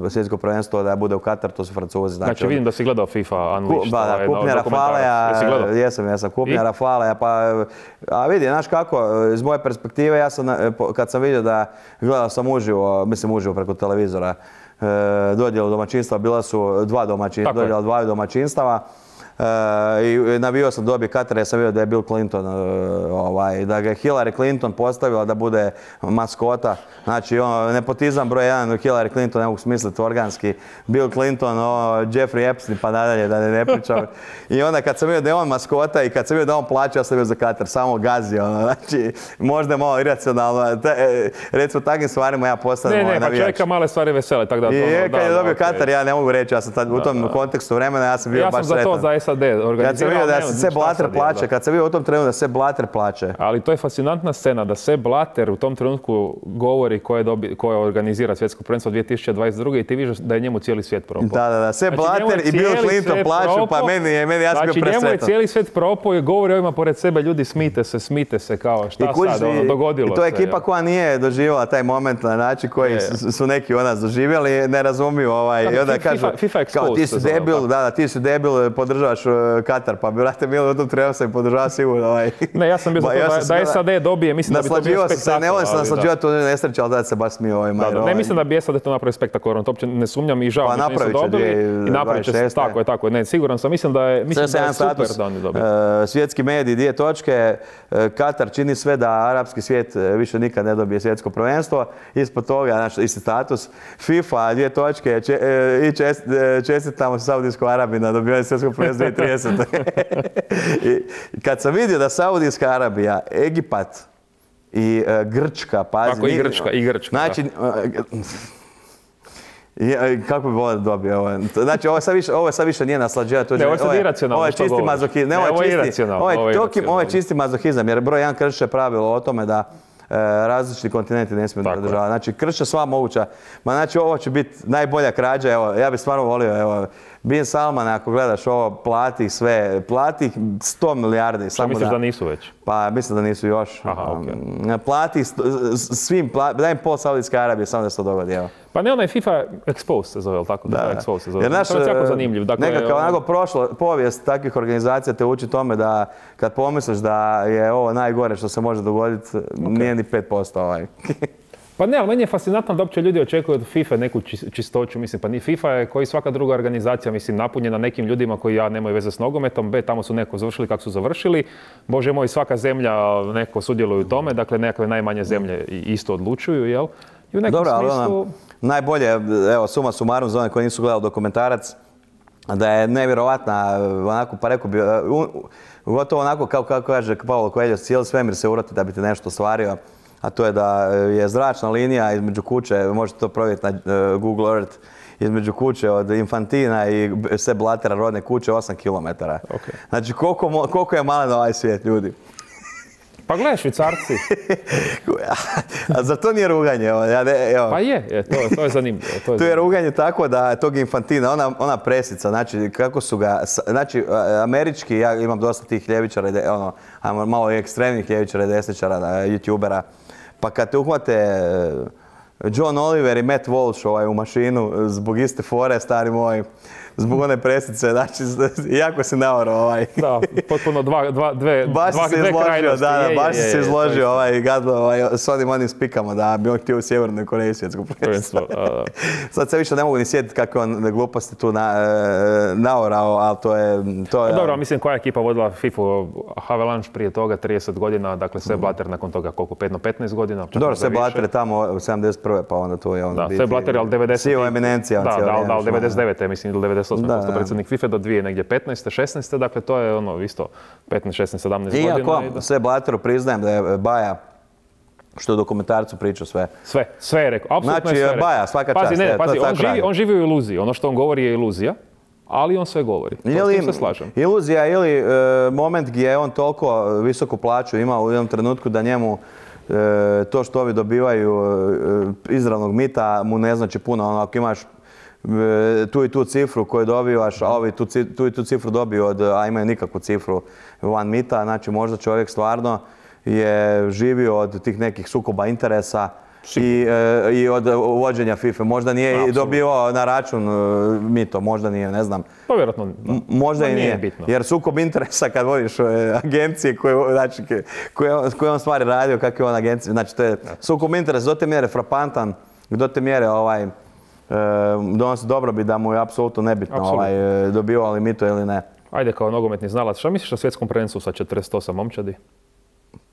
svjetsko prvenstvo da bude u Katar, to su Francuzi. Znači, znači vidim da si gledao FIFA Unleashed. Ba, da, kupnja Rafaleja, jesam, jesam, kupnja Rafaleja, pa, a vidi, znaš kako, iz moje perspektive, ja sam, kad sam vidio da gledao sam uživo, mislim uživo preko televizora, e, dodjelu domaćinstva, bila su dva domaćinstva, dodjela dvaju domaćinstava. Uh, i navio sam dobije Katar, ja sam vidio da je Bill Clinton, uh, ovaj, da ga je Hillary Clinton postavila da bude maskota. Znači, on, nepotizam broj jedan, Hillary Clinton, ne mogu smisliti organski, Bill Clinton, o, Jeffrey Epstein, pa nadalje, da ne, ne pričam. I onda kad sam vidio da je on maskota i kad sam vidio da on plaća, ja sam bio za Katar, samo gazio. Ono, znači, možda je malo iracionalno, te, recimo takvim stvarima ja postanem ovaj navijač. Ne, ne, pa čovjeka male stvari vesele, tako da... I to, kad da, je dobio da, Katar, okay. ja ne mogu reći, ja sam tad, u tom da, da. kontekstu vremena, ja sam bio ja baš sam sretan. Za to, za S A D Kad sam vidio da se Sepp Blatter plaće, kad sam vidio u tom trenutku da Sepp Blatter plaće. Ali to je fascinantna scena da Sepp Blatter u tom trenutku govori ko je, dobi, ko je organizira svjetsko prvenstvo dvije tisuće dvadeset druge i ti vidiš da je njemu cijeli svijet propao. Da, da, da. Sepp znači, Blatter i Bill Clinton plaću, pa meni je, meni ja sam znači, bio presretan. Njemu je cijeli svijet propao i govori ovima pored sebe, ljudi smite se, smite se, kao šta kuži, sad, ono, dogodilo se. I to je ekipa ja. koja nije doživjela taj moment na način koji je. su neki od nas doživjeli, ne razumiju ovaj. Kako, i onda FIFA, kažu, FIFA kao ti si debil, da, da, ti si debil, podržavaš uh, Katar, pa brate mili, u tom treba sam i podržava sigurno. Ovaj. Ne, ja sam bio za to da, da S A D dobije, mislim da bi to bio spektakl. Ne volim se naslađivati u nesreći, ali da se baš smio ovaj Majer. Ne mislim da bi S A D to napravio spektakularno, to uopće ne sumnjam i žao pa, što nisu dobili. I napravit će se, tako je, tako je. Ne, siguran sam, mislim da je, mislim da je super da oni dobiju. Uh, svjetski mediji, dvije točke, uh, Katar čini sve da arapski svijet više nikad ne dobije svjetsko prvenstvo. Ispod toga, znači, isti status. FIFA, dvije točke, če, uh, i čest, uh, čestitamo Saudijskoj Arabiji na dobivanje svjetskog prvenstva dvije tisuće tridesete. I kad sam vidio da Saudijska Arabija, Egipat i uh, Grčka, pazi... Tako i Grčka, i Grčka. Znači, uh, I, kako bi volio da dobio ovo? Znači, ovo sad više, ovo sad više nije naslađivati. Ne, ovo je sad iracionalno. Ovo je čisti mazohizam. Ne, ovo je iracionalno. Ovo je, tokim, ovo je čisti mazohizam, jer broj jedan krše pravilo o tome da e, različiti kontinenti ne smiju državati. Znači, krše sva moguća. Ma znači, ovo će biti najbolja krađa. Evo, ja bih stvarno volio, evo, Bin Salman, ako gledaš ovo, plati sve, plati sto milijardi. Što misliš da, da nisu već? Pa mislim da nisu još. Aha, okay. Plati svim, plati, daj im pol Saudijske Arabije, samo da se to dogodi, evo. Pa ne, onaj FIFA Expose se zove, tako? Da, da. Expose se zove. Jer naš, to je jako zanimljiv. Dakle, nekako onako prošlo, povijest takvih organizacija te uči tome da kad pomisliš da je ovo najgore što se može dogoditi, okay. nije ni pet posto ovaj. Pa ne, ali meni je fascinantno da uopće ljudi očekuju od FIFA neku čistoću, mislim, pa ni FIFA je koji svaka druga organizacija, mislim, napunjena nekim ljudima koji ja nemaju veze s nogometom, B, tamo su neko završili kako su završili, Bože moj, svaka zemlja neko sudjeluje u tome, dakle nekakve najmanje zemlje isto odlučuju, jel? I u nekom Dobro, smislu... ali ona, najbolje, evo, suma sumarum za one koji nisu gledali dokumentarac, da je nevjerovatna, onako, pa rekao bi, gotovo onako kao, kako kaže Paulo Coelho, cijeli svemir se uroti da bi ti nešto ostvario. A to je da je zračna linija između kuće, možete to provjeriti na Google Earth, između kuće od Infantina i Sepp Blattera rodne kuće osam kilometara. Okay. Znači koliko, koliko je malen ovaj svijet, ljudi. Pa gledaj, Švicarci. A za to nije ruganje. Ja ne, evo. Pa je, je, to, to je zanimljivo. To je, to je ruganje tako da tog Infantina, ona, ona presica, znači kako su ga, znači američki, ja imam dosta tih ljevičara, ono, ajmo malo ekstremnih ljevičara i desničara, youtubera, pa kad te uhvate John Oliver i Matt Walsh ovaj, u mašinu zbog iste fore, stari moj, zbog one presice, znači, jako si naorao ovaj. Da, potpuno dva, dva, dve, baš dva, se dve izložio, krajnosti. da, da, je, baš je, je, se je, izložio ovaj gadlo ovaj, s onim onim spikama da bi on htio u Sjevernoj Koreji svjetsko prvenstvo. Sad se više ne mogu ni sjetiti kakve on gluposti tu na, naorao, ali to je... To je dobro, mislim koja je ekipa vodila FIFA Havelange prije toga, trideset godina, dakle Sepp Blatter nakon toga koliko, petnaest godina? Dobro, Sepp Blatter je tamo u sedamdeset prve pa onda tu je on da, biti... Sepp Blatter je ali devedeset... Sio eminencija. Da, da, da, ali devedeset devete mislim, ili devedeset osme postao predsjednik FIFA do dvije negdje petnaeste, šesnaeste dakle to je ono isto petnaest, šesnaest, sedamnaest godina. Iako da... Sepp Blatteru priznajem da je Baja, što je u dokumentarcu pričao sve. Sve, sve je rekao, apsolutno znači, je sve rekao. Baja, svaka pazi, čast. Ne, je, pazi, on živi, radi. on živi u iluziji, ono što on govori je iluzija, ali on sve govori. To ili, s tim se slažem. Iluzija ili e, moment gdje je on toliko visoku plaću imao u jednom trenutku da njemu e, to što ovi dobivaju e, izravnog mita mu ne znači puno. Ono, ako imaš tu i tu cifru koju dobivaš, a ovi tu, tu i tu cifru dobiju od, a imaju nikakvu cifru van mita, znači možda čovjek stvarno je živio od tih nekih sukoba interesa i, e, i od uvođenja FIFA. Možda nije i dobio na račun e, mito, možda nije, ne znam. Pa vjerojatno. Možda i nije, bitno. Jer sukob interesa kad vodiš e, agencije koje, znači, koje, koje on stvari radio, kakve on agencije, znači to je sukob interesa do te mjere frapantan, do te mjere ovaj, e, donosi dobrobit da mu je apsolutno nebitno ovaj, dobio li mito ili ne. Ajde kao nogometni znalac, šta misliš o svjetskom prvenstvu sa četrdeset osam momčadi?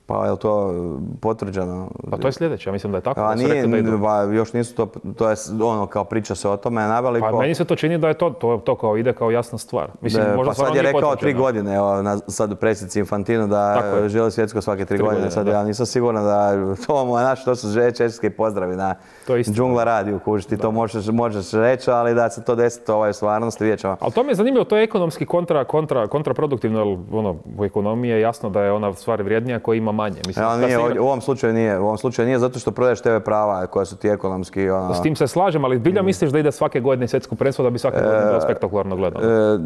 Pa je li to potvrđeno? Pa to je sljedeće, ja mislim da je tako. A da nije, da idu. ba, još nisu to, to je ono kao priča se o tome naveliko. Pa meni se to čini da je to, to, to kao ide kao jasna stvar. Mislim, de, možda pa sad je rekao potvrđeno. tri godine, evo, na, sad u predsjednici Infantinu da želi svjetsko svake tri, tri godine. godine. Sad da. Ja nisam siguran da to mu je naš, to su češki pozdravi na Džungla radiju, kužiš ti to možeš, možeš reći, ali da se to desi ovaj, u stvarnosti, vidjet ćemo. Ali to mi je zanimljivo, to je ekonomski kontra, kontra, kontraproduktivno, jer ono, u ekonomiji je jasno da je ona stvar vrijednija koja ima manje. Mislim, ja, nije, igra... u, ovom slučaju nije, u ovom slučaju nije zato što prodaješ te ve prava koja su ti ekonomski... Ono... S tim se slažem, ali zbilja misliš da ide svake godine svjetsko prvenstvo da bi svake godine bilo spektakularno gledano? E,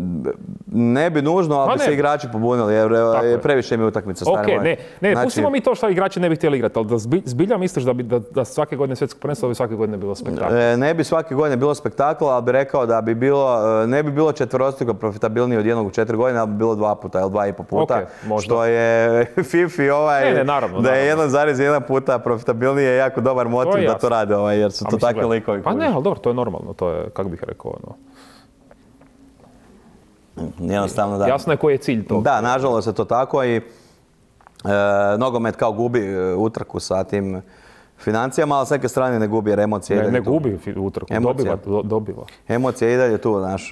ne bi nužno, ali bi se igrači pobunili, jer je previše mi utakmica. Ok, ne, ne, ne znači... pustimo mi to što igrači ne bi htjeli igrati, ali da zbilja misliš da bi da, da svake godine svjetsko prvenstvo da bi svake godine bilo spektakl? E, ne bi svake godine bilo spektakl, ali bi rekao da bi bilo, ne bi bilo četverostruko profitabilnije od jednog u četiri godine, ali bi bilo dva puta ili dva i po puta, okay, što je FIFA ovaj, ne, ne, naravno, da je jedan zarez jedan puta profitabilnije je jako dobar motiv da to rade, ovaj, jer su to takvi likovi. Pa ne, ali dobro, to je normalno, to je, kako bih rekao, ono... Jednostavno da. Jasno je koji je cilj toga. Da, nažalost je to tako i e, nogomet kao gubi utrku sa tim financijama, ali s neke strane ne gubi jer emocije... Ne, ne gubi utrku, dobiva, do, dobiva. Emocije i dalje tu, znaš,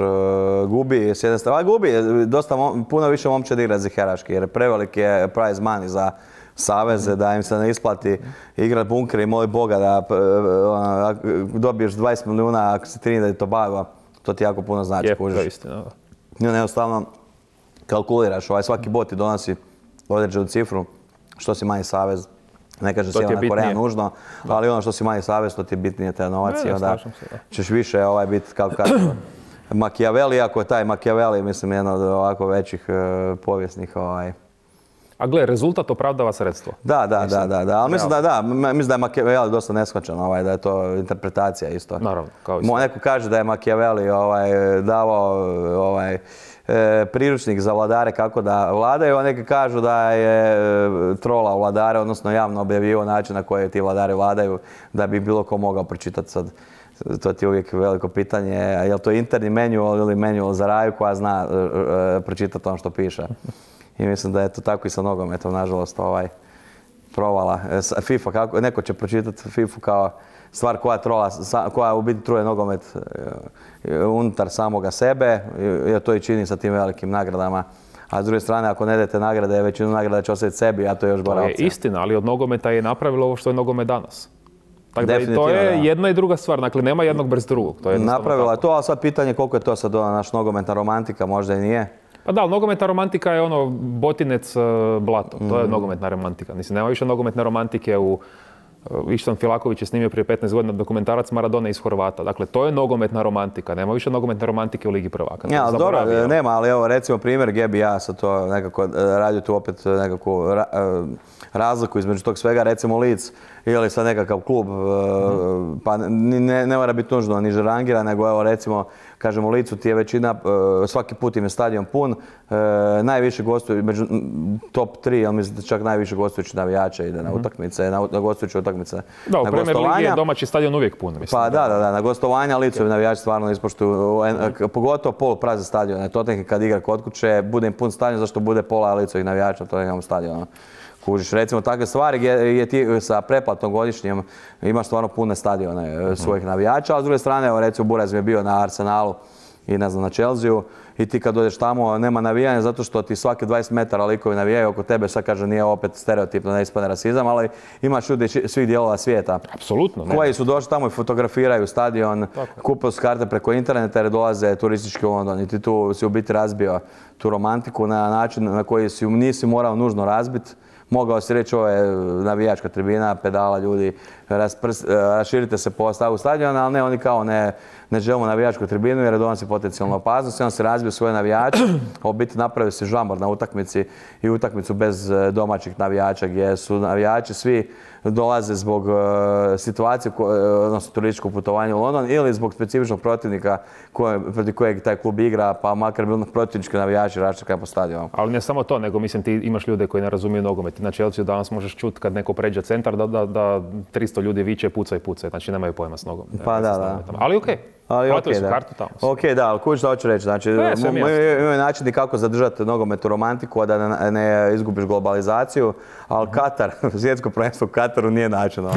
gubi s jedne strane, ali gubi, dosta, puno više momčadi igra ziheraški jer prevelik je prize money za saveze, da im se ne isplati igrati bunker i moli Boga da ona, dobiješ dvadeset milijuna ako si Trinidad i Tobago, to ti jako puno znači. Je, to je istina, da. Jednostavno kalkuliraš, ovaj, svaki bot ti donosi određenu cifru, što si manji savez. Ne kaže Sjeverna Koreja nužno, ali ono što si manji savez, to ti je bitnije te novacije, onda ćeš više ovaj, biti, kako kažem, Machiavelli, ako je taj Machiavelli, mislim, jedan od ovako većih uh, povijesnih ovaj, A gle, rezultat opravdava sredstvo. Da, da, mislim, da, da, da. Ali mislim da, da, mislim da je Machiavelli dosta neshvaćan, ovaj, da je to interpretacija isto. Naravno, kao isto. Neko kaže da je Machiavelli ovaj, davao ovaj, e, priručnik za vladare kako da vladaju, a neki kažu da je e, trola vladare, odnosno javno objavio način na koji ti vladari vladaju, da bi bilo ko mogao pročitati sad. To ti je uvijek veliko pitanje, je li to interni manual ili manual za raju koja zna e, e, pročitati ono što piše. I mislim da je to tako i sa nogometom, nažalost, ovaj, provala. FIFA, kako, neko će pročitati FIFA kao stvar koja trola, koja u biti truje nogomet unutar samoga sebe, jer to i čini sa tim velikim nagradama. A s druge strane, ako ne dete nagrade, većinu nagrada će ostaviti sebi, a to je još gora opcija. To je istina, ali od nogometa je napravilo ovo što je nogomet danas. Tako da to je da. Jedna i druga stvar, dakle nema jednog bez drugog. To je napravila je to, ali sad pitanje koliko je to sad ona naš nogometna romantika, možda i nije. Pa da, ali nogometna romantika je ono Botinec, Blato. To je nogometna romantika. Mislim, nema više nogometne romantike u... Ištan Filaković je snimio prije petnaest godina dokumentarac Maradona iz Horvata. Dakle, to je nogometna romantika. Nema više nogometne romantike u Ligi prvaka. Ja, ali dobro, nema, ali evo recimo primjer gdje bi ja sad to nekako radio tu opet nekakvu razliku između tog svega, recimo Leeds ili sad nekakav klub, pa ne, ne mora biti nužno niže rangira, nego evo recimo, kažemo u Leedsu ti je većina, svaki put im je stadion pun, najviše gostuju, među top tri, ali mislim da čak najviše gostujući navijača ide na utakmice, na gostujuće utakmice. Da, u Premier Ligi je domaći stadion uvijek pun, mislim. Pa da, da, da, na gostovanja Leedsovi navijači stvarno ispoštuju, pogotovo polu prazne stadione. Tottenham kad igra kod kuće, bude im pun stadion, zašto bude pola Leedsovih navijača na Tottenhamu stadionu. Kužiš, recimo takve stvari gdje ti sa pretplatom godišnjim imaš stvarno pune stadione svojih navijača, a s druge strane, evo recimo Buraz mi je bio na Arsenalu i ne znam, na Chelsea-u i ti kad dođeš tamo nema navijanja zato što ti svaki dvadeset metara likovi navijaju oko tebe, sad kaže nije opet stereotipno, ne ispadne rasizam, ali imaš ljudi svih dijelova svijeta. Apsolutno. Koji su došli tamo i fotografiraju stadion, kupuju su karte preko interneta jer dolaze turistički u London i ti tu si u biti razbio tu romantiku na način na koji si nisi morao nužno razbiti. Mogao si reći ovo je navijačka tribina, pedala ljudi, raširite se po stavu stadiona, ali ne, oni kao ne, ne želimo navijačku tribinu jer donosi potencijalnu opasnost i on se razbio svoje navijače, a u biti napravio se žambor na utakmici i utakmicu bez domaćih navijača gdje su navijači svi dolaze zbog uh, situacije, uh, odnosno turističkog putovanja u London ili zbog specifičnog protivnika koje, protiv kojeg taj klub igra, pa makar bil protivnički navijači raščekaju po stadionu. Ali ne samo to, nego mislim ti imaš ljude koji ne razumiju nogomet. Na Chelsea danas možeš čuti kad neko pređe centar da, da, da tristo ljudi viče, puca i puca, znači nemaju pojma s nogom. Pa da, da. Ali okej. Okay. Ali platili okay, su da. kartu tamo. Ok, da, ali kuć što hoću reći. Znači, imaju načini kako zadržati nogometnu romantiku, a da ne, ne izgubiš globalizaciju, ali Katar, svjetsko prvenstvo u Kataru nije način.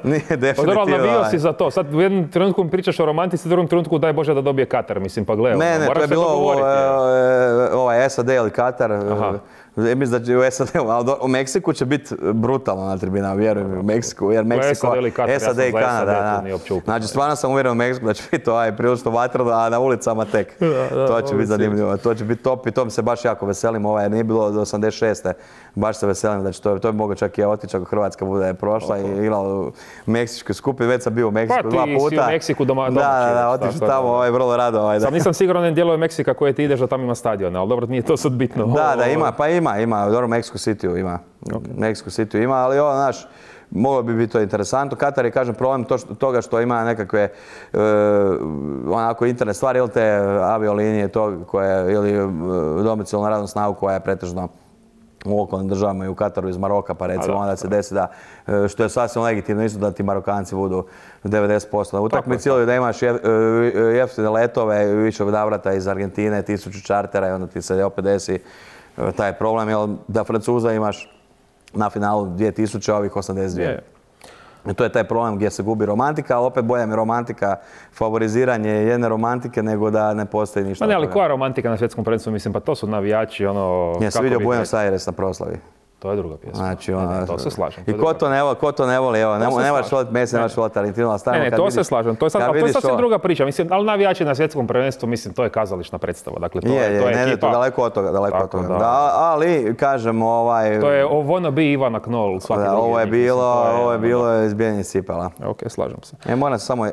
Nije definitivno. Pa dobro, navio si za to. Sad u jednom trenutku mi pričaš o romantici, u drugom trenutku daj Bože da dobije Katar. Mislim, pa gledaj. Ne, ne, to je bilo ovaj S A D ili Katar. Mislim da će u S A D-u, ali u Meksiku će biti brutalno na tribinama, vjerujem u Meksiku, jer Meksiko, S A D i Kanada. Znači, stvarno sam uvjeren u Meksiku da će biti ovaj prilično vatrano, a na ulicama tek. To će biti zanimljivo, to će biti top i tom se baš jako veselim, ovaj, nije bilo do osamdeset šeste Baš se veselim da će to, to bi moglo čak i otići ako Hrvatska bude prošla i igrala u meksičkoj skupini, već sam bio u Meksiku dva puta. Pa ti si u Meksiku doma, domaći. Da, da, da, otići tamo, ovaj, vrlo rado. Ovaj, Sam nisam siguran na dijelove Meksika koje ti ideš da tamo ima stadione, ali dobro, nije to sad bitno. Da, da, ima, pa ima, ima, dobro, Mexico City ima. Okay. Mexico City ima, ali ovo, znaš, moglo bi biti to interesantno. Katar je, kažem, problem to što, toga što ima nekakve uh, onako interne stvari ili te aviolinije to koje, ili uh, domicilnu radnu snagu koja je pretežno u okolnim državama i u Kataru iz Maroka, pa recimo onda se desi da, što je sasvim legitimno isto da ti Marokanci budu devedeset posto na utakmici ili da imaš jeftine letove više navrata iz Argentine, tisuću čartera i onda ti se opet desi taj problem, jer da Francuza imaš na finalu dvije tisuće, ovih osamdeset dvije. I to je taj problem gdje se gubi romantika, ali opet bolja mi romantika, favoriziranje jedne romantike nego da ne postoji ništa. Ma ne, ali koja romantika na svjetskom prvenstvu, mislim, pa to su navijači, ono... Ja sam vidio Buenos Aires na proslavi. To je druga pjesma. Znači, ono, ne, ne, to se slažem. I ko to ne voli, ko to ne voli, evo, ne, ne moraš voliti Messi, ne moraš voliti Argentinu, ali stavimo ne, ne, kad to vidiš, se slažem, to je, sad, ali to je sasvim ovo... druga priča, mislim, ali navijači na svjetskom prvenstvu, mislim, to je kazališna predstava, dakle, to je, je, to je ne, ekipa. Ne, to daleko od toga, daleko Tako, od toga. Da. Da, ali, kažem, ovaj... To je wanna be Ivana Knoll, svaki da, drugi. Ovo je bilo, mislim, je, ovo je bilo izbijanje cipela. Ok, slažem se. E, moram samo...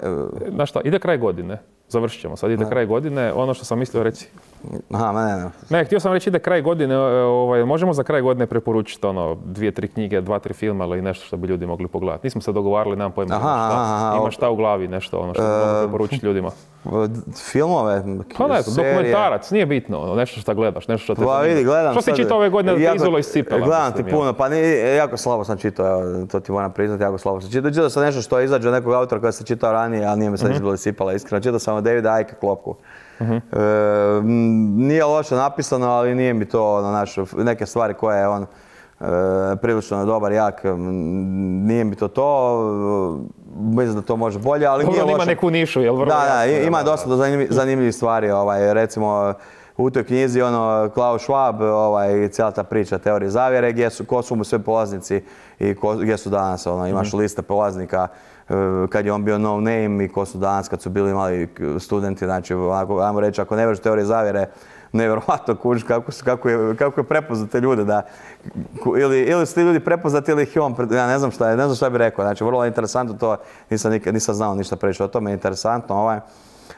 Znaš šta, ide kraj godine. Završit ćemo, sad ide kraj godine, ono što sam mislio reći. Aha, ne, ne. Ne, htio sam reći ide kraj godine, ovaj, možemo za kraj godine preporučiti ono, dvije, tri knjige, dva, tri filma ili nešto što bi ljudi mogli pogledati. Nismo se dogovarali, nemam pojma. Aha, šta. Aha, Imaš šta u glavi, nešto ono što bi mogli preporučiti ljudima. Filmove, pa ne, dokumentarac, nije bitno, ono, nešto što gledaš, nešto što te zanima. Vidi, gledam što si čitao ove godine da te izulo iz cipela? Gledam ti puno, pa nije, jako slabo sam čitao, to ti moram priznati, jako slabo sam čitao. Čitao sam nešto što je izađe od nekog autora koja sam čitao ranije, ali nije me sad izbilo iz cipela, iskreno. Čitao sam od Davida Icke Klopku. Uh-huh. E, nije loše napisano, ali nije mi to ono, naš, neke stvari koje je on e, prilično dobar, jak, nije mi to to. Mislim da to može bolje, ali dobro, nije loše. Ima neku nišu, jel vrlo Da, da, jasno, ima da, dosta da. zanimljivih, zanimljivih stvari, ovaj, recimo u toj knjizi ono, Klaus Schwab, ovaj, cijela ta priča teorije zavjere, gdje su, ko su mu sve polaznici i ko, gdje su danas, ono, imaš mm-hmm. liste polaznika kad je on bio no name i ko su danas kad su bili mali studenti, znači, ako, ajmo reći, ako ne vjeruješ teorije zavjere, nevjerojatno kužiš kako, kako, je, kako je prepoznat te ljude. Da, ili, ili su ti ljudi prepoznati ili ih je on, ja ne znam šta, ne znam šta bi rekao. Znači, vrlo interesantno to, nisam, nikad, nisam znao ništa preći o tome, interesantno. Ovaj.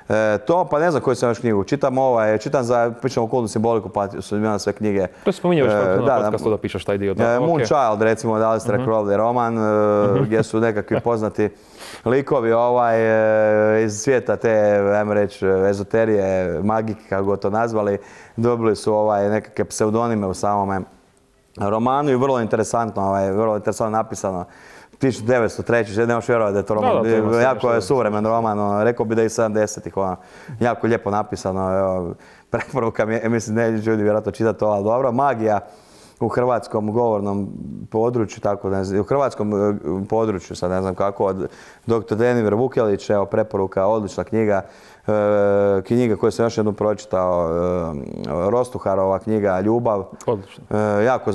E, to, pa ne znam koju sam još knjigu. Čitam ovaj, čitam za, pričam o kultnu simboliku, pa su imena sve knjige. To si spominjao još e, na podcastu da pišeš taj dio. Da, e, okay. Moonchild, recimo, da li ste uh-huh. Crowley roman, uh-huh. gdje su nekakvi poznati likovi ovaj, e, iz svijeta te, ajmo reći, ezoterije, magike, kako go to nazvali, dobili su ovaj, nekakve pseudonime u samome romanu i vrlo interesantno, ovaj, vrlo interesantno napisano. tisuću devetsto treći. ne možeš vjerovati da je to roman, da, da, to jako je suvremen roman, ono, rekao bi da je iz sedamdesetih, ono, jako lijepo napisano, evo, preporuka mi je, mislim, ne ljudi vjerojatno čitati to, ali dobro, magija u hrvatskom govornom području, tako ne znam, u hrvatskom području, sad ne znam kako, od doktor Denimir Vukelić, evo, preporuka, odlična knjiga, e, knjiga koju sam još jednu pročitao, e, Rostuharova knjiga Ljubav. Odlično. E, jako,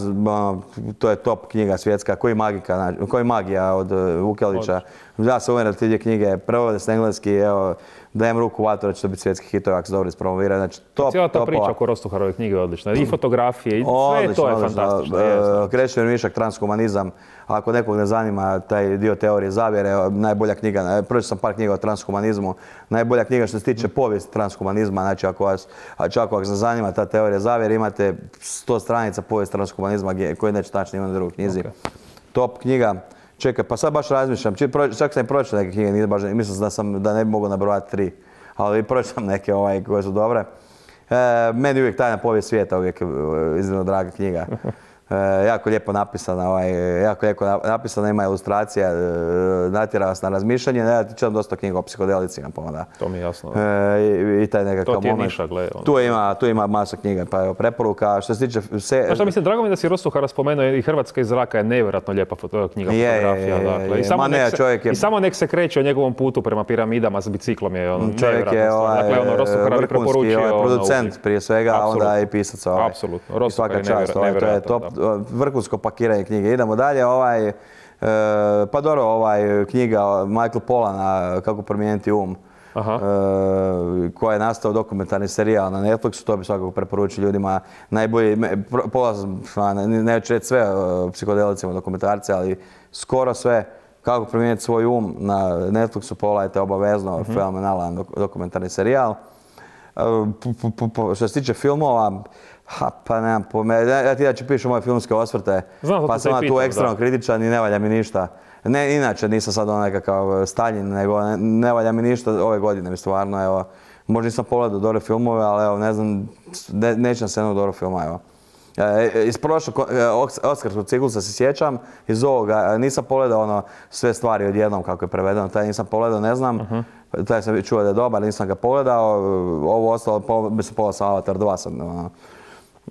to je top knjiga svjetska, koji, magika, koji magija od Vukelića. Ja sam uvjeren da ti knjige prevode s engleski, evo, dajem ruku vatru da će to biti svjetski hitovi ako se dobro ispromoviraju. Znači, top, cijela ta topova. priča oko Rostuharove knjige je odlična. I fotografije, i sve to je fantastično. E, Krešimir Višak, transhumanizam. Ako nekog ne zanima taj dio teorije zavjere, najbolja knjiga, pročitao sam par knjiga o transhumanizmu, najbolja knjiga što se tiče povijesti transhumanizma, znači ako vas, čak ako se zanima ta teorija zavjere, imate sto stranica povijest transhumanizma koje neće tačno imati u drugoj knjizi. Okay. Top knjiga. Čekaj, pa sad baš razmišljam, čak sam i pročitao neke knjige, nije baš, mislim da, sam, da ne bi mogao nabrojati tri, ali pročitam neke ovaj, koje su dobre. E, meni uvijek Tajna povijest svijeta, uvijek iznimno draga knjiga. E, jako lijepo napisana, ovaj, jako lijepo napisana, ima ilustracija, e, natjera vas na razmišljanje. Ja ti čitam dosta knjiga o psihodelicima, pa onda. To mi je jasno. E, i, i taj nekakav to ti je moment. niša, gle, tu, ima, tu ima masa knjiga, pa evo, preporuka. Što se tiče... Se... Pa što mislim, drago mi da si Rostuhara spomenuo, i Hrvatska iz zraka je nevjerojatno lijepa foto, knjiga, je, fotografija. Je, je, dakle. I, je. samo Ma ne, se, čovjek je... I samo nek se kreće o njegovom putu prema piramidama s biciklom je on čovjek je ovaj, dakle, ono, Rostuhara bi preporučio. Ovaj, producent ono, prije svega, a onda i pisac. Ovaj. Apsolutno. Rostuhara je čast, ovaj, to je top, vrhunsko pakiranje knjige. Idemo dalje, ovaj, e, pa dobro, ovaj, knjiga Michael Pollana, Kako promijeniti um, e, koja je nastao dokumentarni serijal na Netflixu, to bi svakako preporučio ljudima. Najbolji, pola, neću reći sve o psihodelicima dokumentarce, ali skoro sve. Kako promijeniti svoj um na Netflixu, pogledajte obavezno, mm-hmm. fenomenalan dok, dokumentarni serijal. E, p, p, p, što se tiče filmova, ha, pa nemam pojma. Ja ti da ću pišu moje filmske osvrte, znam, pa sam tu ekstremno kritičan i ne valja mi ništa. Ne, inače nisam sad ono nekakav Stalin, nego ne, ne valja mi ništa ove godine mi stvarno, evo. Možda nisam pogledao dobre filmove, ali evo, ne znam, ne, nećem se jednog dobro filma, evo. E, iz prošlog oskarskog ciklusa se sjećam, iz ovoga nisam pogledao ono sve stvari odjednom kako je prevedeno, taj nisam pogledao, ne znam. Uh-huh. Taj sam čuo da je dobar, nisam ga pogledao, ovo ostalo, mislim pogledao sam Avatar dva sam, ono.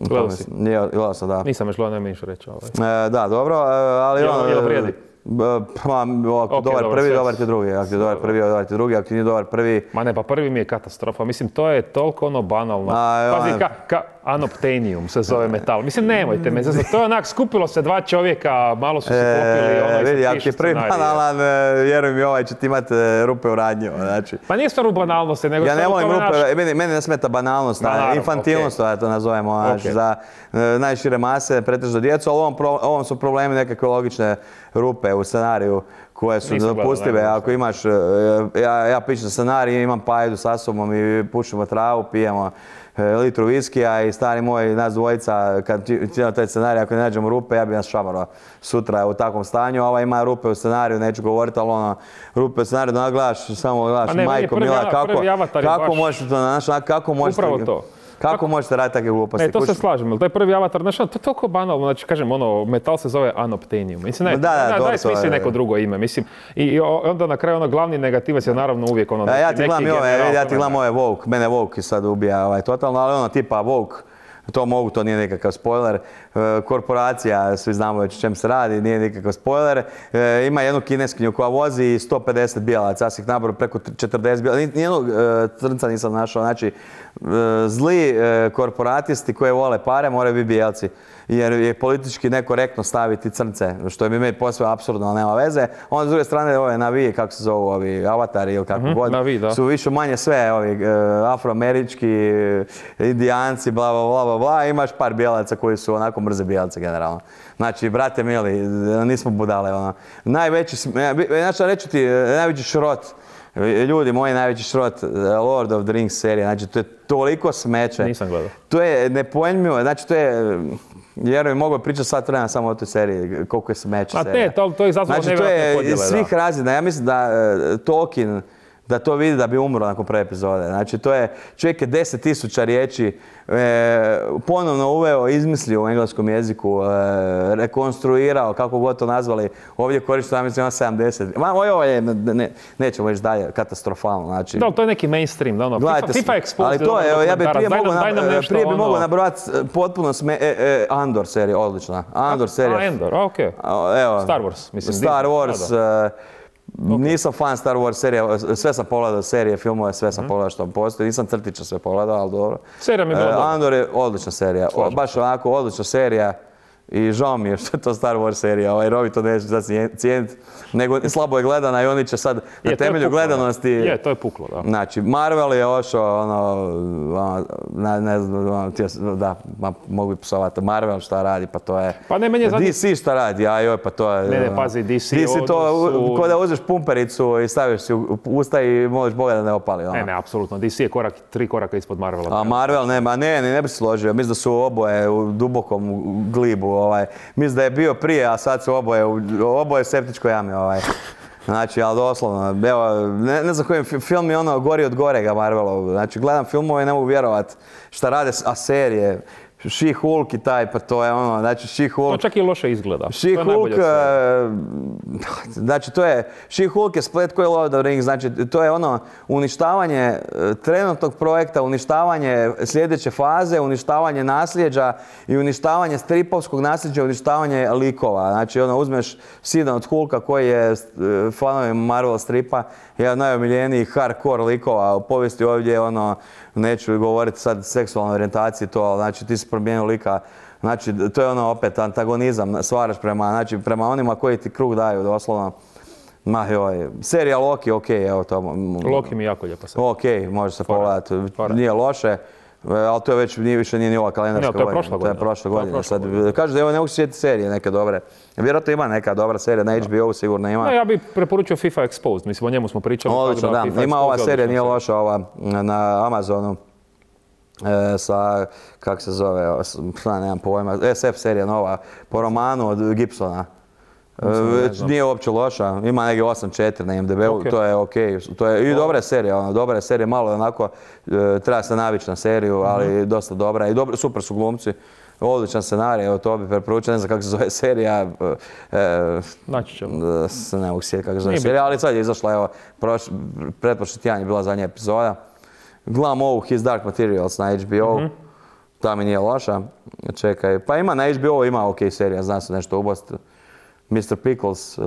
Gledao si? Nije, gledao sam, da. Nisam još gledao, nema ništa reći. Ovaj. E, da, dobro, ali jel, ono... Jel vrijedi? Pa, ako okay, dobar dobro, prvi, dobar ti drugi. Ako ti dobar prvi, dobar ti drugi. Ako ti nije dobar prvi... Ma ne, pa prvi mi je katastrofa. Mislim, to je toliko ono banalno. A, pazi, ka, ka Anoptenium se zove metal. Mislim, nemojte me. To je onak, skupilo se dva čovjeka, malo su se popili. Ono, e, vidi, ako je prvi banalan, vjeruj mi, ovaj će ti imati rupe u radnju. Znači. Pa nije stvar u banalnosti, nego... Ja ne volim rupe, naš... meni, meni ne smeta banalnost, na, naravno, infantilnost, okay. to nazovemo, okay. Znači, za uh, najšire mase, pretežno djecu, ali ovom, pro, ovom su problemi nekakve logične rupe u scenariju koje su dopustive. Ako imaš, ja, ja pišem scenarij, imam pajdu sa sobom i pušimo travu, pijemo litru viskija i stari moj, nas dvojica, kad čitamo taj scenarij, ako ne nađemo rupe, ja bi nas šamaro sutra u takvom stanju. Ova ima rupe u scenariju, neću govoriti, ali ono, rupe u scenariju, da gledaš, samo gledaš, ne, majko, prvi, mila, kako, kako baš... možete to, znaš, kako možete... Upravo to. Kako, Kako možete raditi takve gluposti? E, to se slažem, ali taj prvi Avatar, znaš, to je toliko banalno, znači, kažem, ono, metal se zove Anoptenium. Mislim, ne, da, da, da, daj smisli neko drugo ime, mislim. I, i onda na kraju, ono, glavni negativac je naravno uvijek ono... Ja, ja ti gledam ove, ja ti gledam ove Woke, mene Woke sad ubija ovaj, totalno, ali ono, tipa Woke, to mogu, to nije nekakav spoiler. Korporacija, svi znamo već o čem se radi, nije nikakav spoiler. Ima jednu kineskinju koja vozi sto pedeset bijelaca, ja sam ih nabrao preko četrdeset bijelaca. Nijednog crnca nisam našao, znači zli korporatisti koji vole pare moraju biti bijelci. jer je politički nekorektno staviti crnce, što je mi meni posve apsurdno, nema veze. Onda s druge strane ove navije, kako se zovu ovi avatari ili kako god, Navi, da. su više manje sve ovi afroamerički, indijanci, bla bla bla bla bla, imaš par bijelaca koji su onako mrze bijelaca generalno. Znači, brate mili, nismo budale, ono. Najveći, znači reći ti, najveći šrot, ljudi moji, najveći šrot, Lord of the Rings serija, znači to je toliko smeće. Nisam gledao. To je nepojmljivo, znači to je, vjeruj, mogu pričati sat vremena samo o toj seriji, koliko je smeće serija. A ne, to, to je izazvalo znači, nevjerojatne podjele, da. Znači to je iz svih razina, ja mislim da uh, Tolkien, da to vidi da bi umro nakon prve epizode. Znači to je, čovjek je deset tisuća riječi e, ponovno uveo, izmislio u engleskom jeziku, e, rekonstruirao, kako god to nazvali, ovdje korišteno, ja mislim, sedamdeset. Ma, ovo je, ne, nećemo reći dalje, katastrofalno. Znači, da, to je neki mainstream, da ono, gledajte, FIFA, FIFA Exposed. ali to je, ja bih prije mogu prije bi ono... mogu nabrojati potpuno sme, e, e, Andor serija, odlična. Andor serija. A, Andor, okej. Okay. Evo, Star Wars, mislim. Star Wars, da, da. Okay. Nisam fan Star Wars serija, sve sam pogledao serije, filmove, sve sam mm. pogledao što postoji. Nisam crtića sve pogledao, ali dobro. Serija mi je bila dobra. Andor je odlična serija, o, baš onako odlična serija. I žao mi je što je to Star Wars serija, ovaj Rovi to neće da cijeniti, nego slabo je gledana i oni će sad na je, temelju puklo, gledanosti... Je, to je puklo, da. Znači, Marvel je ošao, ono, ne, ne znam, ono, da, ma, mogu bi psovati, Marvel šta radi, pa to je... Pa ne, meni je zadnji... D C šta radi, a joj, pa to je... Ne, ne, pazi, D C... D C to, su... ko da uzeš pumpericu i staviš si u usta i možeš Boga da ne opali, ono. Ne, ne, apsolutno, D C je korak, tri koraka ispod Marvela. A Marvel, ne, ma ne, ne, ne bi se složio, mislim da su oboje u dubokom glibu, ovaj, mislim da je bio prije, a sad su oboje, oboje u septičkoj jami, ovaj. Znači, ali doslovno, evo, ne, ne znam kojim film je ono gori od gorega Marvelov. Znači, gledam filmove i ne mogu vjerovat šta rade, a serije. She-Hulk i taj, pa to je ono, znači She-Hulk... To čak i loše izgleda. She-Hulk, znači to je, She-Hulk je splet koji je Lord of the Rings, znači to je ono uništavanje trenutnog projekta, uništavanje sljedeće faze, uništavanje nasljeđa i uništavanje stripovskog nasljeđa, uništavanje likova. Znači ono, uzmeš sina od Hulka koji je fanovi Marvel stripa, jedan od najomiljenijih hardcore likova u povijesti ovdje, ono, neću govoriti sad seksualnoj orijentaciji to, znači ti si promijenio lika, znači to je ono opet antagonizam, stvaraš prema, znači, prema onima koji ti krug daju doslovno. Ma joj, serija Loki, ok, evo to. Loki mi je jako lijepa serija. Ok, može se pogledati, nije loše. Ali to je već, nije više, nije ni ova kalendarska godina. To je prošla godina. To je prošla godina. Sad, kažu da evo ne mogu se sjetiti serije neke dobre. Vjerojatno ima neka dobra serija, na H B O sigurno ima. No, ja bih preporučio FIFA Exposed, mislim o njemu smo pričali. Odlično, da. da. Ima ova serija, nije loša, ova na Amazonu. E, sa, kako se zove, šta nemam pojma, S F serija nova, po romanu od Gibsona. E, nije uopće loša, ima negdje osam četiri na I M D B-u, okay. To je okej. Okay. To je i dobra serija, ono, dobra serija, malo onako, e, treba se navići na seriju, ali mm-hmm. dosta dobra i dobro, super su glumci. Odličan scenarij, evo to bi preporučio, ne znam kako se zove serija. E, Naći ćemo. Da, ne mogu sjetiti kako se zove serija, ali sad je izašla, evo, pretprošli tjedan je bila zadnja epizoda. Gledam ovu His Dark Materials na H B O, mm-hmm. ta mi nije loša, čekaj, pa ima na H B O, ima ok serija, zna se nešto ubost. mister Pickles, uh,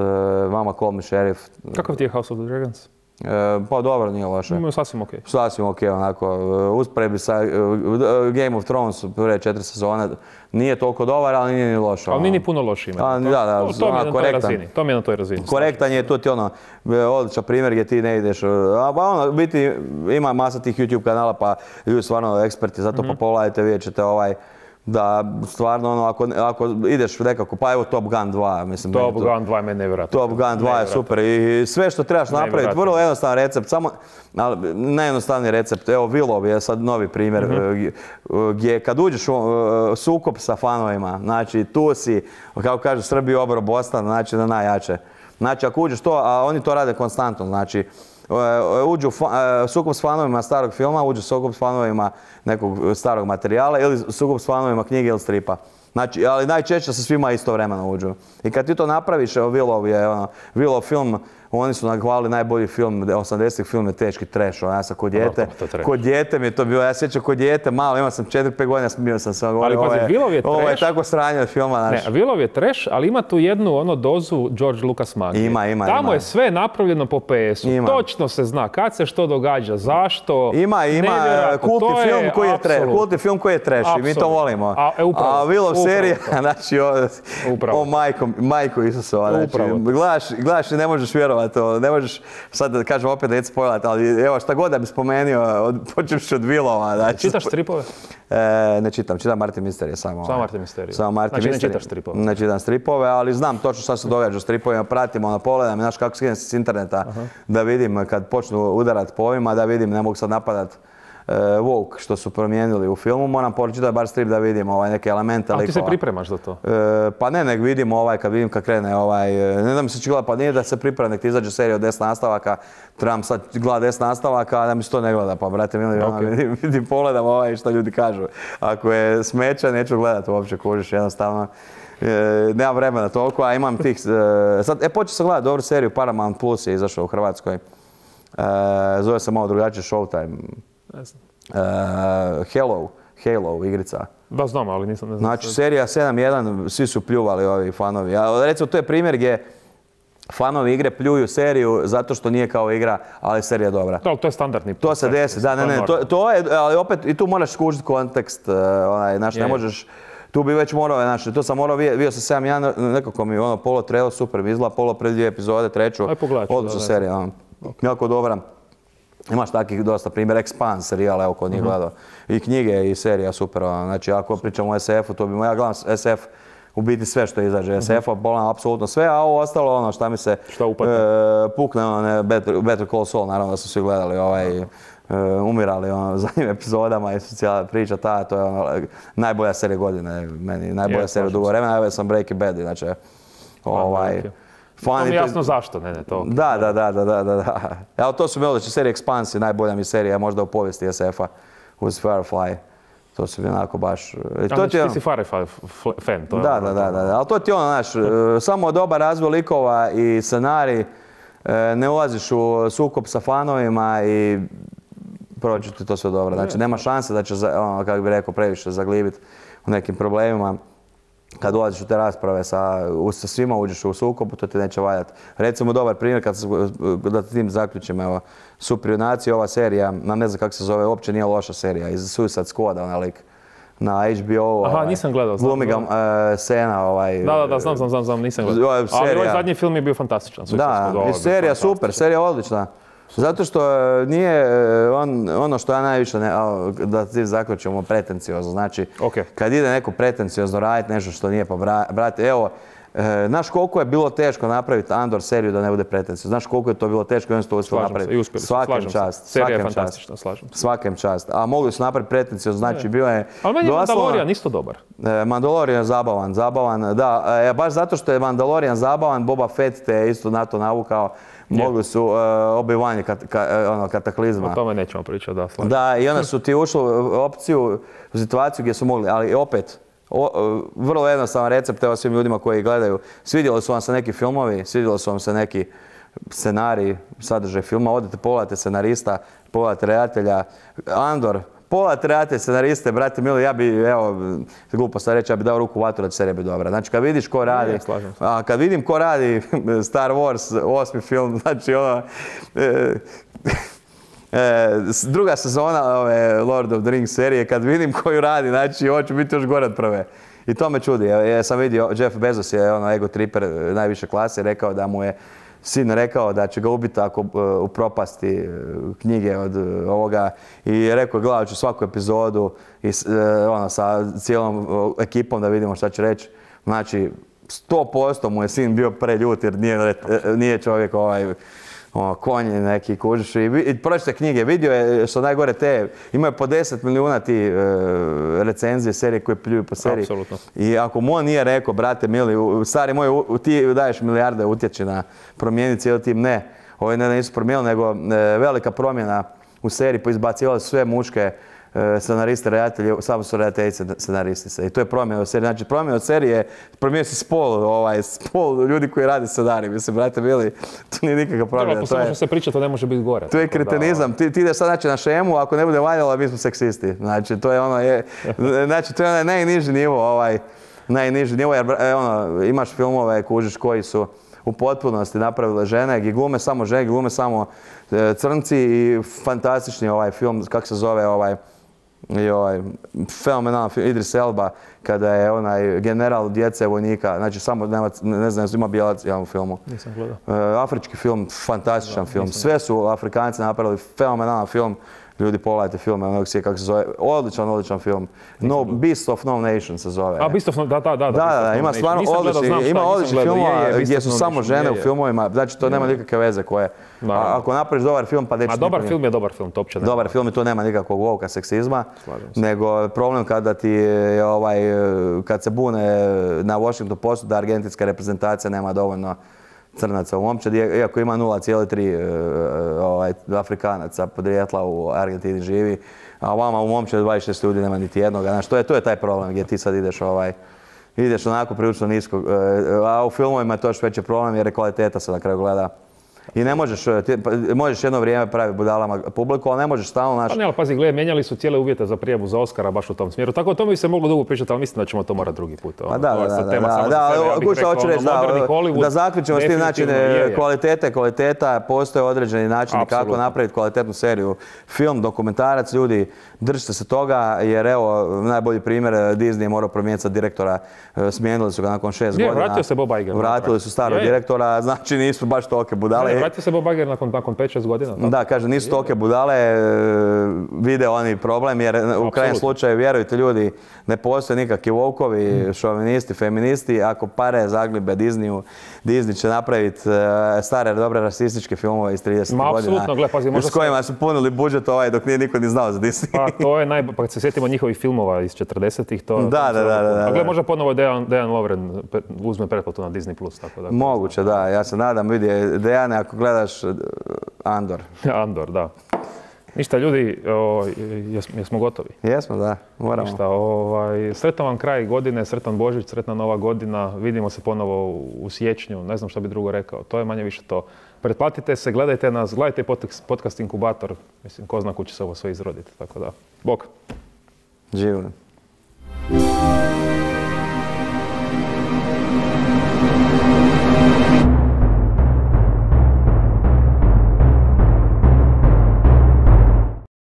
Mama Call Me Sheriff. Kakav ti je House of the Dragons? Uh, pa dobro, nije loše. Ima sasvim ok. Sasvim ok, onako, uh, usporedbi sa uh, Game of Thrones, prve četiri sezone, nije toliko dobar, ali nije ni loš. Ali nije ni puno loš ima. A, da, da, to, to, mi je na toj razini, to mi je na toj razini. Korektan je, to ti ono, odličan primjer gdje ti ne ideš, a pa ono, biti, ima masa tih YouTube kanala, pa ljudi stvarno eksperti, zato mm-hmm. pa pogledajte, vidjet ćete ovaj, da stvarno ono, ako, ako ideš nekako, pa evo Top Gun dva, mislim. Top to, Gun dva je meni nevjerojatno. Top Gun dva je super i sve što trebaš napraviti, vrlo jednostavan recept, samo, ali najjednostavniji recept, evo Willow je sad novi primjer, mm-hmm. gdje kad uđeš u sukob sa fanovima, znači tu si, kako kažu Srbi obro Bostan, znači na najjače. Znači ako uđeš to, a oni to rade konstantno, znači uđu sukob s fanovima starog filma, uđu sukob s fanovima nekog starog materijala ili sukob s fanovima knjige ili stripa. Znači, ali najčešće se svima istovremeno uđu. I kad ti to napraviš, evo Willow je, ono, Willow film oni su nahvalili najbolji film, osamdesetih film je teški trash, ja sam kod dijete, kod dijete mi je to bilo, ja sjećam kod dijete, malo, imao sam četiri pet godina, smio sam se, ali pazi, Willov je trash. Ovo je tako sranje od filma, znaš. Ne, Willov je trash, ali ima tu jednu ono dozu George Lucas magije. Ima, ima, Tamo ima. je sve napravljeno po P S-u, točno se zna kad se što događa, zašto. Ima, ima kultni film koji je trash, kultni film koji je trash i mi to volimo. A, e, upravo, A Willov serija, znači, o, upravo. o majko, majko Isusova, znači, gledaš, gledaš i ne možeš vjerovati, ne možeš, sad da kažem opet da neću spojlat, ali evo šta god da bi spomenuo, počeš od Willova. Znači, čitaš stripove? E, ne čitam, čitam Martin Mystery samo. Samo Martin Mystery. Samo Martin znači Mystery. ne čitaš stripove? Ne čitam stripove, ali znam točno šta se događa u stripovima, pratim, ono, pogledam, znaš kako skinem se s interneta, aha, da vidim kad počnu udarat po ovima, da vidim, ne mogu sad napadat uh, woke što su promijenili u filmu, moram pročitati bar strip da vidim ovaj, neke elemente likova. A ti se pripremaš za to? E, pa ne, nek vidim ovaj, kad vidim kad krene ovaj, ne da mi se će gledati, pa nije da se priprema, nek ti izađe serija od deset nastavaka, trebam sad gledati deset nastavaka, a da mi se to ne gleda, pa brate mili, okay, ono, vidim, vidim, pogledam ovaj što ljudi kažu. Ako je smeća, neću gledati uopće, kužiš, jednostavno. E, nemam vremena toliko, a imam tih, e, sad, e, počeo sam gledati dobru seriju, Paramount Plus je izašao u Hrvatskoj, e, zove se malo drugačije, Showtime. Ne znam. E, Hello, Halo igrica. Da, znam, ali nisam, ne znam. Znači, serija sedam jedan, svi su pljuvali ovi fanovi. A, recimo, to je primjer gdje fanovi igre pljuju seriju zato što nije kao igra, ali serija je dobra. Da, to je standardni. To se desi, da, ne, ne, to, to je, ali opet, i tu moraš skužiti kontekst, onaj, znaš, ne možeš, tu bi već morao, znači, to sam morao, bio sam sedam jedan, nekako mi ono, polo trailer, super mi izgleda, polo pred dvije epizode, treću, odlična serija, ono, jako dobra. Imaš takvih dosta primjer, Expanse serijala, evo ko nije gledao, i knjige i serija super, znači ako pričamo o S F-u, to bi ja gledam S F, u biti sve što izađe S F-a, bolam apsolutno sve, a ovo ostalo ono šta mi se pukne, ono, Better Call Saul, naravno da su svi gledali ovaj, umirali ono, zadnjim epizodama i socijala priča ta, to je ono, najbolja serija godine, meni, najbolja serija dugo vremena, evo sam Breaking Bad, znači, ovaj, to mi je jasno zašto, ne, ne, to. Da, da, da, da, da, da. Evo, to su mi odlične serije, Expanse, najbolja mi serija možda u povijesti S F-a uz Firefly. To su mi onako baš... A znači ti si Firefly fan, to je... Da, da, da, da, ali to ti ono, znaš, samo dobar razvoj likova i scenarij, ne ulaziš u sukob sa fanovima i proći ti to sve dobro. Znači, nema šanse da će, ono, kako bih rekao, previše zaglibiti u nekim problemima. Kad ulaziš u te rasprave sa, sa svima, uđeš u sukobu, to ti neće valjati. Recimo, dobar primjer, kad se, da tim zaključim, evo, Super junaci, ova serija, ne znam kako se zove, uopće nije loša serija, iz Suicide Squada, onaj lik, na H B O. Aha, ovaj, nisam gledao. Glumi ga uh, Sena, ovaj... Da, da, da, znam, znam, znam, znam nisam gledao. Serija, ali ovaj zadnji film je bio fantastičan. Da, i serija super, serija odlična. Zato što nije on, ono što ja najviše, ne, da ti zaključimo, pretenciozno. Znači, okay, kad ide neko pretenciozno raditi nešto što nije, pa brate, evo, e, znaš koliko je bilo teško napraviti Andor seriju da ne bude pretenciozno. Znaš koliko je to bilo teško i oni su to uspjeli napraviti. Svakem čast. Serija je fantastična, slažem se. Svakem čast. A mogli su napraviti pretenciozno, znači bio je... Ali meni je Mandalorian isto dobar. E, Mandalorian je zabavan, zabavan, da. E, baš zato što je Mandalorian zabavan, Boba Fett te je isto na to navukao. Mogli su uh, obivanje kat, ka, ono, kataklizma. O tome nećemo pričati, da, slažem. Da, i onda su ti ušli u opciju, u situaciju gdje su mogli, ali opet, o, vrlo jednostavan recept, evo svim ljudima koji gledaju. Svidjeli su vam se neki filmovi, svidjeli su vam se neki scenariji, sadržaj filma, odete, pogledajte scenarista, pogledajte redatelja. Andor, pogledajte redatelj, scenariste, brate mili, ja bi, evo, glupo sad reći, ja bi dao ruku u vatru da će serija biti dobra. Znači, kad vidiš ko radi, ne, a kad vidim ko radi Star Wars, osmi film, znači ono, e, e, druga sezona ove Lord of the Rings serije, kad vidim koju radi, znači, ovo će biti još gore od prve. I to me čudi. Ja, ja sam vidio, Jeff Bezos je ono ego triper najviše klase, rekao da mu je sin rekao da će ga ubiti ako uh, upropasti uh, knjige od uh, ovoga i rekao gledat ću svaku epizodu i uh, ono, sa cijelom uh, ekipom da vidimo šta će reći. Znači, sto posto mu je sin bio preljut jer nije, uh, nije čovjek ovaj, ono, konj neki kužiš i, i pročite knjige, vidio je što najgore te, imaju po deset milijuna ti uh, recenzije serije koje pljuju po seriji. Apsolutno. I ako mu on nije rekao, brate mili, stari moj, u, ti daješ milijarde utječi na promijeniti cijeli tim, ne. Ovo ne nisu promijenili, nego e, velika promjena u seriji, poizbacivali sve muške scenaristi, redatelji, samo su redateljice scenaristi. I to je promjena od serije. Znači, promjena od serije, promijenio se spol, ovaj, spol ljudi koji rade scenarij. Mislim, brate, bili, to nije nikakva promjena. To može se pričati, to ne može biti gore. To je kretenizam. Ti, ti ideš sad znači, na šemu, ako ne bude valjalo, mi smo seksisti. Znači, to je ono, je, znači, to je onaj najniži nivo, ovaj, najniži nivo, jer ono, imaš filmove, kužiš, koji su u potpunosti napravile žene, gdje glume samo žene, gdje glume samo e, crnci i fantastični ovaj film, kako se zove ovaj, i ovaj fenomenalan film, Idris Elba, kada je onaj general djece vojnika, znači samo, nema, ne znam, ima bijelac u filmu. Nisam gledao. E, afrički film, fantastičan da, film. Sve su Afrikanci napravili, fenomenalan film. Ljudi, pogledajte film, onog sije kako se zove, odličan, odličan film. No, Beast of No Nation se zove. A, Beast of No, da, da, da. Da, da, da, ima stvarno odlični, ima odlični filmova gdje su samo žene u filmovima, znači to nema nikakve veze koje. Ako napraviš dobar film, pa neće... A dobar film je dobar film, to uopće nema. Dobar film i to nema nikakvog lovka seksizma, nego problem kada ti je ovaj, kad se bune na Washington Postu da argentinska reprezentacija nema dovoljno crnaca u momčadi, iako ima nula zarez tri ovaj, Afrikanaca podrijetla u Argentini živi, a vama u momčadi dvadeset šest ljudi nema niti jednog. Znači, to je, to je taj problem gdje ti sad ideš, ovaj, ideš onako prilično nisko, a u filmovima je to još veći problem jer je kvaliteta se na kraju gleda. I ne možeš, ti, možeš jedno vrijeme praviti budalama publiku, ali ne možeš stalno naš... Pa ne, ali pazi, gledaj, mijenjali su cijele uvjete za prijavu za Oscara baš u tom smjeru. Tako o tome bi se moglo dugo pričati, ali mislim da ćemo to morati drugi put. Pa da, da, da, da, da, kuća hoću reći, da, da zaključimo s tim način kvalitete, kvaliteta, postoje određeni načini kako napraviti kvalitetnu seriju. Film, dokumentarac, ljudi, držite se toga, jer evo, najbolji primjer, Disney je morao promijeniti sad direktora, smijenili su ga nakon šest godina. Vratio se Bob Iger. Vratili su starog direktora, znači nisu baš tolike budale. Vratio se Bob Iger nakon, nakon pet šest godina. Tako? Da, kaže, nisu tolike budale, vide oni problem, jer u krajnjem slučaju, vjerujte ljudi, ne postoje nikakvi volkovi, šovinisti, feministi. Ako pare zaglibe Disneyu, Disney će napraviti stare, dobre rasističke filmove iz tridesetih godina. Apsolutno, gle, pazi, možda s kojima su punili budžet ovaj dok nije niko ni znao za Disney. Pa to je naj... Pa kad se sjetimo njihovih filmova iz četrdesetih, to... Da, da, da, da. A gle, možda ponovo Dejan, Dejan Lovren uzme pretplatu na Disney plus, tako da... Moguće, da. Ja se nadam, vidi, Dejane, ako gledaš Andor. Andor, da. Ništa, ljudi, o, jes, jesmo gotovi? Jesmo, da. Moramo. Ništa, ovaj, sretan vam kraj godine, sretan Božić, sretna Nova godina. Vidimo se ponovo u siječnju, ne znam što bi drugo rekao. To je manje više to. Pretplatite se, gledajte nas, gledajte podcast Inkubator. Mislim, ko zna kuće se ovo sve izroditi, tako da. Bok. Živno.